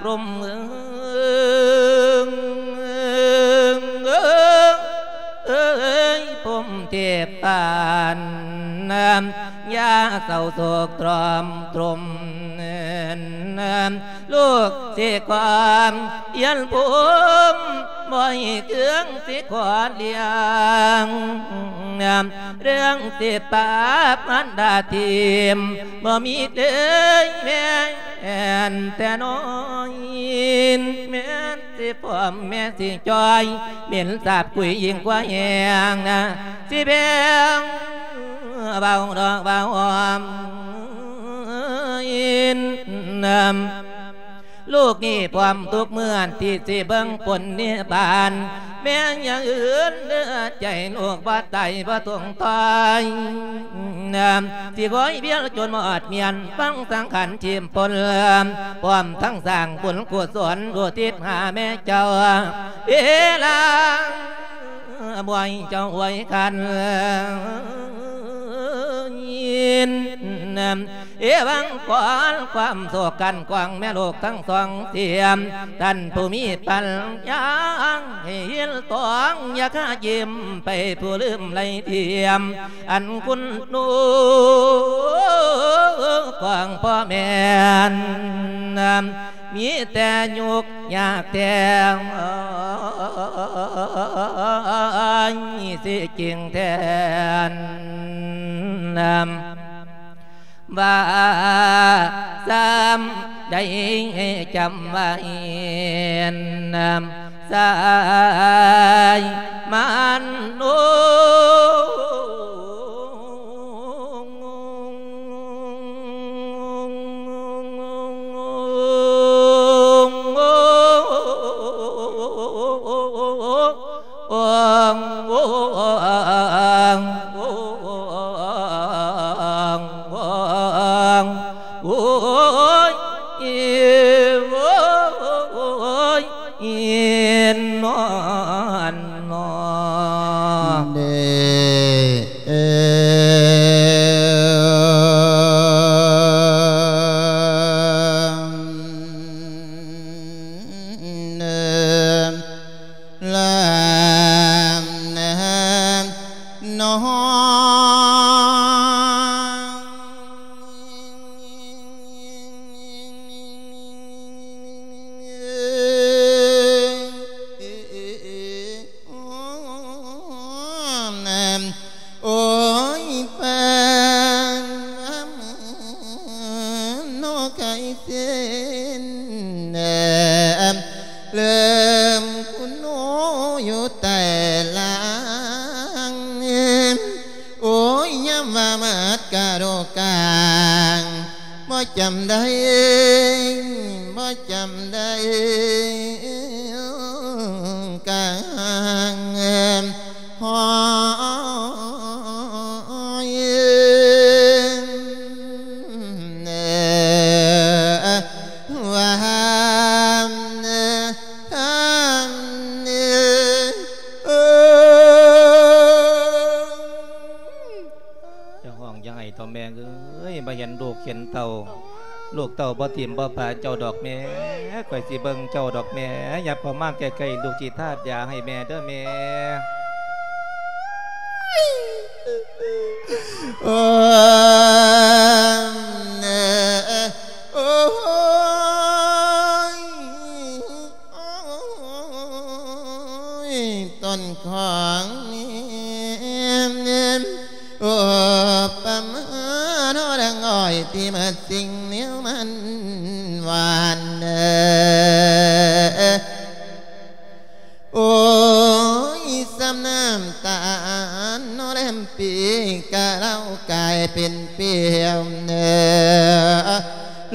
ພົມເອີຍ ພົມເທບປານ ຢ່າເສົ້າໂສກຕຣອມຕຣົມ ກຊິຄວາມຍຽນພູມ ບໍ່ໃຫ້ເຄື່ອງຊິຂໍລ້ຽງ ເລື່ອງຊິປາບມານດາທີມ ບໍ່ມີເລີຍແມ່ນແຕ່ນ້ອຍ ແມ່ນຊິພ້ອມແມ່ນຊິຈ່ອຍ ເປັນສາບກຸຍຍິ່ງກວ່າແຮງນະ ຊິແບ່ງເວົ້າດອກເວົ້າອ້ອມ ລູກນີ້ພ້ອມທຸກເມື່ອທີ່ຊິເບິ່ງຜົນນິບານ ແມ່ນຢ່າງອື່ນເດີໃຈລູກບໍ່ຕາຍບໍ່ຕົງຖອຍ ຊິຄອຍວຽນຈົນໝົດມຽນ ຟັງສັງຂານທີມພົນ ພ້ອມທັງສ້າງບຸນກຸສົນອຸທິດຫາແມ່ເຈົ້າ ເວລາບວຍເຈົ້າອວຍຄັນ ເອວັງກອນຄວາມໂສກກັນກວາງແມ່ລູກທັງສອງເສຍມ ທ່ານຜູ້ມີປັນຍາໃຫ້ເຫັນຕອງ ຢ່າຄາຍິ້ມໄປຜູ້ລືມໄລທຽມ ອັນຄຸນໜູຂອງພໍ່ແມ່ນ ມີແຕ່ຍຸກຍາກແທ້ ຊິຈິງແທນ ວ່າຊ້ຳໃດໃຫ້ຈຳໄວ້ ສາຍມານໂນ ໂອ້ຍ ໂອ້ຍ ອີນນອນນອ ເດ ເອີ ເອີ ລາ ນອ ໂອ້ຍ ປານ ນອກໄກ່ເສັ້ນ ເລີ່ມຄຸນໂນຢູ່ແຕ່ລາງ ໂອ້ຍ ຍາມວ່າມາດກະໂດກາງ ບໍ່ຈຳໄດ້ ບໍ່ຈຳໄດ້ກາງ ຫອຍ ວ່າ ຢ່າຮ້ອງຢ່າໄຫ້ເຖົ້າແມ່ເອີຍ ບໍ່ເຫັນລູກເຫັນເຕົ້າ ລູກເຕົ້າບໍ່ຖິ້ມບໍ່ປະເຈົ້າດອກແມ່ ຂ້ອຍຊິເບິ່ງເຈົ້າດອກແມ່ ຫຍັບເຂົ້າມາໃກ້ໆ ລູກຊິທາດຢາໃຫ້ແມ່ເດີແມ່ ໂອ້ຍ ໂອ້ຍ ຕົ້ນຂອງ ໂອ້ ປະມານ ໂອ້ ດັ່ງອ້ອຍທີ່ໝົດສິ່ງແນວມັນຫວານ ໂອ້ຍ ສ່ຳນ້ຳຕານ ໂອ້ ແລມປີກະເຫຼົ້າກາຍເປັນປ່ຽວ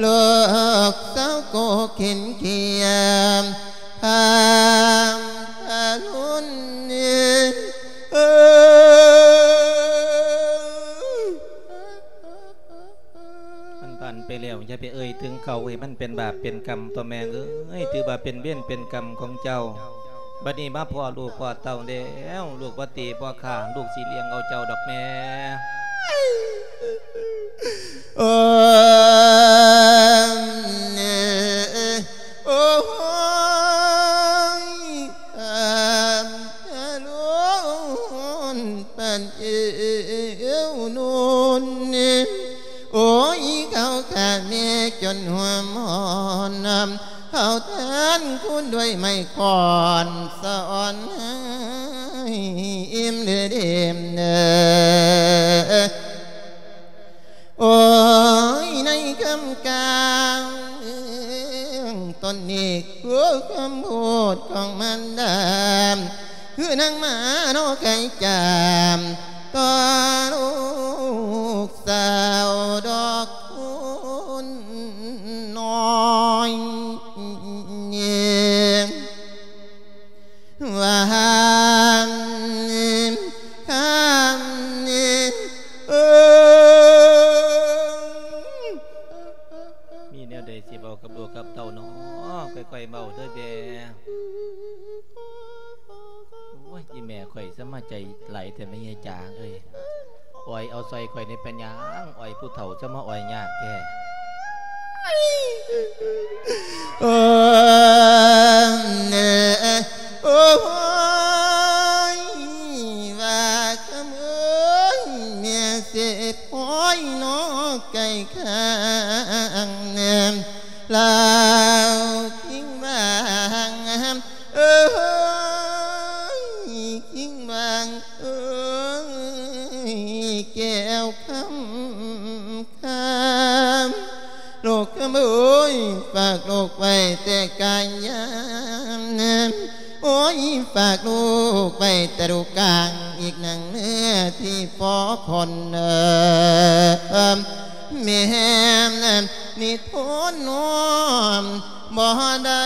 ໂລກເສົ້າໂກເຂັນຂຽມ ພາມທະລຸນ ເອີຍ ມັນຜ່ານໄປແລ້ວ ຢ່າໄປເອີ່ຍເຖິງເຂົາ ໃຫ້ມັນເປັນບາບເປັນກຳຕົວະແມ່ເອີຍ ຖືວ່າເປັນເວນເປັນກຳຂອງເຈົ້າ ບັດນີ້ມາພໍ້ລູກພໍ້ເຕົ້າແລ້ວ ລູກບໍ່ຕີບໍ່ຂ້າ ລູກຊິລ້ຽງເອົາເຈົ້າດອກແມ່ ໂອ້ຍ ໂອ້ຍ ອາມທະລຸນປັນເອວນູນ ໂອ້ຍ ເຂົາຂ້າແມ່ຈົນຫົວໝອນ ໄມ້ຄ້ອນສອນໃຫ້ອີ່ມເດີເດມເດີ. ໂອ້ຍ ໃນຄ່ຳກາງຕົນນີ້ ຄືຄຳພູດຂອງມານດາ ຄືນາງມານອກໄກ່ຈາມ ຕໍ່ລູກສາວດອກຄູນນ້ອຍ ວ່າ ມີແນວໃດຊິເວົ້າກັບລູກກັບເຕົ້ານໍ ຄ່ອຍໆເວົ້າເດີແມ່. ໂອ້ຍ ອີແມ່ຂ້ອຍສະມາໃຈຫຼາຍແທ້ແມ່ຍາຍຈາງເອີຍ. ອອຍເອົາຊ່ອຍຂ້ອຍແດ່ ເປັນຫຍັງອອຍຜູ້ເຖົ້າ ຈະມາອອຍຍາກແທ້. ໂອ້ຍ ໂອ້ຍ ວ່າຄຳເອີຍ ແມ່ເສບ ໂອ້ຍ ນອກໄກ່ຂ້າງແນມ ລາວຄິງບາງ ເອີຍ ຄິງບາງເອີຍ ແກ້ວຄຳ ຄຳ ລູກຄຳເອີຍ ຝາກລູກໄວ້ແຕ່ກາຍານ ໂອ້ຍ ຝາກລູກໄວ້ແຕ່ລູກກາງ ອີກໜັງເນື້ອທີ່ພໍຄົນເອີ ແມ່ນ ນີ້ທົນນອນບໍ່ໄດ້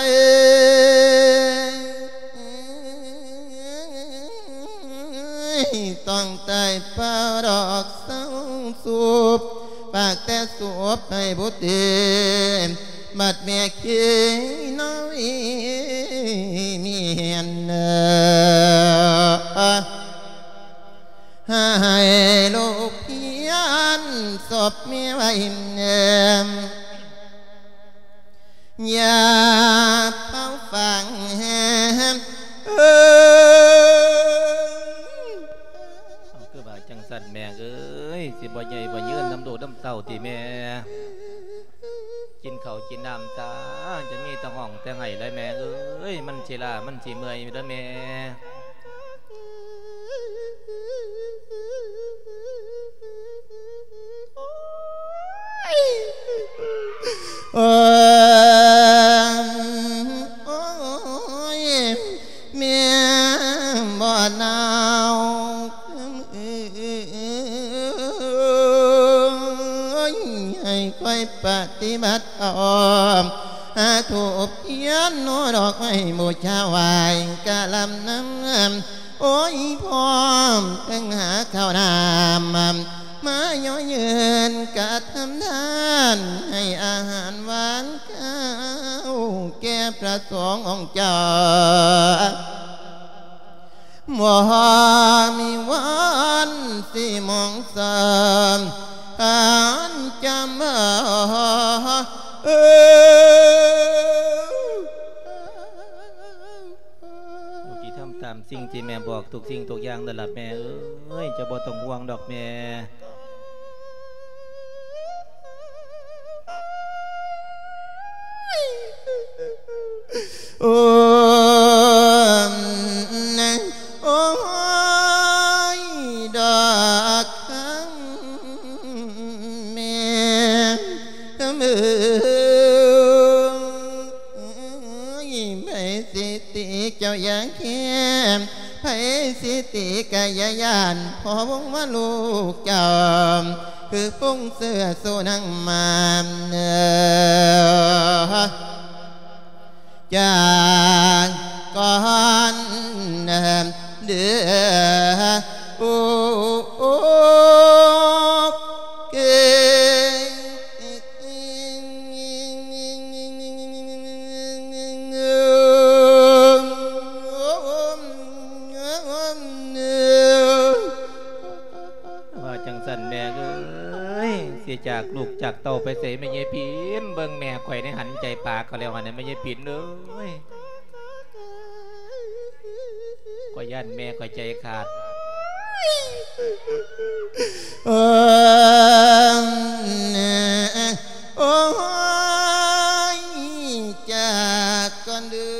ຕ້ອງຕາຍເປົ່າດອກເສົ້າສູບ ຝາກແຕ່ສູບໃຫ້ບຸດດີ ບັດແມ່ເຄຍນ້ອຍມີເຫັນ ໃຫ້ລູກພຽນສົບແມ່ໄວ້ແນມ ຢ່າເຜົາຝັງແຮມ ເອີຍ ເອົາ ຄືວ່າຈັ່ງຊັ້ນແມ່ເອີຍ ຊິບໍ່ໃຫຍ່ບໍ່ຍືນນຳລູກນຳເຕົ້າຕິແມ່? ກິນເຂົ້າກິນນ້ຳຊາ ຈະມີແຕ່ຮ້ອງແຕ່ໄຫ້ແຫຼະແມ່ເອີຍ ມັນຊິລ້າມັນຊິເມື່ອຍແລ້ວແມ່. ໂອ້ຍ ໂອ້ຍ ແມ່ບໍ່ໜາວ ເອີຍ ໃຫ້ຂ້ອຍປະຕິບັດເອົາ ຫາທູບທຽນ ໂນດອກໄມ້ບູຊາໄຫວ້ກະລຳນຳ ໂອ້ຍ ພ້ອມທັງຫາເຂົ້ານ້ຳ ມາຍໍຍືນກະທຳທານ ໃຫ້ອາຫານຫວານຄາວແກ່ພະສົງອົງເຈົ້າ ບໍ່ມີວັນຊິມອງເສີມ ອັນຈຳເອີ ລູກຊິທຳຕາມສິ່ງທີ່ແມ່ບອກທຸກສິ່ງທຸກຢ່າງນັ້ນລະແມ່ເອີຍ ເຈົ້າບໍ່ຕ້ອງຫ່ວງດອກແມ່. ໂອ້ ໂອ້ຍ ດອກຄຳແມ່ ຄຳເອີຍ ໃຜຊິຕີເຈົ້າຢ່າແຄ້ນ ໃຜຊິຕີກະຢ່າຢ້ານ ພໍ່ວົງວ່າລູກເຈົ້າ ຄືພົງເສື້ອສູ່ນາງມານ ຈາກກ່ອນເດີ ໂອເຄ. ວ່າຈັ່ງຊັ້ນແມ່ເອີຍ ຊິຈາກລູກຈາກເຕົ້າໄປໃສແມ່ຍາຍຜິນ ເບິ່ງແມ່ຂ້ອຍໃນຫັນໃຈປາກເຂົາແລ້ວຫັ້ນນະ ແມ່ຍາຍຜິນເອີຍ ຂ້ອຍຢ້ານແມ່ຂ້ອຍໃຈຂາດ. ໂອ້ຍ ຈາກກ່ອນເດີ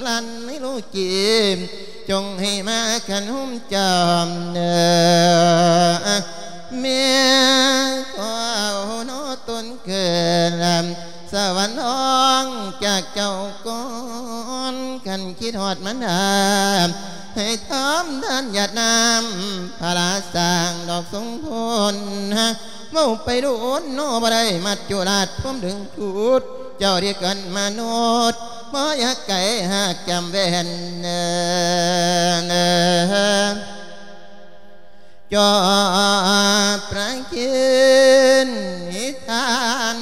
ລັນໃນໂລກີ ຈົ່ງໃຫ້ມາຄັນຫຸ້ມຈອມເດີ ແມ່ຂໍເອົາເນາະຕົນເກີດ ສະຫວັນຮ້ອງຈາກເຈົ້າກ່ອນ ຄັນຄິດຮອດມານດາ ໃຫ້ທຳທານຢາດນ້ຳພະລາສ້າງດອກສົງຜົນ ເວົ້າໄປດົນເນາະບໍ່ໄດ້ ມັດຈຸລາດພວມດຶງດູດ ເຈົ້າທີ່ເກີດມະນຸດ ບໍ່ຢາກໄກຫາກຈຳແວ່ນ ຈອບປະເຄນນິທານ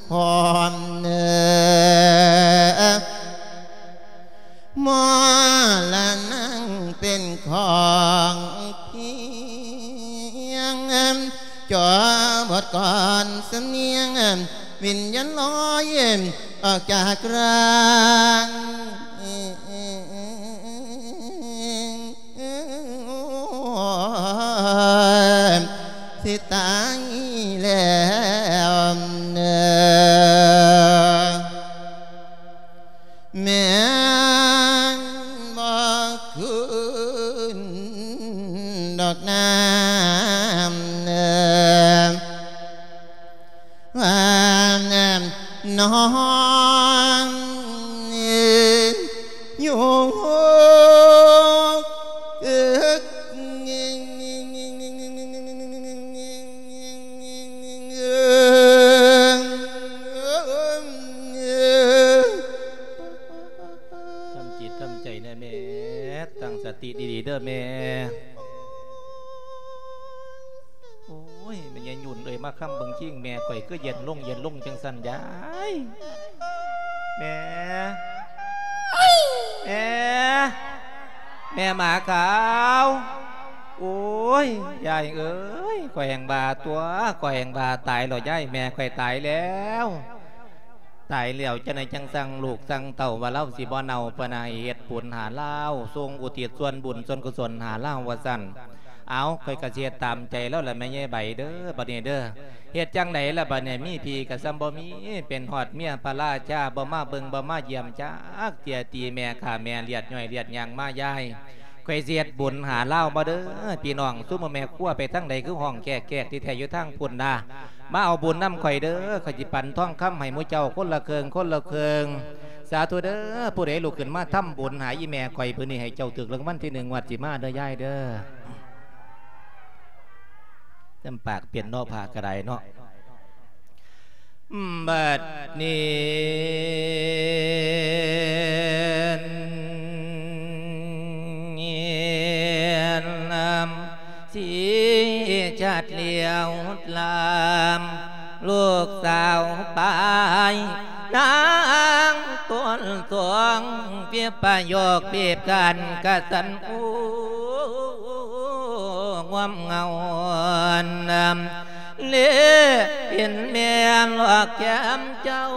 ຄອມ ມໍລະນັງເປັນຂອງພຽງ ຈອບອດກ່ອນສຳນຽງ ວິນຍານລອຍອອກຈາກຮ່າງ ຊິຕາຍແລ້ວເດີ ແມ່ນບໍ່ຄືນດອກນ້ຳເດີ ວ່ານ້ອງຢູ່ ທຳຈິດທຳໃຈແນ່ແມ່ ຕັ້ງສະຕິດີໆເດີແມ່. ໂອ້ຍ ແມ່ຍາຍຫຍຸ່ນເອີຍ ມາຄ້ຳເບິ່ງຄີງແມ່ຂ້ອຍຄືເຢັນລົງ ເຢັນລົງຈັ່ງຊັ້ນຍາຍ. ແມ່ ແມ່ ແມ່ໝາຂາວ. ໂອ້ຍ ຍາຍເອີຍ ຂ້ອຍແຮ່ງວ່າຕົວະ ຂ້ອຍແຮ່ງວ່າຕາຍແລ້ວຍາຍ ແມ່ຂ້ອຍຕາຍແລ້ວ. ຕາຍແລ້ວຈັ່ງໃດຈັ່ງສັ່ງລູກສັ່ງເຕົ້າວ່າລາວຊິບໍ່ເນົ່າ ເພິ່ນໃຫ້ເຮັດບຸນຫາລາວ ສົ່ງອຸທິດສ່ວນບຸນສ່ວນກຸສົນຫາລາວວ່າຊັ້ນ. ເອົາ ຂ້ອຍກະຊິເຮັດຕາມໃຈລາວລະແມ່ຍາຍໃບເດີ ບັດນີ້ເດີ. ເຮັດຈັ່ງໃດລະບັດນີ້ ມີພີ່ກະສ່ຳບໍ່ມີ ເປັນຮອດເມຍພະລາຊາ ບໍ່ມາເບິ່ງບໍ່ມາຢ້ຽມຈັກເທື່ອ ຕີແມ່ຂ້າແມ່ລຽດຍ່ອຍລຽດຍ່າງມາຍາຍ. ຂ້ອຍຊິເຮັດບຸນຫາລາວມາເດີ ພີ່ນ້ອງ ຊຸມແມ່ຄົວໄປທາງໃດຄືຮ້ອງແກກໆ ທີ່ແທ້ຢູ່ທາງພຸ້ນນາ ມາເອົາບຸນນຳຂ້ອຍເດີ ຂ້ອຍຊິປັນທອງຄຳໃຫ້ໝູ່ເຈົ້າຄົນລະເຄິ່ງ ຄົນລະເຄິ່ງ. ສາທຸເດີ ຜູ້ໃດລຸກຂຶ້ນມາທຳບຸນຫາອີ່ແມ່ຂ້ອຍມື້ນີ້ ໃຫ້ເຈົ້າຖືກລາງວັນທີໜຶ່ງງວດຊິມາເດີຍາຍເດີ. ຈຳປາກເປັນເນາະ ພະກະໄດເນາະ. ບັດນີ້ນຳ ສີຈັດຫຼຽວລາມ ລູກສາວປາຍນາງຕົ້ນສວງ ເປັບປະໂຫຍກເປັບກັນກະສັນອູ ງວມເງົານຳ ເລເຫັນແມ່ນອກແກ້ມເຈົ້າ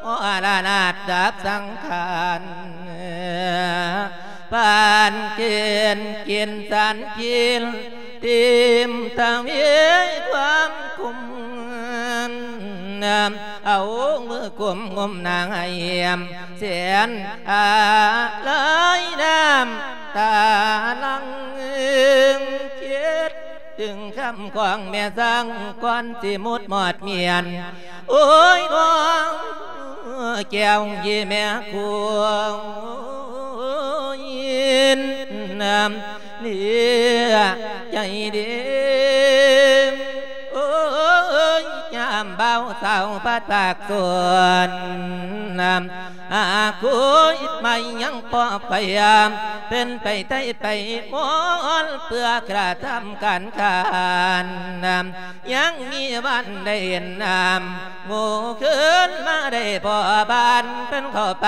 ມໍລະນາດດັບສັງຂານ ປານເກນກິນສານກິນ ຕີມຕະເວຍຄວາມຄຸມ ເອົາມືກຸມງຸມນາງໃຫ້ແຮມ ແສນອາໄລນ້ຳຕາຫຼັ່ງ ຄິດເຖິງຄຳຂອງແມ່ຊ່າງ ກ່ອນຊິໝົດມອດມຽນ ໂອ້ຍ ນ້ອງແກ້ວເຍແມ່ຄູນ ເນຍໃຈເດ ໂອ້ຍ ຍາມບ່າວສາວພັດພາກສົນ ອາ ຄຸຍໄມ້ຍັງປອບໄຟ ເພິ່ນໄປໄຕ່ໄປມອນ ເພື່ອກະທຳການຂານ ຍັງມີວັນໄດ້ເຫັນນ້ຳ ໂງ່ຄືນມາໄດ້ພໍບານ ເພິ່ນເຂົ້າໄປ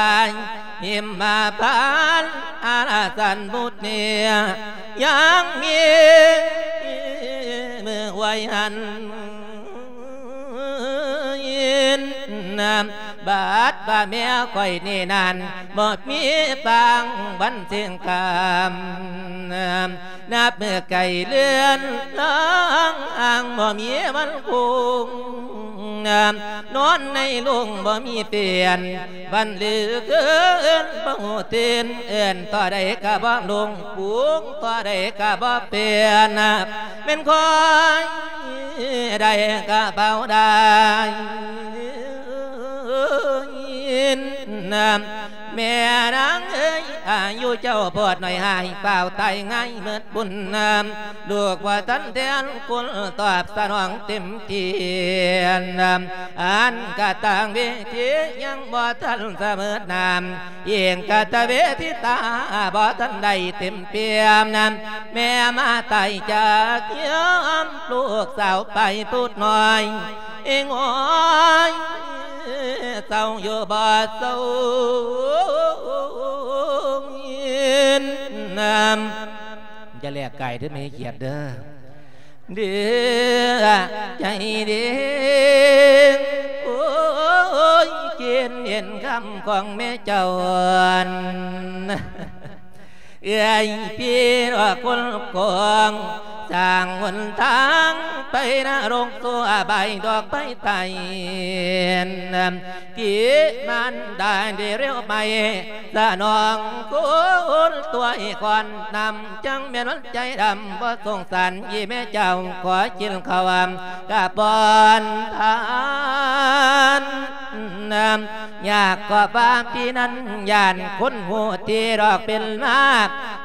ຫິມມະພານ ອາລາສັນບຸດເນຍ ຍັງມີມື້ໄວ້ຫັນ ຍິນ ບາດວ່າແມ່ຂ້ອຍນີ້ນັ້ນ ບໍ່ມີປາງວັນເຊິ່ງກຳ ນັບມື້ໄກເລື່ອນລາງ ບໍ່ມີວັນກຸງ ນອນໃນໂລງບໍ່ມີປ່ຽນ ວັນຫຼືຄືເອີ້ນບໍ່ຮູ້ຕື່ນ ເອີ້ນເທົ່າໃດກະບໍ່ລົງ ປຸງເທົ່າໃດກະບໍ່ປ່ຽນ ແມ່ນຂ້ອຍໄດ້ກະເບົາໄດ້ ແມ່ນາງເອີຍ ອາຍຸເຈົ້າໂພດໜ້ອຍ ຫາຍຟ້າວຕາຍງ່າຍໝົດບຸນນຳ ລູກບໍ່ທັນແທນຄຸນຕອບສະໜອງເຕັມທີ່ນຳ ອັນກະຕາງເວທີຍັງບໍ່ທັນສະເໝີນຳ ອີງກະຕະເວທິຕາບໍ່ທັນໄດ້ເຕັມປ່ຽມນຳ ແມ່ມາຕາຍຈາກຍາມ ລູກສາວໄປພຸດນ້ອຍ ເອງໂອຍ ເສົ້າຢູ່ບໍ່ເສົ້ານຳ ຢ່າແລກກາຍເດີ້ແມ່ຂຽດເດີ້ ເດີ້ໃຈເດີ້ ໂອຍ ເຈັນເຫັນຄຳຂອງແມ່ເຈົ້າ ເອື້ອຍພີ່ດອກຄົນກອງ ສ້າງຫົນທາງໄປນະລົງສູ່ອະບາຍດອກໄປໄຕ ທີ່ມານດາໄດ້ເລວໄໝ ສະໜອງຄຸນຕົວໃຫ້ກ່ອນນຳ ຈັ່ງແມ່ນວັນໃຈດຳບໍ່ສົງສານ ອີແມ່ເຈົ້າຂໍກິນເຂົ້າ ກະປ້ອນທານນຳ ຢາກກໍວ່າພີ່ນັ້ນ ຢ້ານຄົນຮູ້ທີ່ດອກເປັນມາ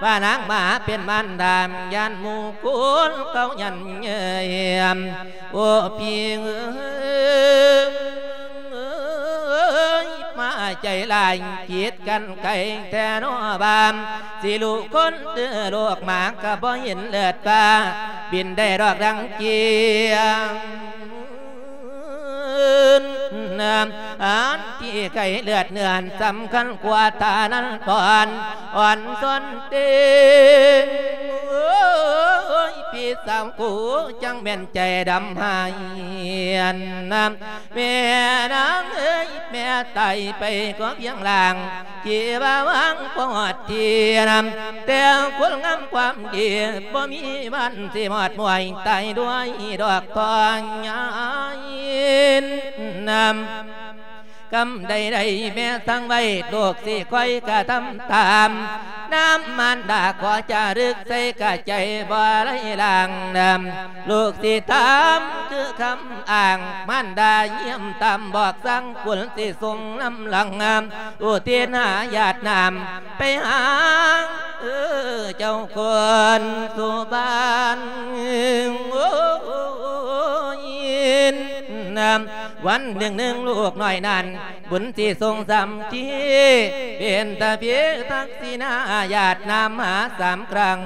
ວ່ານາງມາເປັນມານດາ ຢ້ານໝູ່ຄູນເຂົາຢັນເຍີ້ຍ ໂອ້ ພີ່ເອີຍ ມາໃຈຫຼາຍ ຜິດກັນໄກແທ້ນໍ ວ່າຊິລູກຄົນ ເອີ ລູກໝາກະບໍ່ເຫັນເລີດວ່າ ບິນໄດ້ດອກດັງເກີຍ ອັນທີ່ໄກເລືອດເນື້ອສຳຄັນກວ່າ ທ່ານັ້ນຕອນອ່ອນສ່ວນເຕັງ ໂອ້ຍ ພີ່ສາວກູ ຈັ່ງແມ່ນໃຈດຳຫາຍ ແມ່ນາງເອີຍ ແມ່ຕາຍໄປກໍພຽງລ່າງ ທີ່ວ່າຫວັງບໍ່ຮອດທີ່ນຳ ແຕ່ຄົນງາມຄວາມດີ ບໍ່ມີວັນຊິມອດມວຍ ຕາຍດ້ວຍດອກທອງຍາຍນຳ ກຳໃດໆແມ່ສັ່ງໄວ້ ລູກຊິຄອຍກະທຳຕາມ ນຳມານດາຂໍຈາລຶກໃສ່ກະໃຈບໍ່ໄຫຼລາງນຳ ລູກຊິຖາມຄືຄຳອ້າງ ມານດາຢ້ຽມຕາມບອກສັ່ງ ບຸນຊິສົ່ງນຳຫຼັງ ອຸທິດຫາຢາດນ້ຳ ໄປຫາ ເອີ ເຈົ້າຄົນສູ່ບ້ານ ໂອ້ຍ ນຳ ວັນໜຶ່ງໜຶ່ງລູກນ້ອຍນັ້ນ ບຸນຊິສົ່ງສາມທີ ເປັນຕາພີທັກ ສິນາຢາດນ້ຳມາສາມຄັ້ງ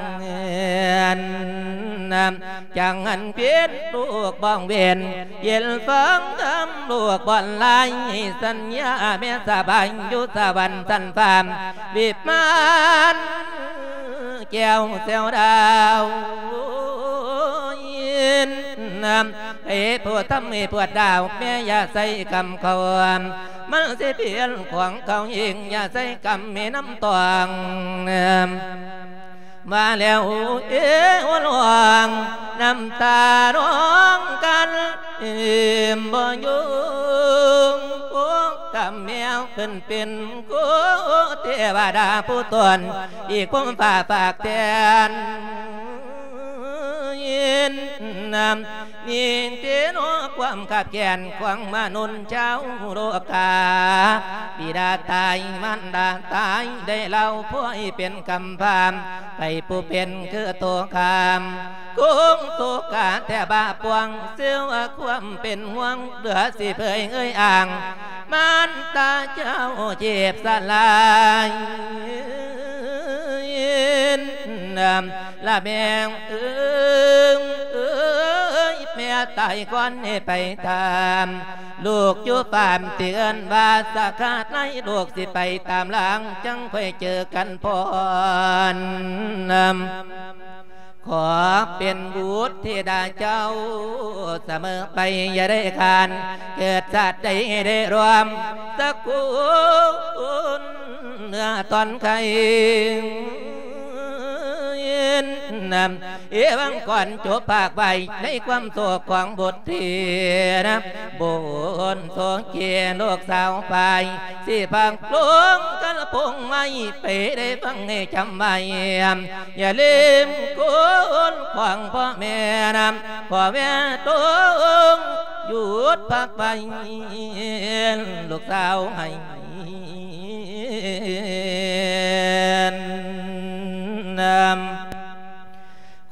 ຈັ່ງຫັນເປັນລູກບ້ອງເວັນ ເຢັນຟັງຄຳລູກບ່ອນລາຍ ສັນຍາແມ່ສະບາຍ ຢູ່ສະຫວັນຊັ້ນຟ້າ ວິມານແກ້ວແຊວດາວ ໃຫ້ຜູ້ທຳໃຫ້ປວດດາວ ແມ່ຢ່າໃສ່ກຳເຂົາ ມັນຊິເປັນຂອງເຂົາເອງ ຢ່າໃສ່ກຳແມ່ນ້ຳຕອງ ມາແລ້ວເອວະລອງ ນ້ຳຕານອງກັນ ເອີມບໍ່ຢູ່ ໂອ້ ກຳແມວເພິ່ນເປັນ ໂອ້ ເທວະດາຜູ້ຕົນ ອີກຄວາມຟ້າຝາກແທນ ນີ້ເດເນາະ ຄວາມຂາດແຄນຂອງມະນຸດຊາວໂລກາ ບິດາຕາຍ ມານດາຕາຍ ໄດ້ເລົ່າພວຍເປັນກຳພ້າ ໃຜຜູ້ເປັນຄືໂຕຄາມ ຄົງໂຕກາແຕ່ບາປວງ ເຊື່ອວ່າຄວາມເປັນຫ່ວງ ເຫຼືອຊິເຜີຍເອີຍອ້າງ ມານຕາເຈົ້າເຈັບສະຫຼາຍ ລະແມ່ເອີຍ ແມ່ຕາຍກ່ອນໃຫ້ໄປຕາມ ລູກຢູ່ຟາມທີ່ເອີ້ນວ່າສາຂາດໃນ ລູກຊິໄປຕາມຫຼັງ ຈັ່ງຄ່ອຍເຈີກັນພ້ອນ ຂໍເປັນບຸດທິດາເຈົ້າສະເໝີໄປ ຢ່າໄດ້ຂານ ເກີດຊາດໃດໄດ້ຮ່ວມສະກຸນເນື້ອຕອນໄຄ. ເອວັງກ່ອນຈົບພາກໄວ້ ໃນຄວາມໂສກຂອງບຸດທີນະ ບຸນໂສເກ ລູກສາວໄປ ຊິພັກລົງກັນພົງໄມ້ ໄປໄດ້ຟັງໃຫ້ຈຳໄວ້ ຢ່າລືມຄຸນຂອງພໍ່ແມ່ນະ ພໍ່ແມ່ຕົງຢຸດພັກໄວ້ ລູກສາວໃຫ້ ນຳ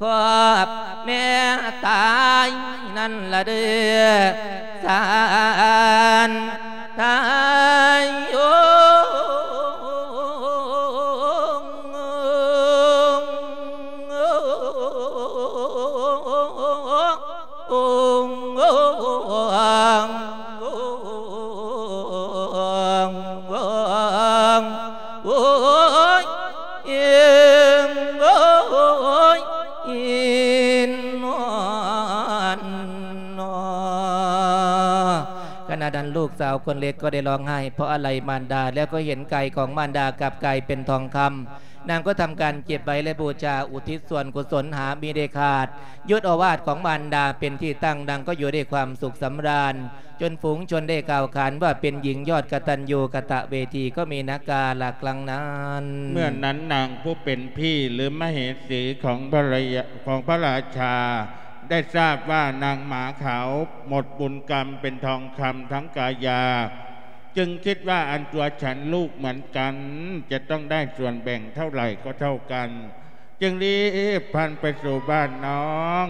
ຂອບແມ່ຕາຍນັ້ນລະເດີ ສານຕາຍໂອ. ໂອ້ຍ ເອີງ ໂອ້ຍ ອີນວນນໍ. ຂະນະນັ້ນ ລູກສາວຄົນເລັກກໍໄດ້ຮ້ອງໄຫ້ ເພາະອາໄລມານດາ ແລ້ວກໍເຫັນກາຍຂອງມານດາກັບກາຍເປັນທອງຄຳ. ນາງກໍທຳການເກັບໄວ້ ແລະ ບູຊາ ອຸທິດສ່ວນກຸສົນຫາມິໄດ້ຂາດ. ຍດໂອວາດຂອງມານດາເປັນທີ່ຕັ້ງ, ນາງກໍຢູ່ດ້ວຍຄວາມສຸກສຳລານ, ຈົນຝູງຊົນໄດ້ກ່າວຂານວ່າເປັນຍິງຍອດກະຕັນຍູກະຕະເວທີ ກໍມີນາກາລັກຫຼັງນັ້ນ. ເມື່ອນັ້ນນາງຜູ້ເປັນພີ່ ຫຼື ມະເຫສີຂອງພະລະຍາ ຂອງພະລາຊາ ໄດ້ຊາບວ່ານາງໝາຂາວໝົດບຸນກຳເປັນທອງຄຳທັງກາຍາ ຈຶ່ງຄິດວ່າອັນຕົວສັນລູກເໝືອນກັນ ຈະຕ້ອງໄດ້ສ່ວນແບ່ງເທົ່າໃດກໍເທົ່າກັນ, ຈຶ່ງລີບຜ່ານໄປສູ່ບ້ານນ້ອງ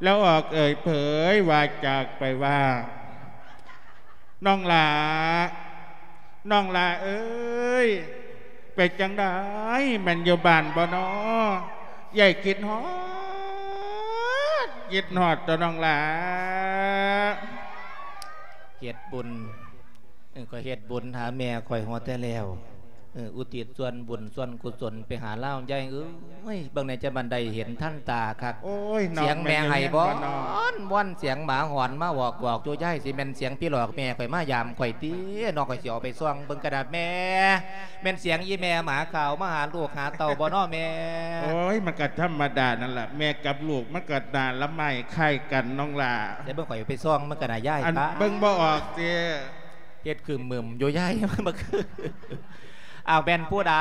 ແລ້ວອອກເອີ່ຍເຜີຍວາຈາໄປວ່າ ນ້ອງຫຼ້າ ນ້ອງຫຼ້າເອີຍ ເປັນຈັ່ງໃດ ແມ່ນຢູ່ບ້ານບໍ່ນໍ? ເອື້ອຍຄິດຮອດ ຄິດຮອດຕົວະນ້ອງຫຼ້າ. ເຮັດບຸນ ເອີ ຂ້ອຍເຮັດບຸນຫາແມ່ຂ້ອຍຮອດແທ້ແລ້ວ ເອີ ອຸທິດສ່ວນບຸນສ່ວນກຸສົນໄປຫາລາວ ຍາຍເອີຍ ເບິ່ງແດ່ຈະມັນໄດ້ເຫັນທັນຕາຄັກ. ໂອ້ຍ ສຽງແມ່ໄຫ້ ນ້ອງແມ່ນ ວອນ ວອນ ສຽງໝາຫອນມາວອກໆຢູ່ ຍາຍ ຊິແມ່ນສຽງຜີຫຼອກແມ່ຂ້ອຍມາຢາມຂ້ອຍຕິ ນ້ອງຂ້ອຍຊິເອົາໄປສ່ອງເບິ່ງກະດາດ ແມ່ ແມ່ນສຽງອີ່ແມ່ໝາຂາວມາຫາລູກຫາເຕົ້າບໍ່ນໍແມ່? ໂອ້ຍ ມັນກະທຳມະດານັ້ນລະ ແມ່ກັບລູກມັນກະໜ້າລະໄມ້ຄ້າຍກັນນ້ອງຫຼ້າ. ແຕ່ເບິ່ງຂ້ອຍໄປສ່ອງມັນກະໜ້າຍ ຍາຍ ເບິ່ງບໍ່ອອກຕິ ເຮັດຄືມມຶມຢູ່ ຍາຍ ມັນຄື ອ້າວ ແມ່ນຜູ້ໃດ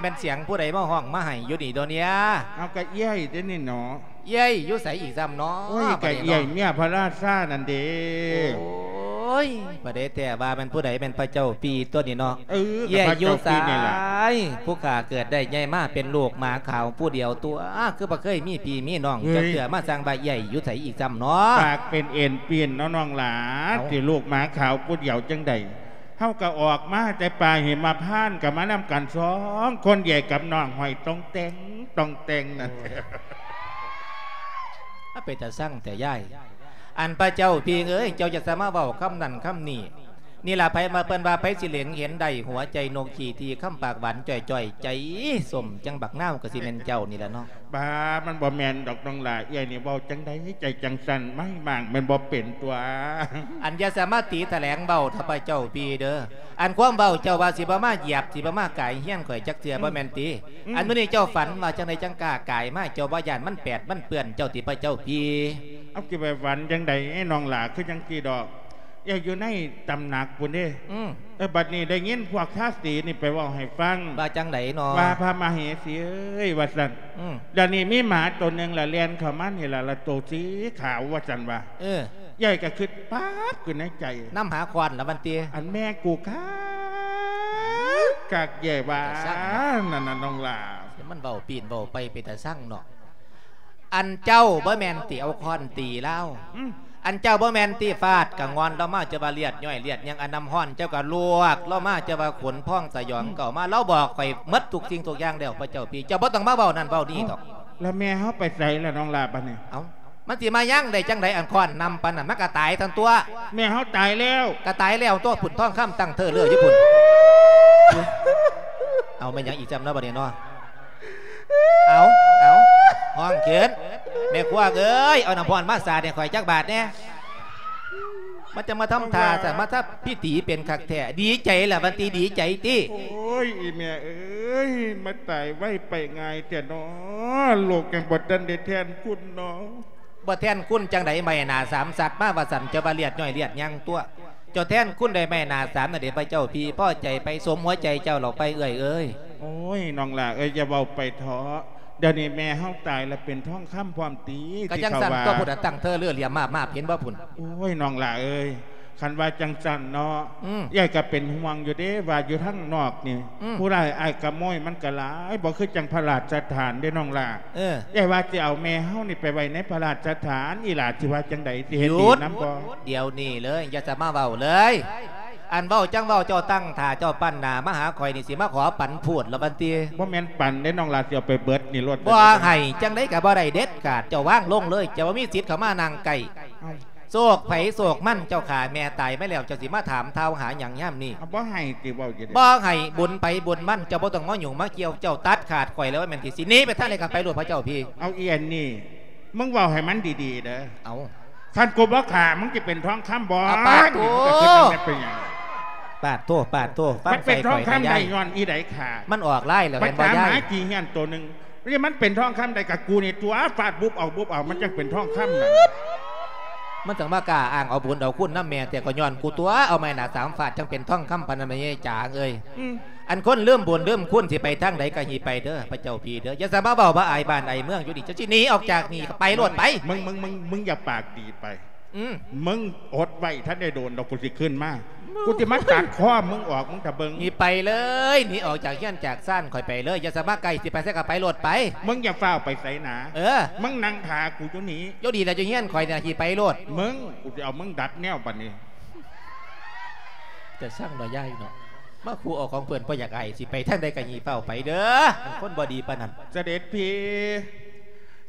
ແມ່ນສຽງຜູ້ໃດມາຮ້ອງມາໄຫ້ຢູ່ນີ້ດອເນຍ? ເອົາ ກະເອື້ອຍເດ້ນີ້ເນາະ. ເອື້ອຍຢູ່ໃສອີກຊ້ຳເນາະ? ໂອ້ຍ ກະເອື້ອຍເມຍພະລາຊານັ້ນເດ້. ໂອ້ຍ ບໍ່ໄດ້ແທ້ວ່າແມ່ນຜູ້ໃດ ແມ່ນພະເຈົ້າປີ້ຕົວະນີ້ເນາະ. ເອີ ເອື້ອຍຢູ່ໃສ? ຜູ້ຂ້າເກີດໄດ້ໃຫຍ່ມາເປັນລູກໝາຂາວຜູ້ດຽວຕົວະ ຄືບໍ່ເຄີຍມີພີ່ມີນ້ອງຈັກເທື່ອ ມາສ້າງວ່າເອື້ອຍຢູ່ໃສອີກຊ້ຳເນາະ? ປາກເປັນເອັນປີ້ນເນາະນ້ອງຫຼ້າ ເອົ້າ ຊິລູກໝາຂາວຜູ້ດຽວຈັ່ງໃດ? ເຮົາກະອອກມາແຕ່ປ່າຫິມະພານ ກະມານຳກັນສອງຄົນ ເອື້ອຍກັບນ້ອງຫ້ອຍຕ່ອງແຕ່ງ ຕ່ອງແຕ່ງນັ້ນ. ໂອ້ຍ ອາ ເປັນຕາຊັງແທ້ຍາຍ. ອັນພະເຈົ້າພີ່ເອີຍ ເຈົ້າຢ່າສາມາເວົ້າຄຳນັ້ນຄຳນີ້ ນີ້ລະ ໃຜມາ ເພິ່ນວ່າໃຜຊິເລັງເຫັນໄດ້ຫົວໃຈນົກຂີ້ທີ່ ຄຳປາກຫວານຈ່ອຍໆ ໃຈສົ້ມຈັ່ງບັກນາວ ກະຊິແມ່ນເຈົ້ານີ້ລະເນາະ. ບາ ມັນບໍ່ແມ່ນດອກນ້ອງຫຼ້າ ເອື້ອຍນີ້ເວົ້າຈັ່ງໃດໃຈຈັ່ງສັ່ນ ໄມ້ມ້າງແມ່ນບໍ່ເປັນຕົວະ. ອັນຢ່າສາມາຕີຖະແຫຼງເວົ້າເຖາະພະເຈົ້າພີ່ເດີ ອັນຄວາມເວົ້າເຈົ້າວ່າຊິບໍ່ມາຢຽບ ຊິບໍ່ມາກາຍເຮືອນຂ້ອຍຈັກເທື່ອ ອືມ ບໍ່ແມ່ນຕິ? ອືມ ອັນມື້ນີ້ເຈົ້າຝັນວ່າຈັ່ງໃດຈັ່ງກ້າກາຍມາ ເຈົ້າບໍ່ຢ້ານມັນແປດມັນເປື້ອນເຈົ້າຕິພະເຈົ້າພີ່? ເອົາ ຊິໄປຝັນຈັ່ງໃດນ້ອງຫຼ້າ ຄືຈັ່ງຊີ້ດອກ ເອື້ອຍຢູ່ໃນຕຳໜັກພຸ້ນເດ້. ອືມ ເອີ ບັດນີ້ໄດ້ຍິນພວກທາສີນີ້ໄປເວົ້າໃຫ້ຟັງ ວ່າຈັ່ງໃດນໍ? ວ່າພະມະເຫສີເອີຍ ວ່າຊັ້ນ ອືມ ດຽວນີ້ມີໝາໂຕໜຶ່ງລະແລ່ນເຂົ້າມານີ້ລະ ລະໂຕສີຂາວ ວ່າຊັ້ນວ່າ. ເອີ ເອື້ອຍກະຄຶດປັບຂຶ້ນໃນໃຈ ນຳຫາຄ້ອນລະມັນຕິ ອັນແມ່ກູຄັກ ຄັກເອື້ອຍວ່າ ຕາຊັງເນາະ ນັ້ນນະນ້ອງຫຼ້າ. ມັນເວົ້າປີ້ນເວົ້າໄປເປັນຕາຊັງເນາະ. ອັນເຈົ້າບໍ່ແມ່ນຕິເອົາຄ້ອນຕີລາວ? ອືມ ອັນເຈົ້າບໍ່ແມ່ນຕິຟາດກະງອນລາວມາ ເຈົ້າວ່າລຽດຍ້ອຍລຽດຫຍັງ ອັນນ້ຳຮ້ອນເຈົ້າກະລວກລາວມາ ເຈົ້າວ່າຂົນພອງສະຫຍອງ ອືມ ເກົ່າມາ ລາວບອກຂ້ອຍໝົດທຸກສິ່ງທຸກຢ່າງແລ້ວພະເຈົ້າພີ່ ເຈົ້າບໍ່ຕ້ອງມາເວົ້ານັ້ນເວົ້ານີ້ດອກ. ເອົ້າ ລະແມ່ເຮົາໄປໃສລະນ້ອງຫຼ້າບັດນີ້? ເອົ້າ ມັນຊິມາຍັງໄດ້ຈັ່ງໃດ ອັນຄ້ອນນຳປານນັ້ນ ມັນກະຕາຍທັນຕົວະ. ແມ່ເຮົາຕາຍແລ້ວ? ກະຕາຍແລ້ວຕົວະ ພຸ້ນທອງຄຳຕັ້ງເທີເຫຼືອຢູ່ພຸ້ນ. ເອົາ ແມ່ນຫຍັງອີກຊ້ຳເນາະບັດນີ້ເນາະ? ເອົາ ເອົາ ຮ້ອງຂຶ້ນ ແມ່ຄົວເອີຍ ເອົານ້ຳຮ້ອນມາສາດໃຫ້ຂ້ອຍຈັກບາດແດ່. ມັນຈະມາທຳທ່າ ສະມາທຳພິທີເປັນຄັກແທ້. ດີໃຈລະ ວັນຕີ ດີໃຈຕິ. ໂອ້ຍ ອີແມ່ເອີຍ ມາຕາຍໄວໄປງ່າຍແທ້ນໍ ລູກຍັງບໍ່ທັນໄດ້ແທນຄຸນນໍ. ບໍ່ແທນຄຸນຈັ່ງໃດ ໄມ້ໜ້າສາມສັດມາວ່າຊັ້ນ ເຈົ້າວ່າລຽດຍ່ອຍລຽດຍັງຕົວະ. ເຈົ້າແທນຄຸນດ້ວຍໄມ້ໜ້າສາມນັ້ນເດ ພະເຈົ້າພີ່ ພໍໃຈໄປ ສົມຫົວໃຈເຈົ້າແລ້ວໄປເອື້ອຍເອີຍ. ໂອ້ຍ ນ້ອງຫຼ້າເອີຍ ຢ່າເວົ້າໄປເທາະ. ດຽວນີ້ແມ່ເຮົາຕາຍແລ້ວເປັນທອງຄຳພ້ອມຕິ ກະຈັ່ງຊັ້ນຕົວະ ຜູ້ໃດຕັ້ງເທີເລືອຫຼຽມມາບໆ ເຫັນບໍ່ພຸ້ນ. ໂອ້ຍ ນ້ອງຫຼ້າເອີຍ ຄັນວ່າຈັ່ງຊັ້ນເນາະ ອືມ ເອື້ອຍກະເປັນຫ່ວງຢູ່ເດ້ ວ່າຢູ່ທາງນອກນີ້ ອືມ ຜູ້ຮ້າຍອ້າຍຂະໂມຍມັນກະຫຼາຍ ບໍ່ຄືຈັ່ງພະລາຊະຖານເດ້ນ້ອງຫຼ້າ. ເອີ ເອື້ອຍວ່າຊິເອົາແມ່ເຮົານີ້ໄປໄວ້ໃນພະລາຊະຖານ ອີຫຼ້າຊິວ່າຈັ່ງໃດ ຊິເຫັນດີນຳບໍ່? ດຽວນີ້ເລີຍ ຢ່າສະມາເວົ້າເລີຍ. ອັນເວົ້າຈັ່ງເວົ້າ ເຈົ້າຕັ້ງທ່າ ເຈົ້າປັ້ນໜ້າມາຫາຂ້ອຍນີ້ ຊິມາຂໍປັນພູດລະບັດນີ້. ບໍ່ແມ່ນປັນເດ້ນ້ອງຫຼ້າ ຊິເອົາໄປເບິດນີ້ໂລດ. ບໍ່ໃຫ້ຈັ່ງໃດກະບໍ່ໄດ້ເດັດຂາດ. ເຈົ້າວາງລົງເລີຍ ເຈົ້າບໍ່ມີສິດເຂົ້າມານັ່ງໃກ້. ເອົ້າ ໂຊກໃຜໂຊກມັນ ເຈົ້າຂ້າແມ່ຕາຍມາແລ້ວ ເຈົ້າຊິມາຖາມທາວຫາຫຍັງຍາມນີ້? ເອົາ ບໍ່ໃຫ້ຕິເວົ້າຢູ່ເດ້. ບໍ່ໃຫ້ ບຸນໃຜບຸນມັນ ເຈົ້າບໍ່ຕ້ອງມາຫຍຸ້ງມາກ່ຽວ. ເຈົ້າຕັດຂາດຂ້ອຍແລ້ວ ວ່າແມ່ນຊິໜີໄປທາງໃດກະໄປໂລດ ພະເຈົ້າພີ່. ເອົາ ອີອັນນີ້ ມຶງເວົ້າໃຫ້ມັນດີໆເດີ. ເອົ້າ ຄັນກູບໍ່ຂ້າ ມຶງຊິເປັນທອງຄຳບໍ່? ອາ ປາດໂທ ນີ້ ມຶງກະຄິດວ່າແມ່ນເປັນຫຍັງ? ປາດໂທ ປາດໂທ ຟັງໃສ່ຂ້ອຍກະຢ້ານ. ມັນເປັນທອງຄຳໄດ້ຍ້ອນອີໃດຂ້າ? ມັນອອກລາຍແລ້ວ ແມ່ນບໍ່ຍາຍ? ມາຈີ່ເຮຍໂຕໜຶ່ງ ນີ້ມັນເປັນທອງຄຳໄດ້ກະກູນີ້ຕົວະ ຟາດບຸບເອົາບຸບເອົາ ມັນຈັ່ງເປັນທອງຄຳນັ້ນ. ມັນຈັ່ງມາກ້າອ້າງເອົາບຸນເອົາຄຸນນຳແມ່ແທ້ ກະຍ້ອນກູຕົວະ ເອົາໄມ້ໜ້າສາມຟາດ ຈັ່ງເປັນທອງຄຳປານນັ້ນ ແມ່ໃຫຍ່ຈາງເອີຍ. ອືມ ອັນຄົນລືມບຸນລືມຄຸນ ຊິໄປທາງໃດກະຮີໄປເດີ ພະເຈົ້າພີ່ເດີ. ຢ່າສະມາເວົ້າມາອາຍບ້ານອາຍເມືອງຢູ່ນີ້. ເຈົ້າຊິໜີອອກຈາກນີ້ກະໄປໂລດໄປ. ມຶງ ມຶງ ມຶງ ມຶງຢ່າປາກດີໄປ. ອືມ ມຶງອົດໄວ້ ທັນໄດ້ໂດນດອກ ກູຊິຂຶ້ນມາ. ກູຊິມາຕັດຄໍມຶງອອກ ມຶງຖ້າເບິ່ງ. ໜີໄປເລີຍ ໜີອອກຈາກເຮືອນຈາກຊານຂ້ອຍໄປເລີຍ. ຢ່າສະມາໃກ້ ຊິໄປໃສກະໄປໂລດໄປ. ມຶງຢ່າຟ້າວໄປໃສນາ. ເອີ ມຶງນັ່ງຖ້າກູຢູ່ນີ້. ໂຍ ດີແລ້ວ ຢູ່ເຮືອນຂ້ອຍນີ້ ຂີ້ໄປໂລດ. ມຶງ ກູຊິເອົາມຶງດັດແນວບັດນີ້. ແຕ່ຊ່າງດອກຍາຍເນາະ ມາຂູ່ເອົາຂອງເພິ່ນບໍ່ຢາກອາຍ. ຊິໄປທາງໃດກະຮີຟ້າວໄປເດີ ອັນຄົນບໍ່ດີປານນັ້ນ. ສະເດັດພີ່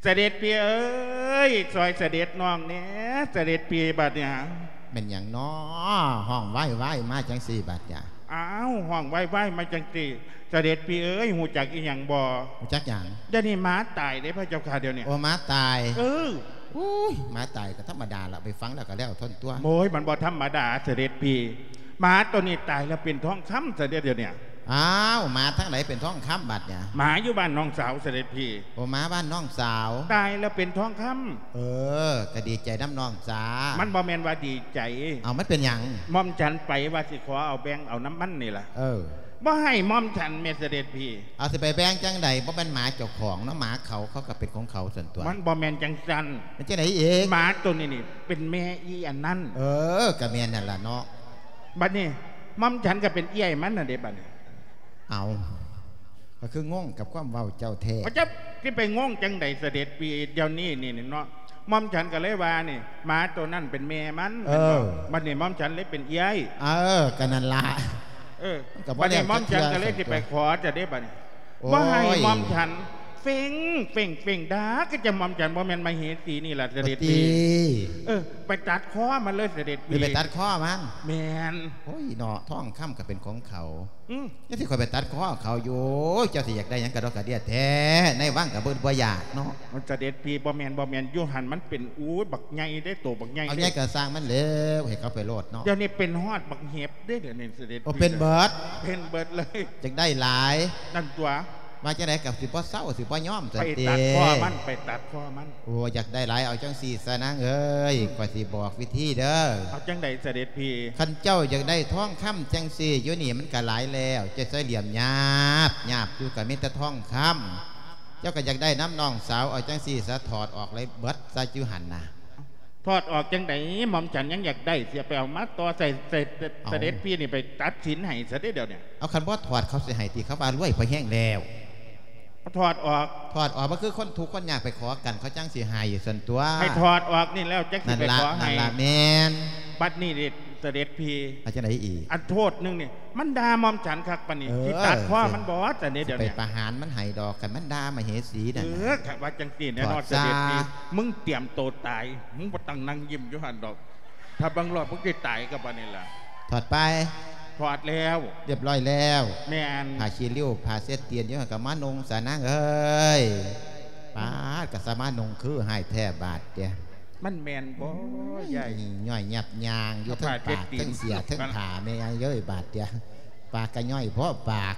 ສະເດັດພີ່ເອີຍ ຊ່ອຍສະເດັດນ້ອງແດ່ ສະເດັດພີ່. ບາດນີ້ ແມ່ນຫຍັງນໍ ຮ້ອງວາຍໆມາຈັ່ງຊີ້ບາດນີ້? ອ້າວ ຮ້ອງວາຍໆມາຈັ່ງຊີ້ ສະເດັດພີ່ເອີຍ ຮູ້ຈັກອີ່ຫຍັງບໍ່? ຮູ້ຈັກຫຍັງ? ດຽວນີ້ໝາຕາຍເດ້ພະເຈົ້າຂ້າ ດຽວນີ້. ໂອ້ ໝາຕາຍ. ເອີ ໂອ້ຍ ໝາຕາຍກະທຳມະດາລະ ໄປຝັງແລ້ວກະແລ້ວທົນຕົວະ. ໂອ້ຍ ມັນບໍ່ທຳມະດາ ສະເດັດພີ່. ໝາໂຕນີ້ຕາຍແລ້ວເປັນທອງຄຳຊະເດ ດຽວນີ້. ອ້າວ ໝາທາງໃດເປັນທອງຄຳບາດນີ້? ໝາຢູ່ບ້ານນ້ອງສາວ ສະເດັດພີ່. ໂອ້ ໝາບ້ານນ້ອງສາວ ຕາຍແລ້ວເປັນທອງຄຳ. ເອີ ກະດີໃຈນຳນ້ອງສາ. ມັນບໍ່ແມ່ນວ່າດີໃຈ. ເອົ້າ ມັນເປັນຫຍັງ? ໝ່ອມສັນໄປວ່າຊິຂໍເອົາແບ່ງເອົານຳມັນນີ້ລະ. ເອີ ບໍ່ໃຫ້ໝ່ອມສັນແມ່ ສະເດັດພີ່. ເອົາ ຊິໄປແບ່ງຈັ່ງໃດ? ບໍ່ແມ່ນໝາເຈົ້າຂອງເນາະ ໝາເຂົາ ເຂົາກະເປັນຂອງເຂົາຊັ້ນຕົວະ. ມັນບໍ່ແມ່ນຈັ່ງຊັ້ນ. ແມ່ນຈັ່ງໃດອີກ? ໝາໂຕນີ້ນີ້ເປັນແມ່ອີ່ອັນນັ້ນ. ເອີ ກະແມ່ນຫັ້ນລະເນາະ. ບັດນີ້ໝ່ອມສັນກະເປັນເອື້ອຍມັນຫັ້ນເດ ບັດນີ້. ເອົ້າ ຂ້ອຍຄືງົງກັບຄວາມເວົ້າເຈົ້າແທ້. ເຈົ້າຊິໄປງົງຈັ່ງໃດ ສະເດັດພີ່? ດຽວນີ້ນີ້ເນາະ ໝ່ອມສັນກະເລີຍວ່ານີ້ ໝາໂຕນັ້ນເປັນແມ່ມັນ. ເອີ ແມ່ນບໍ່? ບັດນີ້ໝ່ອມສັນເລີຍເປັນເອື້ອຍ. ເອີ ກະນັ້ນລະ. ເອີ ບັດນີ້ໝ່ອມສັນກະເລີຍຊິໄປຂໍຈະເດ ບັດນີ້. ໂອ້ຍ ບໍ່ໃຫ້ໝ່ອມສັນ. ເຟັງ ເຟັງ ເຟັງດາກ ກະຈະໝ່ອມສັນ ບໍ່ແມ່ນມະເຫສີນີ້ລະ ສະເດັດພີ່. ເອີ ໄປຕັດຄໍມັນເລີຍ ສະເດັດພີ່. ໄປຕັດຄໍມັນ? ແມ່ນ. ໂອ້ຍເນາະ ທອງຄຳກະເປັນຂອງເຂົາ. ອືມ ຈັ່ງຊີ້ຂ້ອຍໄປຕັດຄໍເຂົາຢູ່. ເຈົ້າຊິຢາກໄດ້ຫຍັງກະດອກກະເດຍແທ້ ໃນວັງກະບໍ່ ບໍ່ຢາກເນາະ. ສະເດັດພີ່ ບໍ່ແມ່ນ ບໍ່ແມ່ນ ຢູ່ຫັ້ນມັນເປັນ ໂອ້ຍ ບັກໃຫຍ່ເດ້ ໂຕບັກໃຫຍ່ເດ້. ເອົາໃຫຍ່ກະຊ່າງມັນແລ້ວ ໃຫ້ເຂົາໄປໂລດເນາະ. ດຽວນີ້ເປັນຮອດບັກເຫັບເດ້ ດຽວນີ້ ສະເດັດ. ໂອ້ ເປັນເບິດ. ເປັນເບິດເລີຍ. ຢາກໄດ້ຫຼາຍ. ນັ້ນຕົວະ. ວ່າຈັ່ງໃດກະຊິບໍ່ເຊົາ ຊິບໍ່ຍອມຊັ້ນຕິ. ໄປຕັດຄໍມັນ ໄປຕັດຄໍມັນ. ໂອ້ ຢາກໄດ້ຫຼາຍ ເອົາຈັ່ງຊີ້ສະນາງເອີຍ ຂ້ອຍຊິບອກວິທີເດີ. ເອົາຈັ່ງໃດ ສະເດັດພີ່? ຄັນເຈົ້າຢາກໄດ້ທອງຄຳຈັ່ງຊີ້ ຢູ່ນີ້ມັນກະຫຼາຍແລ້ວ ເຈົ້າໃຊ້ຫຼຽມຫຍາບ ຫຍາບຢູ່ກະມີແຕ່ທອງຄຳ. ເຈົ້າກະຢາກໄດ້ນຳນ້ອງສາວ ເອົາຈັ່ງຊີ້ສະ ຖອດອອກເລີຍເບິດຊະ ຢູ່ຫັ້ນນະ. ຖອດອອກຈັ່ງໃດ? ໝ່ອມສັນຍັງຢາກໄດ້ ຊິໄປເອົາມາຕໍ່ໃສ່ ໃສ່ ເອົ້າ ສະເດັດພີ່ນີ້ໄປຕັດສິນໃຫ້ຊະເດ ດຽວນີ້. ເອົາ ຄັນບໍ່ຖອດເຂົາຊິໃຫ້ຕິ? ເຂົາວ່າລວຍພໍແຮງແລ້ວ. ຖອດອອກ. ຖອດອອກ ມັນຄືຄົນທຸກຄົນຍາກໄປຂໍກັນ ເຂົາຈັ່ງຊິໃຫ້ຊັ້ນຕົວະ. ໃຫ້ຖອດອອກນີ້ແລ້ວ ຈັ່ງຊິໄປຂໍໃຫ້. ນັ້ນລະ ນັ້ນລະ ແມ່ນ. ບັດນີ້ເດ ສະເດັດພີ່. ວ່າຈັ່ງໃດອີກ? ອັນໂທດໜຶ່ງນີ້ ມັນດ່າໝ່ອມສັນຄັກປານນີ້. ເອີ ຊິຕັດຄໍມັນບໍ່ ຊະເດ ດຽວນີ້. ຊິໄປປະຫານມັນໃຫ້ດອກ ຄັນມັນດ່າມະເຫສີນັ້ນນະ. ເອີ ຄັນວ່າຈັ່ງຊີ້ແນ່ນອນ ຖອດຊະ ສະເດັດພີ່. ມຶງຕຽມໂຕຕາຍ ມຶງບໍ່ຕ້ອງນັ່ງຍິ້ມຢູ່ຫັ້ນດອກ. ຖ້າເບິ່ງລອດ ມຶງຊິຕາຍກັບອັນນີ້ລະ. ຖອດໄປ? ຖອດແລ້ວ. ຮຽບຮ້ອຍແລ້ວ. ແມ່ນ. ຜ້າຂີ້ລິ້ວ ຜ້າເຊັດຕີນຢູ່ຫັ້ນກະມານຸ່ງຊະນາງເອີຍ. ປາດ ກະສາມາດນຸ່ງຄືໃຫ້ແທ້ບາດເດ. ມັນແມ່ນບໍ່ຍາຍ? ຍ່ອຍຍັບຍາງຢູ່ ເອົາ ເທິງປາກ ເທິງເສຍ ເທິງຜ້າ ແມ່ຍາຍເອີຍ ບາດເດ. ປາກກະຍ່ອຍພໍປາກ.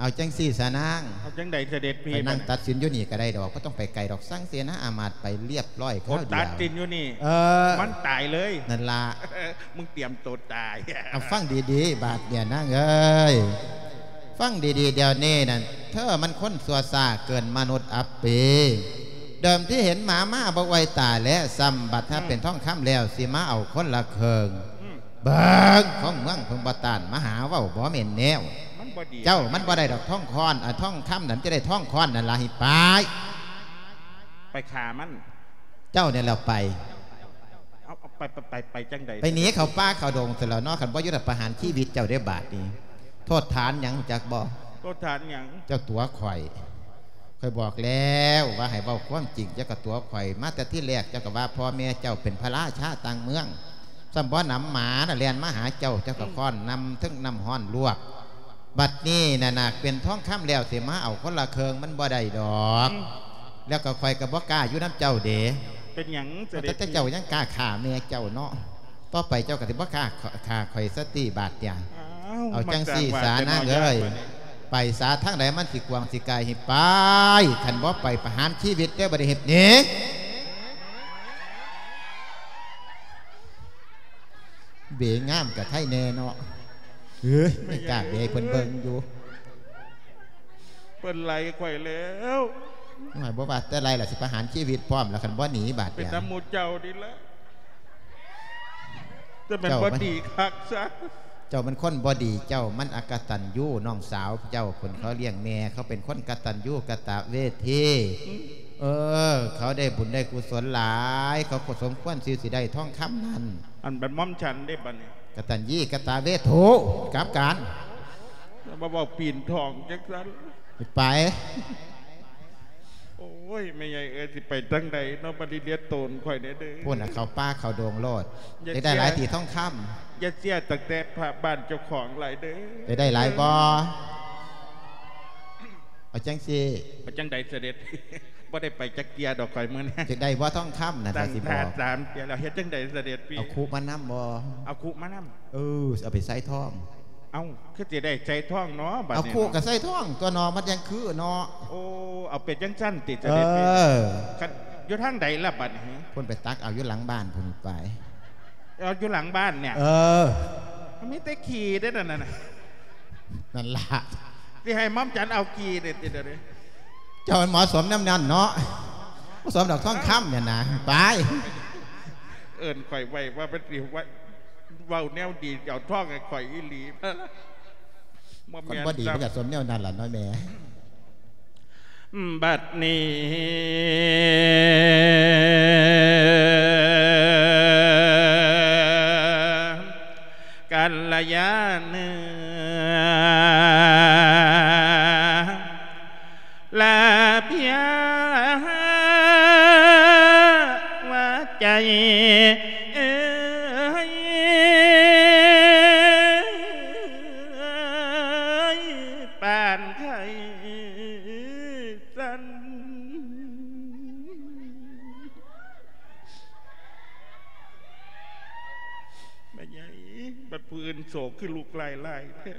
ເອົາຈັ່ງຊີ້ສານາງ ເອົາຈັ່ງໃດສະເດັດພີ່? ໄປນັ່ງຕັດສິນຢູ່ນີ້ກະໄດ້ດອກ ບໍ່ຕ້ອງໄປໄກດອກ ສັ່ງເສນາອາມາດໄປລຽບຮ້ອຍຄາວດຽວ. ຕັດສິນຢູ່ນີ້? ເອີ ມັນຕາຍເລີຍ ນັ້ນລະ ມຶງຕຽມໂຕຕາຍ. ເອົາ ຟັງດີໆ ບາດເດຍນາງເອີຍ ຟັງດີໆ ດຽວນີ້ນັ້ນ ເທີມັນຄົນຊົ່ວຊ້າເກີນມະນຸດອັບປີ ເດີມທີ່ເຫັນໝາມາບໍ່ໄຫວຕາແລະ ຊ້ຳບັດຖ້າເປັນທອງຄຳແລ້ວ ຊິມາເອົາຄົນລະເຄິ່ງ. ເບິ່ງ ຂອງເມືອງເພິ່ນບໍ່ຕ້ານ ມາຫາເວົ້າບໍ່ແມ່ນແນວ. ມັນບໍ່ດີ ເຈົ້າ ມັນບໍ່ໄດ້ດອກທອງຄອນ ເອົາທອງຄຳນັ້ນ ຈະໄດ້ທອງຄອນນັ້ນລະ ໃຫ້ໄປ ໄປຂ້າມັນ. ເຈົ້ານີ້ແຫຼະໄປ ເອົາ ໄປ ໄປ ໄປ ໄປຈັ່ງໃດ? ໄປໜີເຂົ້າປ່າເຂົ້າດົງຊັ້ນແຫຼ້ວເນາະ ຄັນບໍ່ຢູ່ລະປະຫານຊີວິດເຈົ້າເດ້ບາດນີ້. ໂທດຖານຫຍັງຮູ້ຈັກບໍ່? ໂທດຖານຫຍັງ? ເຈົ້າຕົວະຂ້ອຍ ຂ້ອຍບອກແລ້ວວ່າໃຫ້ເວົ້າຄວາມຈິງ ເຈົ້າກະຕົວະຂ້ອຍ ມາແຕ່ທີແລກເຈົ້າກະວ່າພໍ່ແມ່ເຈົ້າເປັນພະລາຊາຕ່າງເມືອງ ຊ້ຳບໍ່ໜຳໝານະແລ່ນມາຫາເຈົ້າ ເຈົ້າກະ ອືມ ຄ້ອນນ້ຳ ເທິງນ້ຳຮ້ອນລວກ. ບັດນີ້ນະນະ ເປັນທອງຄຳແລ້ວ ຊິມາເອົາຄົນລະເຄິ່ງ ມັນບໍ່ໄດ້ດອກ. ອືມ ແລ້ວກະຂ້ອຍກະບໍ່ກ້າຢູ່ນຳເຈົ້າເດ. ເປັນຫຍັງສະເດັດພີ່? ແຕ່ເຈົ້າຍັງກ້າຂ້າແມ່ເຈົ້າເນາະ ຕໍ່ໄປເຈົ້າກະຊິບໍ່ກ້າຂ້າຂ້ອຍສະຕິບາດເດ. ເອົາ ເອົາຈັ່ງຊີ້ສານາງເອີຍ ໄປສາທາງໃດມັນຊິກວ້າງຊິກາຍ ໃຫ້ໄປ ຄັນບໍ່ໄປປະຫານຊີວິດເດີ ບໍ່ໄດ້ເຮັດໜີ. ເບງາມກະໄຄແນ່ເນາະ. ເອີຍ ໄມ່ກ້າເບໃຫ້ເພິ່ນເບິ່ງຢູ່. ເພິ່ນໄລ່ຂ້ອຍແລ້ວ. ໂອ້ຍ ບໍ່ວ່າແຕ່ໄລ່ລະ ຊິປະຫານຊີວິດພ້ອມລະ ຄັນບໍ່ໜີບາດ ເປັນນຳໝູ່ເຈົ້ານີ້ລະ. ແຕ່ແມ່ນບໍ່ດີຄັກຊະ. ເຈົ້າມັນຄົນບໍ່ດີ ເຈົ້າມັນອະກະຕັນຍູ ນ້ອງສາວເຈົ້າພຸ້ນ ເຂົາລ້ຽງແມ່ ເຂົາເປັນຄົນກະຕັນຍູກະຕະເວທີ. ອືມ ເອີ ເຂົາໄດ້ບຸນໄດ້ກຸສົນຫຼາຍ ເຂົາກໍສົມຄວນທີ່ຊິໄດ້ທອງຄຳນັ້ນ. ອັນບັດໝ່ອມສັນເດ້ບັດນີ້ ກະຕັນຍູກະຕະເວທູ ກັບການ ຢ່າມາເວົ້າປີນທອງຈັ່ງຊັ້ນ ໄປ. ໂອ້ຍ ແມ່ໃຫຍ່ເອີຍ ຊິໄປທາງໃດເນາະ ບັດນີ້ເລຍໂຕນຂ້ອຍແດ່ເດີ. ພຸ້ນນະ ເຂົ້າປ່າເຂົ້າດົງໂລດ. ຢາກໄດ້ຫຼາຍຕີທອງຄຳ. ຢ່າເຊື່ອຕັ້ງແຕ່ພະບ້ານເຈົ້າຂອງຫຼາຍເດີ. ຢາກໄດ້ຫຼາຍບໍ່? ເອີ ເອົາຈັ່ງຊີ້ ເອົາຈັ່ງໃດສະເດັດ? ບໍ່ໄດ້ໄປຈັກເທື່ອດອກຂ້ອຍມື້ນີ້. ຢາກໄດ້ບໍ່ທອງຄຳນະ ຖ້າຊິບອກ ສາມເທື່ອແລ້ວ. ເຮັດຈັ່ງໃດສະເດັດພີ່? ເອົາຄຸມານຳບໍ່? ເອົາຄຸມານຳ. ເອີ ເອົາໄປໃສ່ທອງ. ເອົ້າ ຄືຊິໄດ້ໃສ່ທອງເນາະບັດນີ້? ເອົາຄຸກະໃສ່ທອງຕົວເນາະ ມັນຈັ່ງຄືເນາະ. ໂອ້ ເອົາເປັນຈັ່ງຊັ້ນຕິສະເດັດ? ເອີ ຄັນຢູ່ທາງໃດລະບັດນີ້? ພຸ້ນໄປຕັກເອົາຢູ່ຫຼັງບ້ານພຸ້ນໄປ. ເອົາຢູ່ຫຼັງບ້ານນີ້? ເອີ ມັນມີແຕ່ຂີ້ເດ້ນັ້ນນະ. ນັ້ນລະ ຊິໃຫ້ໝ່ອມສັນເອົາຂີ້ເດ້ຕິດຽວນີ້? ເຈົ້າມັນເໝາະສົມນຳນັ້ນເນາະ ບໍ່ສົມດອກທອງຄຳນີ້ນະ. ໄປ ເອີ້ນຂ້ອຍໄວ້ວ່າມັນຊິໄວ້ ເວົ້າແນວດີ ເອົາທອງໃຫ້ຂ້ອຍອີ່ຫຼີ. ບໍ່ແມ່ນ ຄັນບໍ່ດີມັນກະສົມແນວນັ້ນລະເນາະແມ່. ບັດນີ້ ກັນລະຍາເນື້ອ ລາພຽວ່າໃຈເອີຍ ປານໄຂ້ສັ່ນ. ແມ່ໃຫຍ່ ບັດຜູ້ອື່ນໂສກຄືລຸກຫຼາຍໆແທ້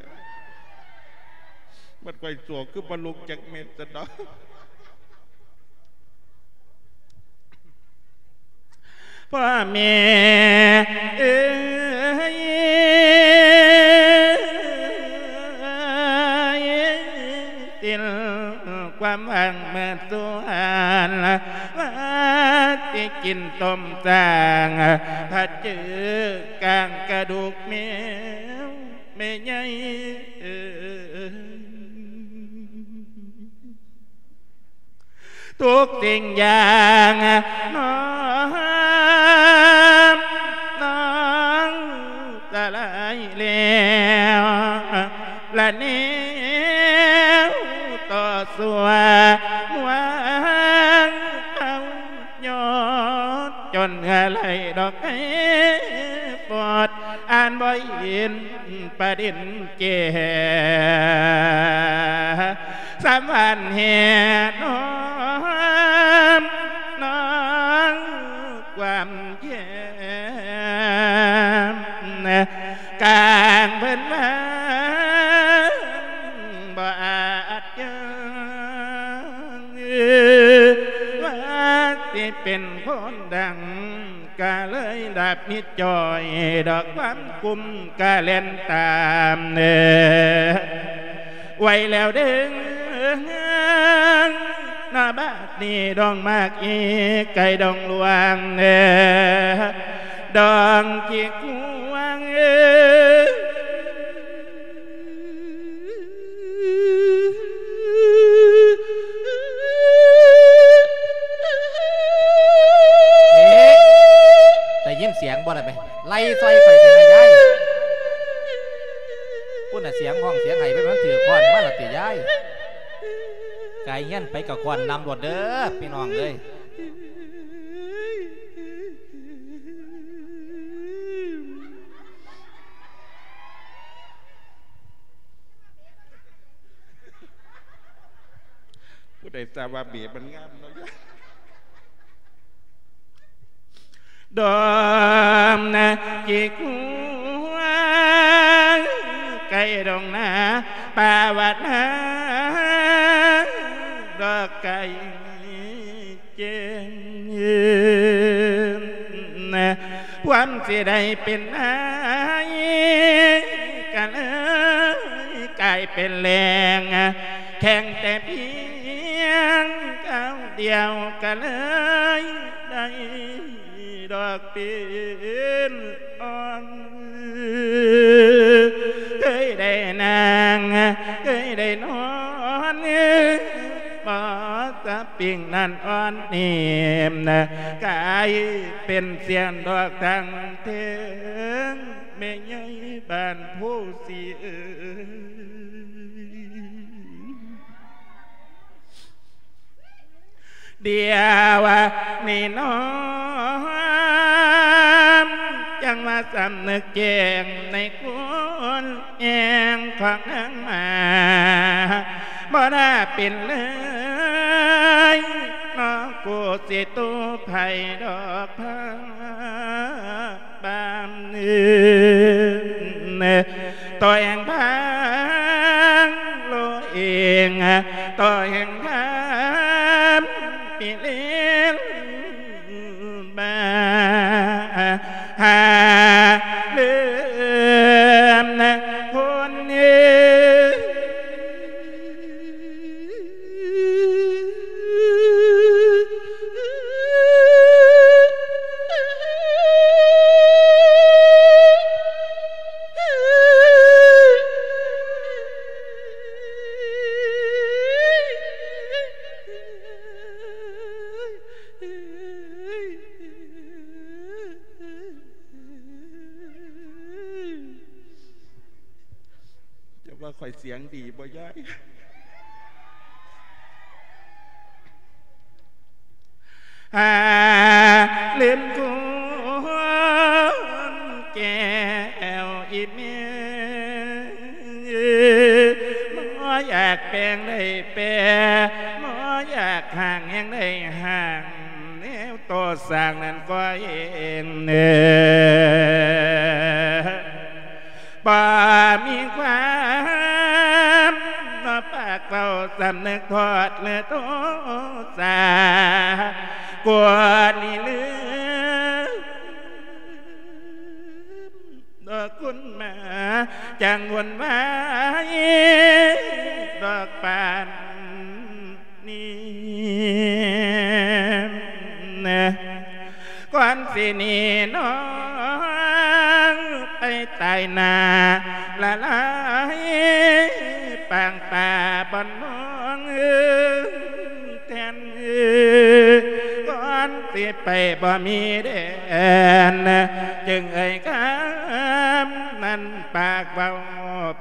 ບັດຂ້ອຍໂສກຄືບໍ່ລຸກຈັກເມັດຊັ້ນດອກ. ພໍ່ແມ່ເອີຍ ສິ້ນຄວາມຫວັງໝົດສ່ວນ ວ່າຊິກິນຕົ້ມສ້າງ ພະຈື່ກາງກະດູກແມວ ແມ່ໃຫຍ່ເອີຍ. ທຸກສິ່ງຢ່າງນ້ອມ ນ້ອງສະຫຼາຍແລ້ວ ລະແນວຕໍ່ສູ້ຫວັງເຮົາ ຍອດຈົນເຫື່ອໄຫຼດອກໄມ້ປອດ ອ່ານບໍ່ເຫັນປະເດັນແກ່ ສຳພັນແຫ່ນ້ອງ ເປັນຄົນດັງ ກະເລີຍດັບມິດຈ່ອຍ ດອກຄວາມກຸ້ມກະແລ່ນຕາມເດີ ໄວແລ້ວເດີ ນະບາດນີ້ດອງໝາກອີ ໄກ່ດອງຫຼວງເດີ ດອງຂີ້ຂວາງເອີ. ເອະ ໄດ້ຍິນສຽງບໍ່ລະແມ່? ໄລ່ຊ່ອຍຂ້ອຍເດີແມ່ຍາຍ. ພຸ້ນນະ ສຽງຮ້ອງສຽງໄຫ້ໄປ ມັນຖືກຄ້ອນມາລະຕິຍາຍ. ກາຍຮຽນໄປກະຄ້ອນນຳໂລດເດີ ພີ່ນ້ອງເອີຍ. ຜູ້ໃດຊາບວ່າເບບມັນງາມເນາະ ດອມນະ ຂີ້ຄວາງ ໄກ່ດອງນາ ປາວະນາ ດອກໄກ່ ເຈັນ ຄວາມຊິໄດ້ເປັນນາຍ ກະເລີຍກາຍເປັນແລງ ແຂ່ງແຕ່ພຽງກ້າວດຽວ ກະເລີຍໄດ້ດອກເປັນອ່ອນ ເຄີຍໄດ້ນັ່ງ ເຄີຍໄດ້ນອນ ບໍ່ສະປິງນັ້ນອ່ອນນີ້ ກາຍເປັນສຽງດອກທັງເທິງ ແມ່ໃຫຍ່ບ້ານໂພສີເອີຍ. ດຽວນີ້ນ້ອງ ຈັ່ງມາສຳນຶກແຈ້ງໃນຄຸນແອງຂອງນາງມາ ບໍ່ໜ້າເປັນເລີຍ ນ້ອງກູຊິຕູໄຜດອກພາ ບ້ານເອີຍ ຕໍ່ແຫ່ງບາງໂລເອງ ຕໍ່ແຫ່ງບາງປີເລນ ບາຫາເລີ່ມຄົນເອີຍ. ຈະວ່າຂ້ອຍສຽງດີບໍ່ຍາຍ? ຫາລືມຄຸນແກ້ວອີ່ແມ່ ບໍ່ຢາກແປງໄດ້ແປ ບໍ່ຢາກຫ້າງແຮງໄດ້ຫ້າງ ແນວໂຕສ້າງນັ້ນກໍເຫັນເດີ. ບໍ່ມີຄວາມປາກເວົ້າສຳນຶກໂທດ ຫຼືໂທສາ ກວ່ານີ້ລືມ ດອກຄຸນມາ ຈັ່ງວຸ່ນວາຍ ດອກປານ ນີ້ ກ່ອນຊິໜີນ້ອງໄປຕາຍໜ້າລະລາຍ ປາງປາບ່ອນນ້ອງແທນ ກ່ອນຊິໄປບໍ່ມີແດນ ຈຶ່ງເອີ່ຍຄຳນັ້ນປາກເວົ້າ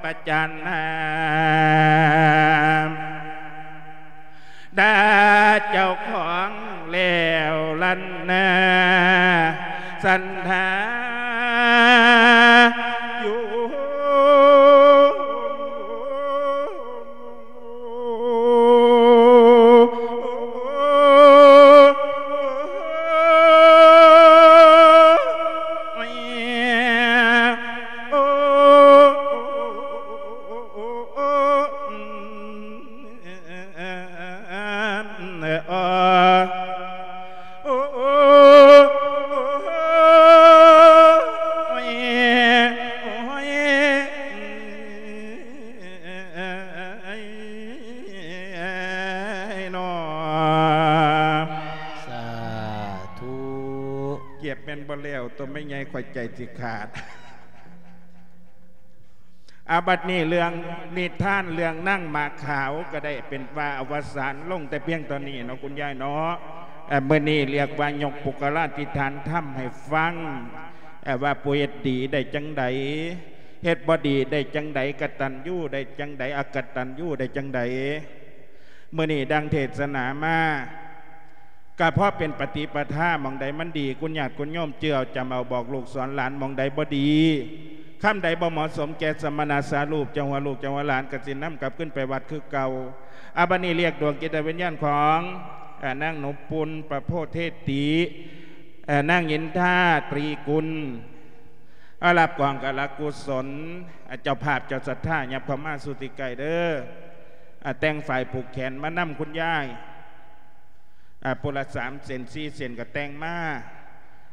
ປະຈັນນາ ດາເຈົ້າຂອງແລ້ວລັນນາ ສັນທາຢູ່. ໂອ້ ນບໍ່ແລ້ວ ຕົວແມ່ໃຫຍ່ຂ້ອຍໃຈຊິຂາດ. ອາ ບັດນີ້ເລື່ອງນິທານເລື່ອງນາງໝາກຂາວກໍໄດ້ເປັນວ່າອະວະສານລົງແຕ່ພຽງເທົ່ານີ້ເນາະ ຄຸນຍາຍເນາະ. ເອີ ມື້ນີ້ລຽກວ່າຍົກປຸກຄະລາທິຖານທຳໃຫ້ຟັງ ເອີ ວ່າຜູ້ເຮັດດີໄດ້ຈັ່ງໃດ ເຮັດບໍ່ດີໄດ້ຈັ່ງໃດ ກະຕັນຍູໄດ້ຈັ່ງໃດ ອະກະຕັນຍູໄດ້ຈັ່ງໃດ. ມື້ນີ້ດັ່ງເທດສະໜາມາ ກະເພາະເປັນປະຕິປະທາ ໝ່ອງໃດມັນດີ ຄຸນຍາດຄຸນໂຍມເຈື່ອຈຳເອົາ ບອກລູກສອນຫຼານ ໝ່ອງໃດບໍ່ດີ ຄຳໃດບໍ່ເໝາະສົມແກ່ສະມະນະສາຮູບ ເຈົ້າຫົວລູກເຈົ້າຫົວຫຼານ ກະຊິນຳກັບຄືນໄປວັດຄືເກົ່າ. ອາ ບັດນີ້ລຽກດວງຈິດຕະວິນຍານຂອງ ເອີ ນາງໜູປຸນ ປະໂພເທຕິ ເອີ ນາງອິນທາ ຕຣີກຸນ ເອົາ ຮັບກອງກະລະກຸສົນ. ເຈົ້າພາບເຈົ້າສັດທາ ຫຍັບເຂົ້າມາສູ່ທີ່ໃກ້ເດີ. ອາ ແຕ່ງຝ້າຍຜູກແຂນມານຳຄຸນຍາຍ ອາ ຜູ້ລະສາມເສັ້ນສີ່ເສັ້ນກໍແຕ່ງມາ.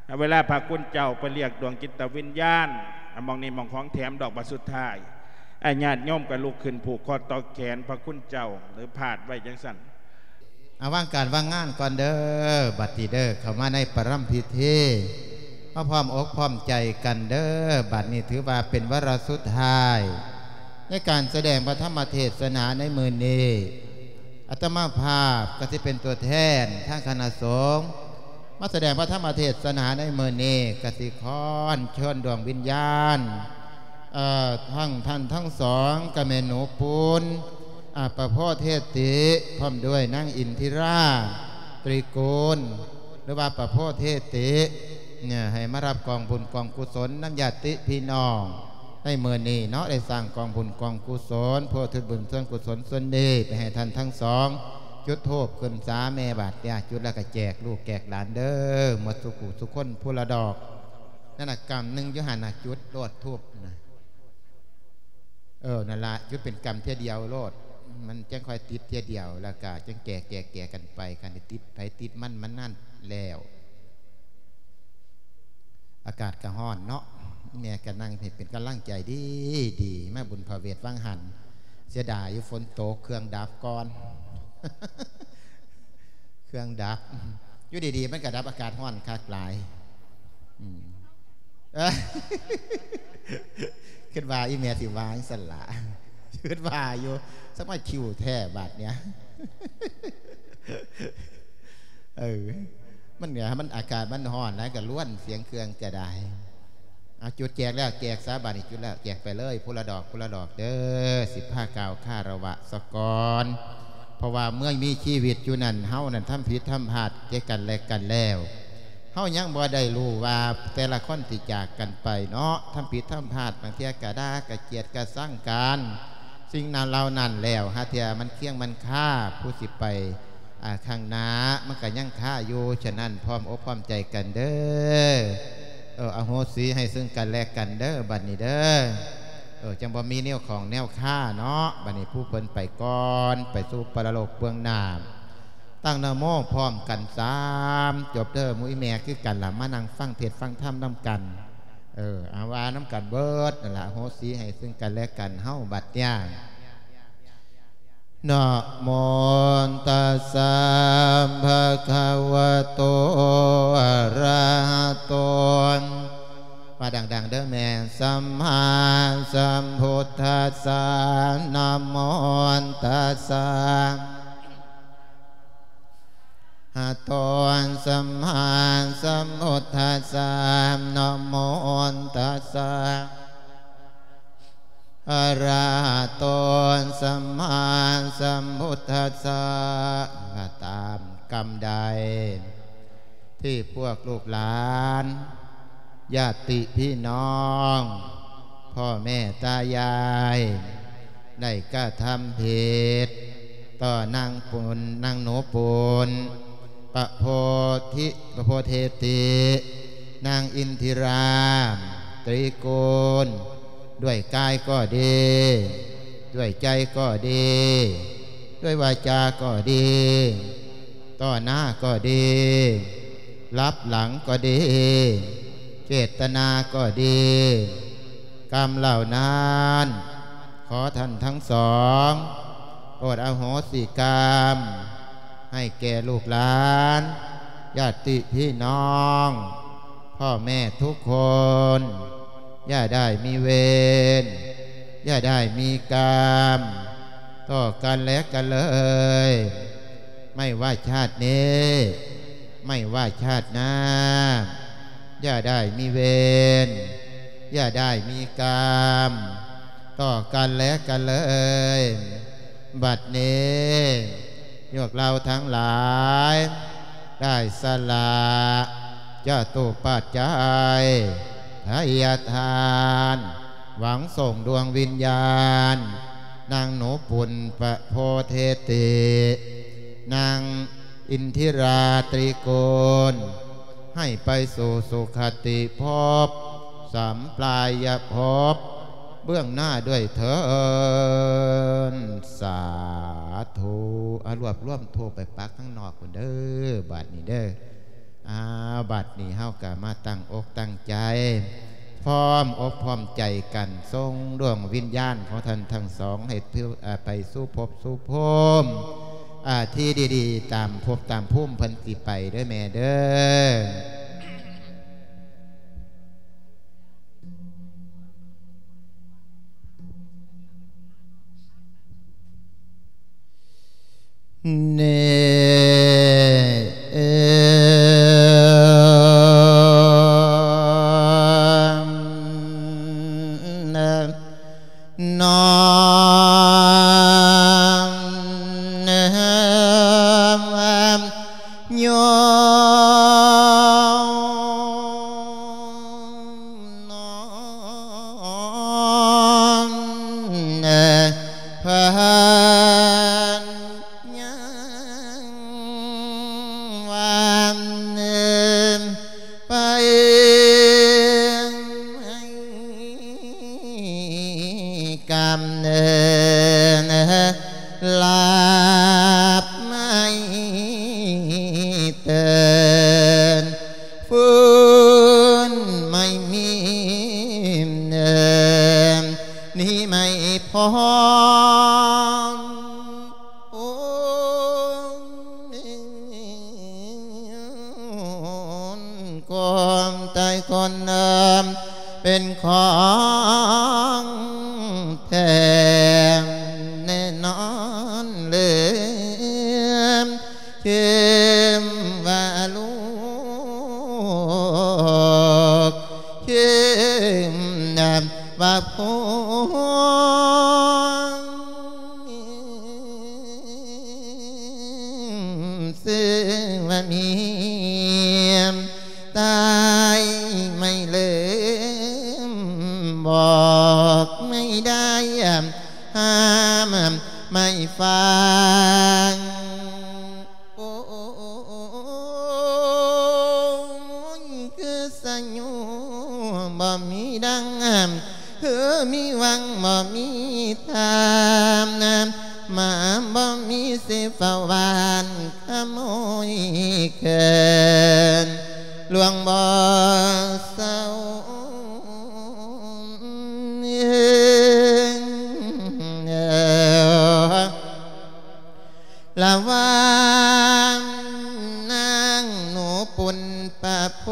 ອາ ເວລາພະຄຸນເຈົ້າໄປລຽກດວງຈິດຕະວິນຍານ ອາ ໝ່ອງນີ້ໝ່ອງຂອງແຖມດອກ ບັດສຸດທ້າຍ ອາ ຍາດໂຍມກໍລຸກຂຶ້ນຜູກຂໍ້ຕໍ່ແຂນພະຄຸນເຈົ້າ ຫຼືພາດໄວ້ຈັ່ງຊັ້ນ. ອາ ວາງການວາງງານກ່ອນເດີ ບັດນີ້ເດີ ເຂົ້າມາໃນປະລຳພິທີ ມາພ້ອມອົກພ້ອມໃຈກັນເດີ. ບັດນີ້ຖືວ່າເປັນວາລະສຸດທ້າຍ ໃນການສະແດງພະທຳມະເທດສະໜາໃນມື້ນີ້. ອາດຕະມາພາບກໍຊິເປັນຕົວແທນທາງຄະນະສົງ ມາສະແດງພະທຳມະເທດສະໜາໃນມື້ນີ້ ກໍຊິຂໍອັນເຊີນດວງວິນຍານ ເອີ ທັງທ່ານທັງສອງ ກັບແມ່ໜູປຸນ ອາ ປະໂພເທຕິ ພ້ອມດ້ວຍນາງອິນທິລາ ຕຣີກຸນ ຫຼືວ່າປະໂພເທຕິ ເອີ ໃຫ້ມາຮັບກອງບຸນກອງກຸສົນນຳຍາດຕິພີ່ນ້ອງ ໃນມື້ນີ້ເນາະ ໄດ້ສ້າງກອງບຸນກອງກຸສົນ ເພື່ອອຸທິດບຸນສ່ວນກຸສົນສ່ວນນີ້ໄປໃຫ້ທ່ານທັງສອງ. ຈຸດທູບຂຶ້ນສາແມ່ບາດເນຍ ຈຸດແລ້ວກໍແຈກລູກແຈກຫຼານເດີ ໝົດສູ່ຜູ້ສູ່ຄົນ ຜູ້ລະດອກ. ນັ້ນນະ ກຳໜຶ່ງຢູ່ຫັ້ນນະ ຈຸດໂລດທູບນະ. ເອີ ນັ້ນລະ ຈຸດເປັນກຳເທື່ອດຽວໂລດ ມັນຈັ່ງຄ່ອຍຕິດເທື່ອດຽວ ແລ້ວກໍຈັ່ງແກ່ໆກັນໄປ ຄັນໄດ້ຕິດໃຜຕິດມັນ ມັນນັ້ນແລ້ວ. ອາກາດກໍຮ້ອນເນາະ ແມ່ກໍນັ່ງເຮັດເປັນກຳລັງໃຈດີໆ ມາບຸນພະເວດວັງຫັນ ເສຍດາຍຢູ່ຝົນຕົກ ເຄື່ອງດັບກ່ອນ ເຄື່ອງດັບ ຢູ່ດີໆມັນກໍດັບ ອາກາດຮ້ອນຄັກຫຼາຍ. ອືມ ຄິດວ່າອີແມ່ຊິວ່າຈັ່ງຊັ້ນລະ ຄິດວ່າຢູ່ ສະມາຄິວແທ້ບາດເນຍ. ເອີ ມັນເໜືອ ມັນອາກາດມັນຮ້ອນຫຼາຍ ກໍລວນສຽງເຄື່ອງຈະໄດ້. ເອົາ ຈຸດແຈກແລ້ວ ແຈກຊະ ບາດນີ້ຈຸດແລ້ວ ແຈກໄປເລີຍ ຜູ້ລະດອກ ຜູ້ລະດອກເດີ. ສິພາກ່າວຄາລະວະສະກ່ອນ ເພາະວ່າເມື່ອມີຊີວິດຢູ່ນັ້ນ ເຮົານັ້ນທຳຜິດທຳພາດແກ່ກັນແລະກັນແລ້ວ ເຮົາຍັງບໍ່ໄດ້ຮູ້ວ່າແຕ່ລະຄົນທີ່ຈາກກັນໄປເນາະ ທຳຜິດທຳພາດ ບາງເທື່ອກະດ່າກະກຽດກະຊັງກັນ ສິ່ງນັ້ນເຫຼົ່ານັ້ນແລ້ວ ຫາເທື່ອມັນຄຽງມັນຄາ ຜູ້ຊິໄປ ອາ ຂ້າງໜ້າ ມັນກະຍັງຄາຢູ່. ສະນັ້ນ ພ້ອມອົກພ້ອມໃຈກັນເດີ ເອີ ອະໂຫສິໃຫ້ເຊິ່ງກັນແລະກັນເດີ ບັດນີ້ເດີ ເອີ ຈັ່ງບໍ່ມີແນວຂ້ອງແນວຄາເນາະ. ບັດນີ້ຜູ້ເພິ່ນໄປກ່ອນ ໄປສູ່ປະລະໂລກເບື້ອງໜ້າ ຕັ້ງນະໂມພ້ອມກັນສາມຈົບເດີ. ໝູ່ອີແມ່ຄືກັນລະ ມານັ່ງຟັງເທດຟັງທຳນຳກັນ ເອີ ອາ ວ່ານຳກັນເບິດນັ້ນລະ ອະໂຫສິໃຫ້ເຊິ່ງກັນແລະກັນເຮົາ. ບັດນີ້ ນະໂມຕັດສະ ພະຄະວະໂຕ ອະລະຫະໂຕ ວ່າດັງໆເດີແມ່ ສຳມາສຳພຸດທັດສະ ນະໂມຕັດສະ ຫະໂຕ ສຳມາສຳພຸດທັດສະ ນະໂມຕັດສະ ອະລະຫະໂຕ ສຳມາສຳພຸດທັດສະ. ວ່າຕາມກຳໃດ ທີ່ພວກລູກຫຼານ ຍາດຕິພີ່ນ້ອງ ພໍ່ແມ່ຕາຍາຍ ໄດ້ກະທຳຜິດຕໍ່ນາງປຸນ ນາງໜູປຸນ ປະໂພທິ ປະໂພເທຕິ ນາງອິນທິລາ ຕຣີກຸນ ດ້ວຍກາຍກໍດີ ດ້ວຍໃຈກໍດີ ດ້ວຍວາຈາກໍດີ ຕໍ່ໜ້າກໍດີ ລັບຫຼັງກໍດີ ເຈດຕະນາກໍດີ ກຳເຫຼົ່ານັ້ນ ຂໍທ່ານທັງສອງ ໂປດອະໂຫສິກຳໃຫ້ແກ່ລູກຫຼານ ຍາດຕິພີ່ນ້ອງ ພໍ່ແມ່ທຸກຄົນ ຢ່າໄດ້ມີເວນ ຢ່າໄດ້ມີກຳຕໍ່ກັນແລະກັນເລີຍ. ໄມ່ວ່າຊາດນີ້ ໄມ່ວ່າຊາດໜ້າ ຢ່າໄດ້ມີເວນ ຢ່າໄດ້ມີກຳຕໍ່ກັນແລະກັນເລີຍ. ບັດນີ້ ພວກເຮົາທັງຫຼາຍ ໄດ້ສະຫຼະຈະຕຸປັດໄຈ ທະຍາທານ ຫວັງສົ່ງດວງວິນຍານ ນາງໜູປຸນປະໂພເທຕິ ນາງອິນທິລາຕຣີກຸນ ໃຫ້ໄປສູ່ສຸຄະຕິພົບ ສຳປາຍະພົບ ເບື້ອງໜ້າດ້ວຍເທີ້ນ. ສາທຸ. ອາ ລວບລວມທູບໄປປັກທາງນອກພຸ້ນເດີ ບາດນີ້ເດີ. ອາ ບາດນີ້ເຮົາກະມາຕັ້ງອົກຕັ້ງໃຈ ພ້ອມອົກພ້ອມໃຈກັນ ສົ່ງດວງວິນຍານຂອງທ່ານທັງສອງໃຫ້ຖື ອາ ໄປສູ່ພົບສູ່ພູມ ອາ ທີ່ດີໆ ຕາມພົບຕາມພູມເພິ່ນຊິໄປເດີແມ່ເດີ. ເນ ເອ ນະ ນອນ ເນ ຍ ນອນ ເພິ່ນຍັງວ່າ ໄປໃຫ້ກຳເນີນ ລາບໄມ້ເຕີນ ຟື້ນໄມ້ມີເນີນ ນີ້ໄມ້ພອນ ໂອ້ຍ ຄວາມຕາຍກ່ອນເດີ ເປັນຂອງແທ້ແນ່ນອນເລີຍ ເຄມວ່າລູກ ເຄມວ່າພວງ ຊື່ວ່າເມຍ ຕາຍໄມ່ເລີມ ບອກໄມ່ໄດ້ ຫ້າມໄມ່ຟັງ ໂອ້ຍ ຄືສະຫຍູບໍ່ມີດັງ ຄືມີຫວັງບໍ່ມີທາງ ມາບໍ່ມີຊິເຝົ້າຫວ່ານຂະໂມຍເກີນ ຫຼວງບໍ່ເຊົາ ລະຫວ່າງນາງໜູປຸນປະໂພ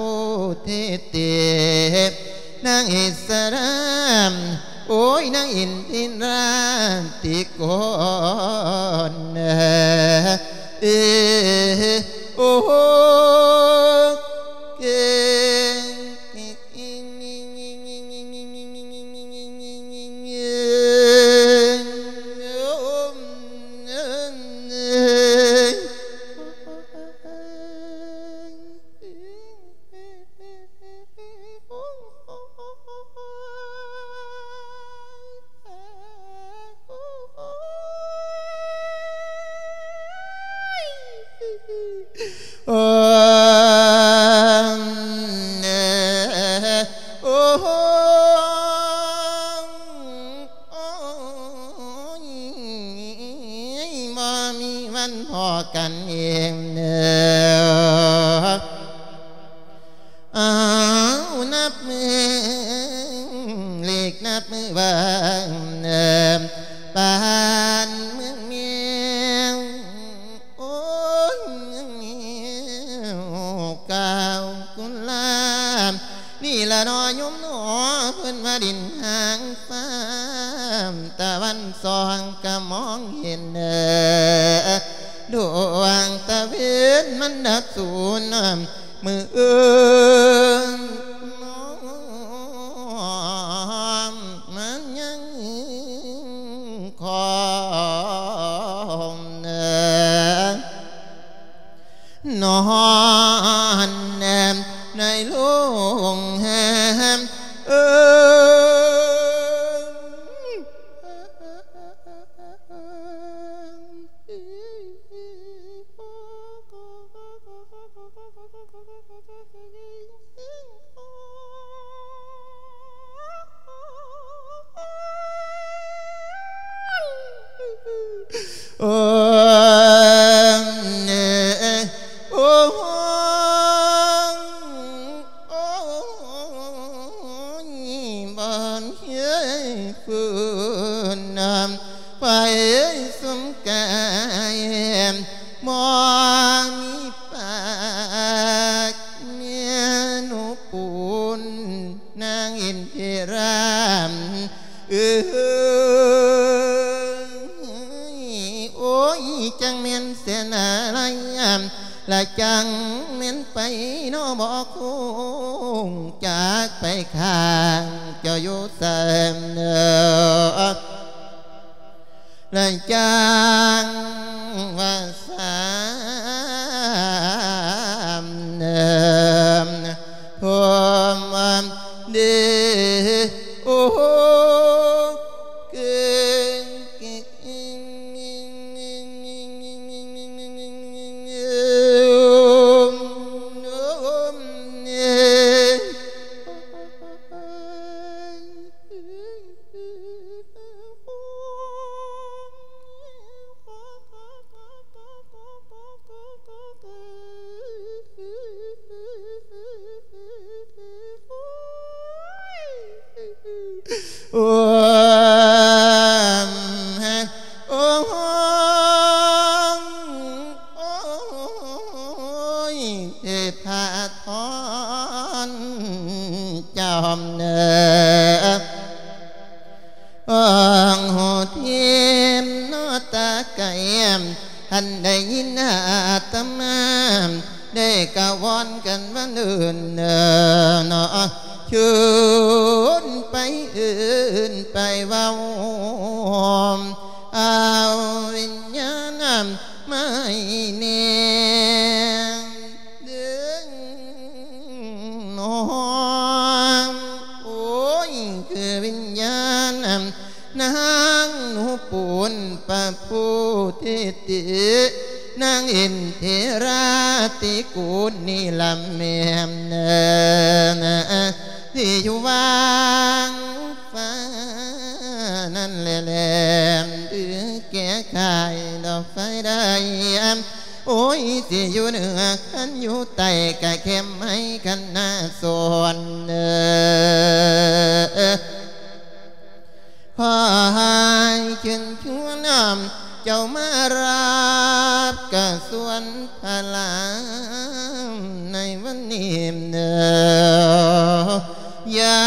ເທຕິ ນາງອິດສະລາ ໂອ້ຍ ນາງອິນທິລາຕິໂກນ ເອ ໂອ້ ເກ ໂອ້ ໂອ້ຍ ບໍ່ມີວັນພໍ້ກັນອີກເດີ. ອ້າວ ນັບມື້ເລກນັບມື້ວັນ ບ້ານເມືອງແມວ ໂອ້ຍ ເມືອງແມວ ກ້າວກຸລາ ມອງເຫັນ ດວງຕາເວັນມັນດັບສູນ ມື້ອື່ນມັນຍັງຄອງ ນອນແນມໃນໂລງແຮມ ເອີ ໂອ້ ໂອ້ ໂອ້ຍ ບໍ່ເຄີຍຟື້ນນຳ ໄປສົມກາຍ ບໍ່ມີປາກ ແມ່ໜູປູນ ນາງອິນທິລາ ເອີຍ ໂອ້ຍ ຈັກແມ່ນແສນອາໄລ ລະຈັກແມ່ນໄປເນາະ ບໍ່ຄົງຈັກໄປຂ້າງເຈົ້າຢູ່ໃສ ລະຈັກວ່າ ສາມເດີມ ໂທມເດ ໂອ ເກ ໂອ້ ໂອ້ ໂອ້ຍ ເທພະທອນ ຈອມເນີ ອງໂຫຕິມນະຕາໄກ ທ່ານໄດ້ຍິນອາດຕະມາ ໄດ້ກະວອນກັນວ່າເນີນເນາະ ຊວນໄປເອີ້ນໄປເວົ້າ ເອົາວິນຍານມາໃຫ້ແນ່ ເດີງນ້ອງ ໂອ້ຍ ຄືວິນຍານນາງໜູປູນປະພູທິຕິ ນາງອິນທິລາຕິກູນນີ້ລະແມ່ນ ທີ່ຢູ່ຫວ່າງຟ້ານັ້ນແລ ແລມ ຫຼື ແກ່ໄຂດອກໄຟໄດ້ ໂອ້ຍ ຊິຢູ່ເໜືອຄັນຢູ່ໃຕ້ກະແຄມໃຫ້ຄັນນາສອນເດີ ຂໍໃຫ້ເຊີນຊວນເຈົ້າມາຮັບກະສວນພະລາໃນວັນນີ້ເດີ ຍາ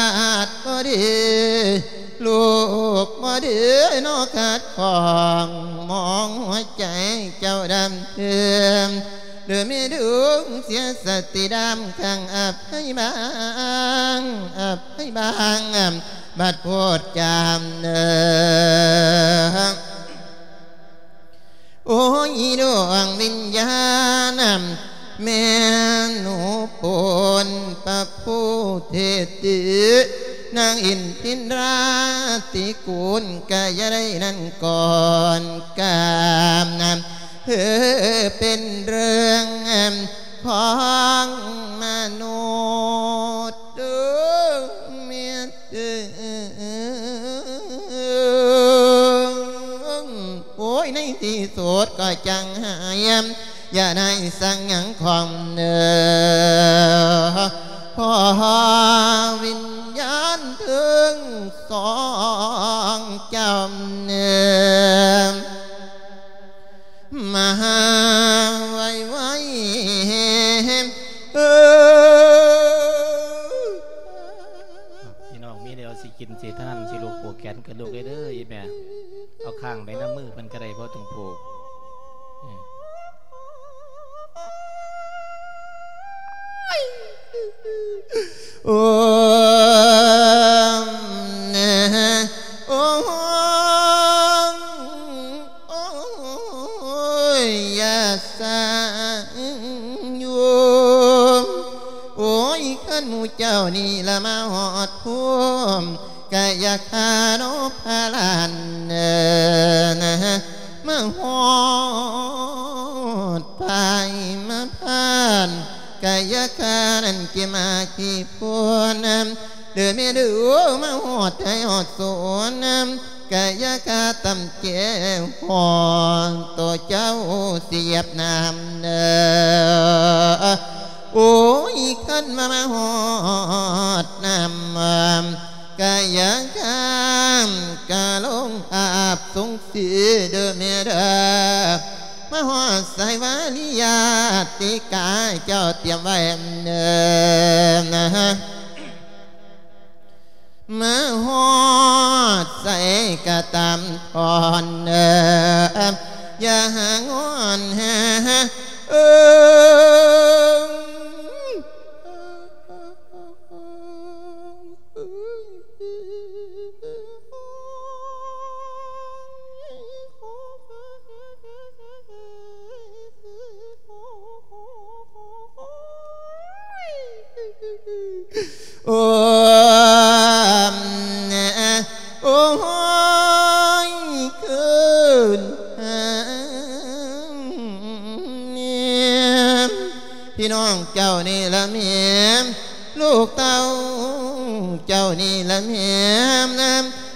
ດບໍ່ດີ ລູກບໍ່ດີເນາະ ຂັດຂ້ອງມອງຫົວໃຈເຈົ້າດຳເທີມ ໂດຍມີດວງເສຍສະຕິດຳຄັງອະໄພບາງ ອະໄພບາງ ບັດໂພດຈາມເນີ ໂອ້ຍ ດວງວິນຍານ ແມ່ໜູໂປນປະພູເທຕິ ນາງອິນທິນລາຕິກູນ ກະຢ່າໄດ້ນັ້ນກ່ອນກາມ ເອີ ເປັນເລື່ອງຂອງມະນຸດເດີ ແມ່ນ ເອີ ໂອ້ຍ ໃນທີ່ສຸດກໍຈັງຫາຍ ຢ່າໄດ້ສັງຫຍັງຂອງເນີ ຂໍວິນຍານເຖິງສອງເຈົ້າເນີ ມາຫາໄວໆ ເອີ ພີ່ນ້ອງມີແນວຊິກິນຊິທານ ຊິລູກຜູກແຂນກັນລູກເດີ ອີ່ແມ່ ເອົາຄ້າງໄວ້ນຳມືເພິ່ນ ກໍໄດ້ບໍ່ຕ້ອງຜູກ. ເອີ ໂອ້ ໂອ້ຍ ຢ່າສ້າງຢູ່ ໂອ້ຍ ຄັນໝູ່ເຈົ້ານີ້ລະມາຮອດພູມ ກະຢ່າຂ້າເນາະພະຫຼານເອີ ມາຮອດປາຍມາຜ່ານ ກະຢ່າຂ້ານັ້ນຂີ້ໝາກຂີ້ໂພນ ເດີແມ່ເດີ ມາຮອດໄຮ່ຮອດສວນ ກະຢ່າຂ້າຕຳແຈວຮອດ ໂຕເຈົ້າຊິຢຽບນ້ຳເດີ ໂອ້ຍ ຄັນວ່າມາຮອດນ້ຳ ກະຢ່າຂ້າມກະລົງອາບສົງສີເດີແມ່ເດີ ມາຮອດສາຍວາລິຍາຕິກາເຈົ້າຕຽມໄວ້ເດີ ມາຮອດໃສກະຕາມທ່ອນເດີ ຢ່າຫາງອນຫາເອີ ໂອ້ ໂອ້ຍ ຄືນຫາແມ່ ພີ່ນ້ອງເຈົ້ານີ້ລະແມ່ ລູກເຕົ້າເຈົ້ານີ້ລະແມ່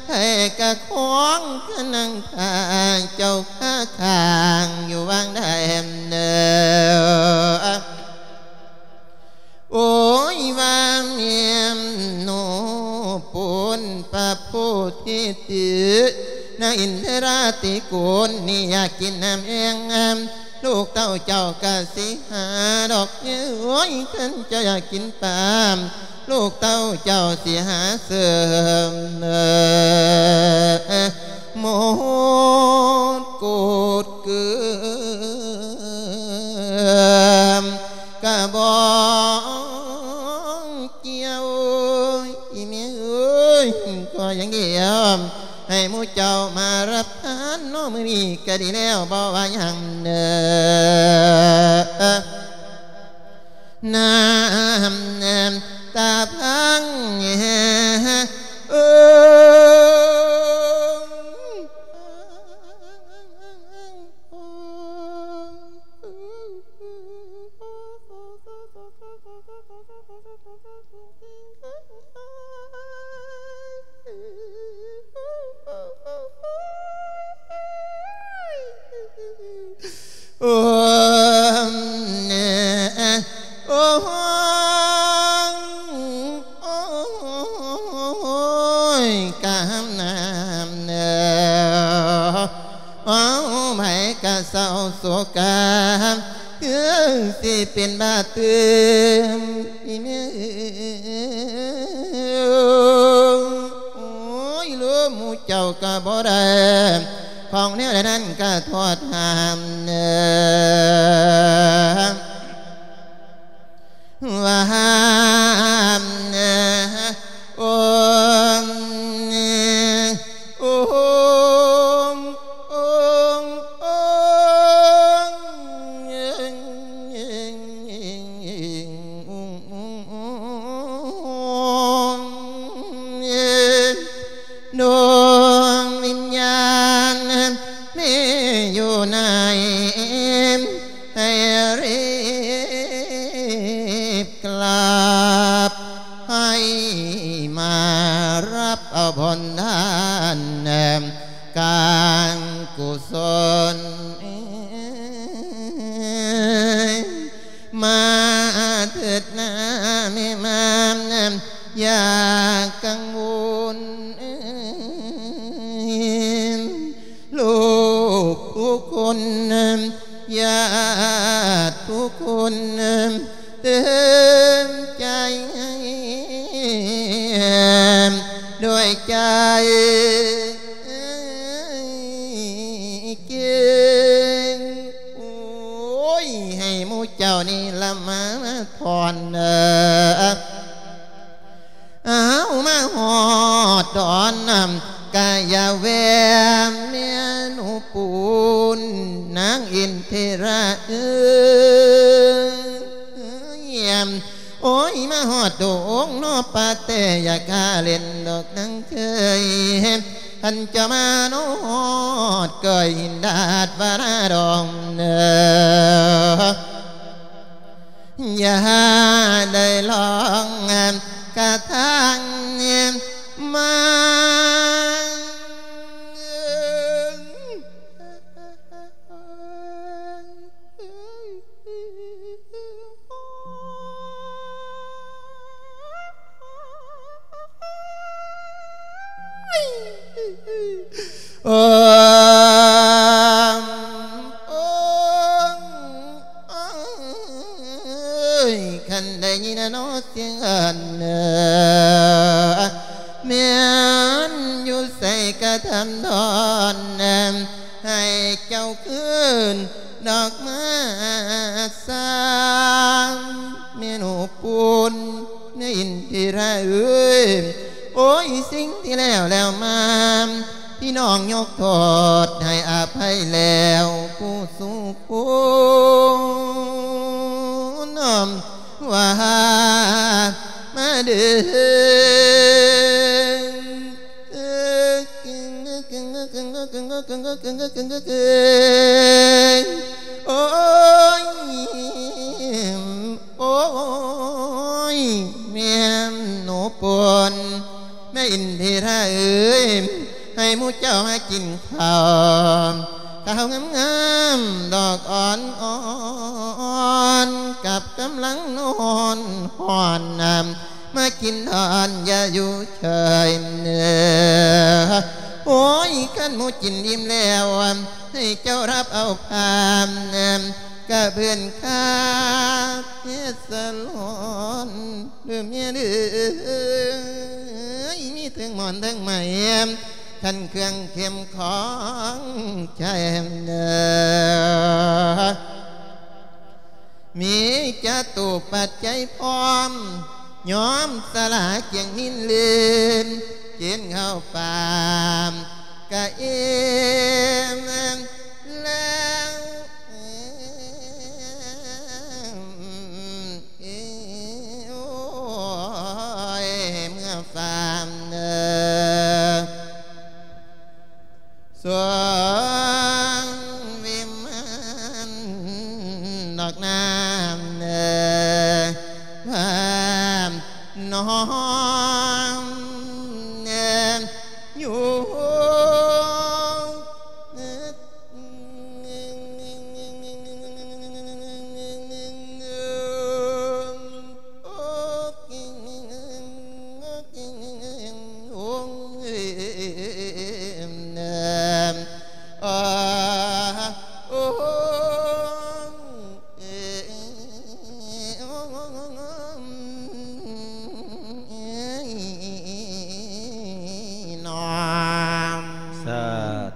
ໃຜກະຄອງກະນັ່ງຖ້າເຈົ້າຄາຄ້າງຢູ່ຫວ່າງໃດເດີ. ໂອ້ຍ ວ່າແມ່ນໂນ ປູນພະໂພທິຕິ ນາງອິນທະລາຕິໂກນນີ້ຢາກກິນນ້ຳແອງ ລູກເຕົ້າເຈົ້າກະຊິຫາດອກ ໂອ້ຍ ຄັນເຈົ້າຢາກກິນປາ ລູກເຕົ້າເຈົ້າຊິຫາເສີມ ໝົດໂກດເກືອມ ກະບໍ່ກ່ຽວ ອີແມ່ເອີຍ ຂໍຢ່າງດຽວ ໃຫ້ໝູ່ເຈົ້າມາຮັບທານເນາະ ມື້ນີ້ກະດີແລ້ວ ບໍ່ວ່າຫຍັງເດີ ນ້ຳຕາພັງ ເອີ. ໂອ້ ໂອ້ຍ ກາມນ້ຳເດີ ເອົາໃຜກະເສົ້າໂສກາ ຄືຊິເປັນບາດຕື່ມ ອີແມ່ເອີຍ ໂອ້ຍ ລົມໝູ່ເຈົ້າກະບໍ່ໄດ້ ຂອງແນວໃດນັ້ນກະໂທດຫ້າມເດີ. ວ່າຫ້າມເດີ ໂອມ ໂອມ ໂອມ ໂອມ ດວງວິນຍານແມ່ຢູ່ໃນ ໃຫ້ຮີບກາບ ໃຫ້ມາຮັບເອົາບຸນທານ ການກຸສົນ ມາເທີດນາແມ່ມາ ຢ່າກັງວົນ ລູກທຸກຄົນ ຍາດທຸກຄົນ ເຕີມໃຈ ດ້ວຍໃຈ ໂອ້ຍ ໃຫ້ໝູ່ເຈົ້ານີ້ລະມາທອນເດີ ເອົາມາຮອດດອນນຳ ກະຢ່າແວ່ແມ່ໜູປູນ ນາງອິນທິລາເອີຍ ໂອ້ຍ ມາຮອດໂດງນໍປາແຕ່ ຢ່າກະຫຼິ້ນດອກນາງເຄີຍ ຄັນຈະມານອດກ້ອຍ ດາດວາລາດອງເດີ ຢ່າໄດ້ລອງກະທາງມາ. ໂອ້ຍ ໂອ້ຍ ຄັນໄດ້ຍິນນະເນາະສຽງອັນ ແມ່ນຢູ່ໃສກະທຳດອນ ໃຫ້ເຈົ້າຄືນດອກມາສາ ແມ່ໜູປູນ ນາງອິນທິລາເອີຍ ໂອ້ຍ ສິ່ງທີ່ແລ້ວແລ້ວມາ ພີ່ນ້ອງຍົກໂທດໃຫ້ອະໄພແລ້ວຜູ້ສູ່ຄົນ ວ່າມາເດີ ໂອ້ຍ ໂອ້ຍ ແມ່ນໜູປົນ ແມ່ອິນທິລາເອີຍ ໃຫ້ໝູ່ເຈົ້າມາກິນເຂົ້າ ເຂົ້າງາມໆ ດອກອ່ອນໆ ກັບກຳລັງນວນຮ້ອນ ມາກິນດອນຢ່າຢູ່ເຊີຍ ໂອ້ຍ ຄັນໝູ່ກິນອີ່ມແລ້ວ ໃຫ້ເຈົ້າຮັບເອົາພານ ກະເບືອນຄາເຮັດສະຫຼອນ ເດີແມ່ເດີ ມີເທິງໝອນເທິງໄມ້ ຄັນເຄື່ອງເຂັມຂອງໃຈ ມີຈະຕູປັດໄຈພ້ອມ ຍອມສະຫຼາກຽງມິນລື່ນ ກິນເຂົ້າປາມກະອີ່ມແລ້ວ ໂອ້ຍ ເມືອຟາມເດີ ສວງວິມານດອກນ້ຳເດີ ພາມນ້ອງເດີ ຢູ່ ສາ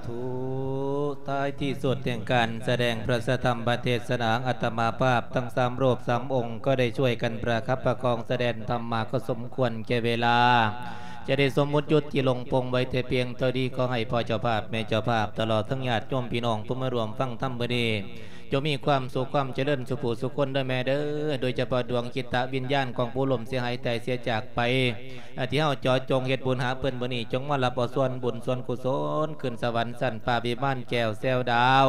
ທຸ. ທ້າຍທີ່ສຸດແຫ່ງການສະແດງພະສັດທຳມະເທດສະໜາ ອາດຕະມາພາບທັງສາມຮູບສາມອົງ ກໍໄດ້ຊ່ວຍກັນປະຄັບປະຄອງສະແດງທຳມາ ກໍສົມຄວນແກ່ເວລາ ຈະໄດ້ສົມມຸດຢຸດທີ່ລົງປົງໄວ້ແຕ່ພຽງເທົ່ານີ້. ຂໍໃຫ້ພໍ່ເຈົ້າພາບແມ່ເຈົ້າພາບ ຕະຫຼອດທັງຍາດໂຍມພີ່ນ້ອງຜູ້ມາຮ່ວມຟັງທຳມື້ນີ້ ຈົ່ງມີຄວາມສຸກຄວາມຈະເລີນສູ່ຜູ້ສູ່ຄົນເດີແມ່ເດີ. ໂດຍສະເພາະດວງຈິດຕະວິນຍານຂອງຜູ້ລົ້ມເສຍຫາຍຕາຍເສຍຈາກໄປ ທີ່ເຮົາເຈາະຈົງເຮັດບຸນຫາເພິ່ນມື້ນີ້ ຈົ່ງມາຮັບເອົາສ່ວນບຸນສ່ວນກຸສົນ ຂຶ້ນສະຫວັນຊັ້ນຟ້າວິມານແກ້ວແຊວດາວ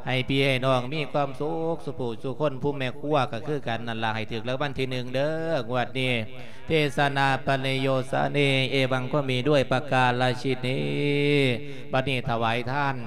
ໃຫ້ພີ່ໃຫ້ນ້ອງມີຄວາມສຸກສູ່ຜູ້ສູ່ຄົນ. ຜູ້ແມ່ຄົວກໍຄືກັນນັ້ນລະ ໃຫ້ຖືກລາງວັນທີໜຶ່ງເດີ ງວດນີ້. ເທສະນາປະລິໂຍສະເນ ເອວັງກໍມີດ້ວຍປະກາລະຊີນີ. ບັດນີ້ຖວາຍທານ